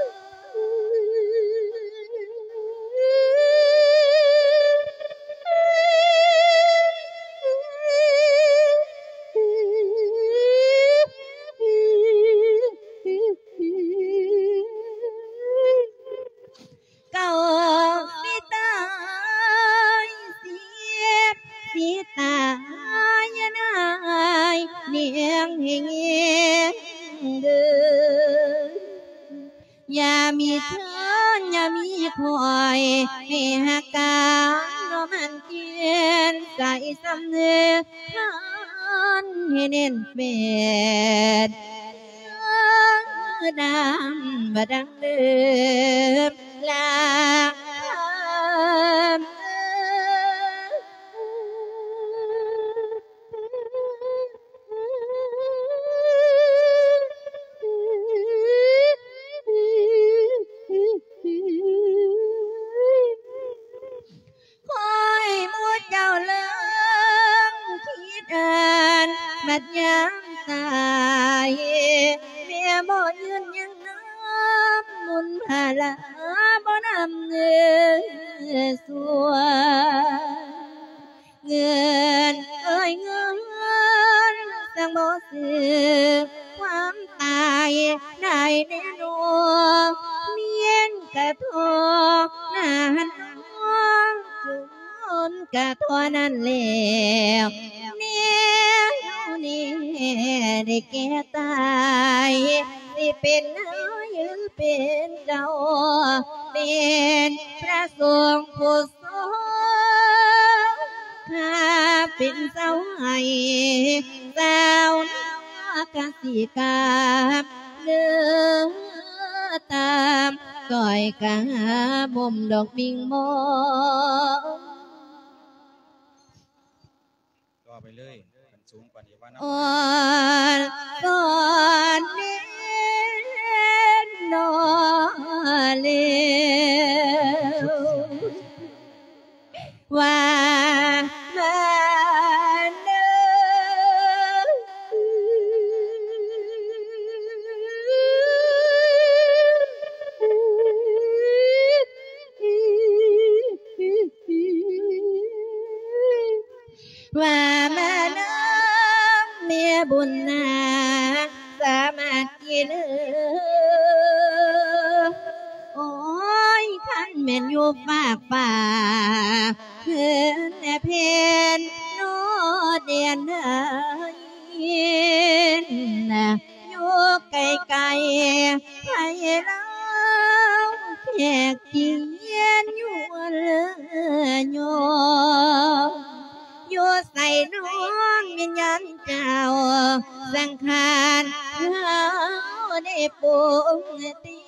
ເຈົ້າຊິຕາຍເສຍ ຊິຕາຍນາຍນຽງເຮງເດີ. ຢ່າມີເທີນ ຢ່າມີຂ້ອຍ ໃຫ້ຮັກກັນ ບໍ່ໝັ້ນແກ່ນໃຈສ່ຳເນີ ພັນໃຫ້ແໜ້ນແຟ້ນ ເດີດຳບໍ່ດັງເດີມ ລາຄຳເອີ. ຕາຍ ແມ່ບໍ່ຢືນຍັງນຳ ບຸນພາລາບໍ່ນຳເງິນສ່ວນ ເງິນເອີຍເງິນ ຈັ່ງບໍ່ຊື້ຄວາມຕາຍໄດ້ແນ່ນອນ ແມ່ນກະທໍ່ໜ້ານອງ ຈົນກະທໍ່ນັ້ນແລ້ວ ແນວນີ້ໄດ້ແກ່ຕາຍ ຊິເປັນນາຍຫຼືເປັນເຈົ້າ ເປັນພະສົງຜູ້ ຂ້າເປັນສາວໄຮ່ ສາວນາກະສິກຳ ເດີຕາມກ້ອຍກາບົ່ມດອກມິ່ງມອງ ຕໍ່ໄປເລີຍ ຄັນສູງກວ່ານີ້ວ່ານຳ ອ່ອນສອນເນນນອເລວ ວ່າມາເດີ ວ່າມານຳແມ່ບຸນນາ ສາມາດກິດເອີ ໂອ້ຍ ຄັນແມ່ນຢູ່ຟາກຟ້າ ເພິ່ນແລະເພິ່ນໂນດແດນໃດ ຢູ່ໄກໆ ໃຜລາວແຂກຈີນຢູ່ເລີຍ ຢູ່ໃສນ້ອງວິນຍານເຈົ້າ ສັງຂານເຮົາໄດ້ປຸງແຕ່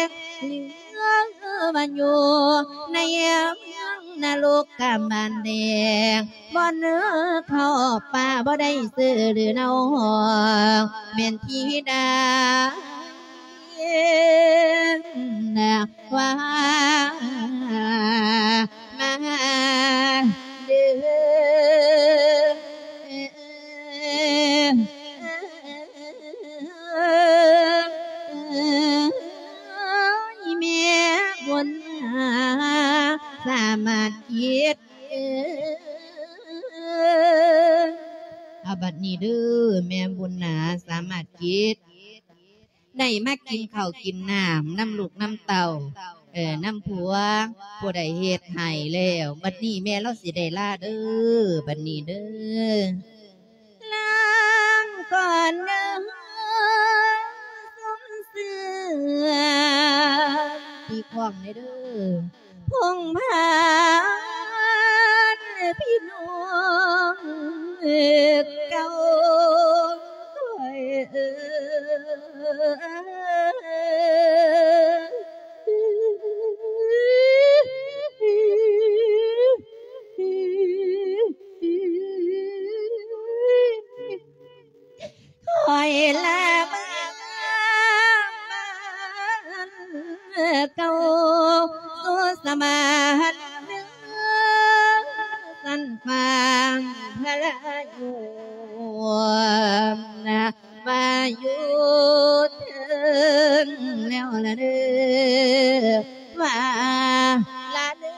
ງ ຫຼືວ່າຢູ່ໃນເມືອງນະລົກກະບ້ານແດງ ບ່ອນເຮົາເຂົ້າປ່າບໍ່ໄດ້ຊື່ ຫຼືເຮົາຮ້ອງແມ່ນທິດາ ວ່າມາເດີ ແມ່ບຸນນາ ສາມາດກິດ ເອົາບັດນີ້ເດີ ແມ່ບຸນນາ ສາມາດກິດ ໄດ້ມາກິນເຂົ້າກິນນ້ຳນຳລູກນຳເຕົ້າ ເອີ ນຳຜົວ ຜູ້ໃດເຮັດໃຫ້ແລ້ວ ບັດນີ້ແມ່ລາວຊິໄດ້ລາເດີ ບັດນີ້ເດີ ລາກ່ອນເດີ ສົມເຊື່ອ ຕີຄ້ອງແດ່ເດີ ພົງພານພີ່ນ້ອງເກົ່າຂ້ອຍເອີຍ ຂ້ອຍລາເມືອງບ້ານເກົ່າ ສູ່ສະບານເມືອງສັນຟາງພະລາຢູ່ ວ່າຢູ່ເຖິງແລ້ວລະເດີ ວ່າລະເດີ. ດ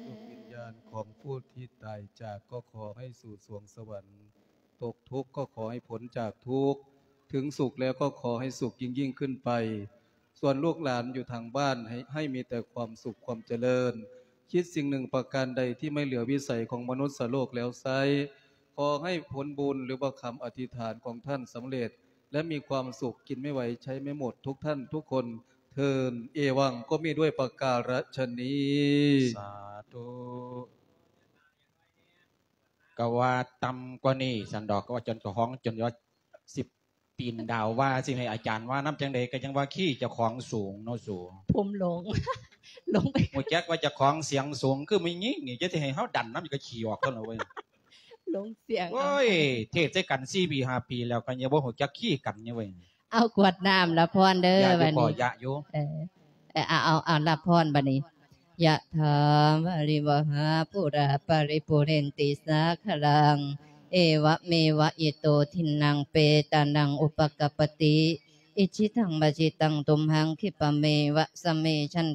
ວງວິນຍານຂອງຜູ້ທີ່ຕາຍຈາກ ກໍຂໍໃຫ້ສູ່ສວງສະຫວັນ, ຕົກທຸກກໍຂໍໃຫ້ພົ້ນຈາກທຸກ, ເຖິງສຸກແລ້ວກໍຂໍໃຫ້ສຸກຍິ່ງໆຂຶ້ນໄປ. ສ່ວນລູກຫຼານຢູ່ທາງບ້ານ ໃຫ້ ໃຫ້ມີແຕ່ຄວາມສຸກຄວາມຈະເລີນ, ຄິດສິ່ງໜຶ່ງປະການໃດທີ່ໄມ່ເຫຼືອວິໄສຂອງມະນຸດສະໂລກແລ້ວໃຊ້, ຂໍໃຫ້ຜົນບຸນ ຫຼືວ່າຄຳອະທິຖານຂອງທ່ານສຳເລັດ ແລະ ມີຄວາມສຸກ ກິນໄມ່ໄຫວໃຊ້ໄມ່ໝົດ ທຸກທ່ານທຸກຄົນເທີ້ນ. ເອວັງ ກໍມີດ້ວຍປະກາລະຊະນີ້. ສາທຸ. ກະວ່າຕ່ຳກວ່ານີ້ຊັ້ນດອກ ກະວ່າຈົນກະຮອງ ຈົນວ່າຊິປີນດາວວ່າ ຊິໃຫ້ອາຈານວ່ານຳຈັ່ງໃດ ກະຍັງວ່າຂີ້ເຈົ້າຂອງສູງເນາະສູ. ຜົມຫຼົງ ຫຼົງໄປ ຮູ້ຈັກວ່າເຈົ້າຂອງສຽງສູງ ຄືແມ່ຍິງນີ້ ຈະຊິໃຫ້ເຮົາດັນນຳ ກະຂີ້ອອກເທົ່ານັ້ນເວີຍ. ລົງສຽງ ໂອ້ຍ ເທດໃສ່ກັນສີ່ປີຫ້າປີແລ້ວ ກໍຍັງບໍ່ຮູ້ຈັກຄີ້ກັນຢູ່ເວີຍ. ເອົາກວດນ້ຳລະພອນເດີ ຢາຢູ່ ບັດນີ້ ຢາຢູ່ ເອີ ເອີ ເອົາ ເອົາ ເອົາລະພອນບັດນີ້. ຍະຖາວາລິວະຫາປູຣາປະລິປູເຣນຕິສາຄະລັງ ເອວະເມວະອິໂຕທິນນັງເປຕານັງອຸປະກັບປະຕິ ອິດຖິຕັງປັດສິຕັງຕຸມຫັງຂິບປະເມວະສະເມຊັນ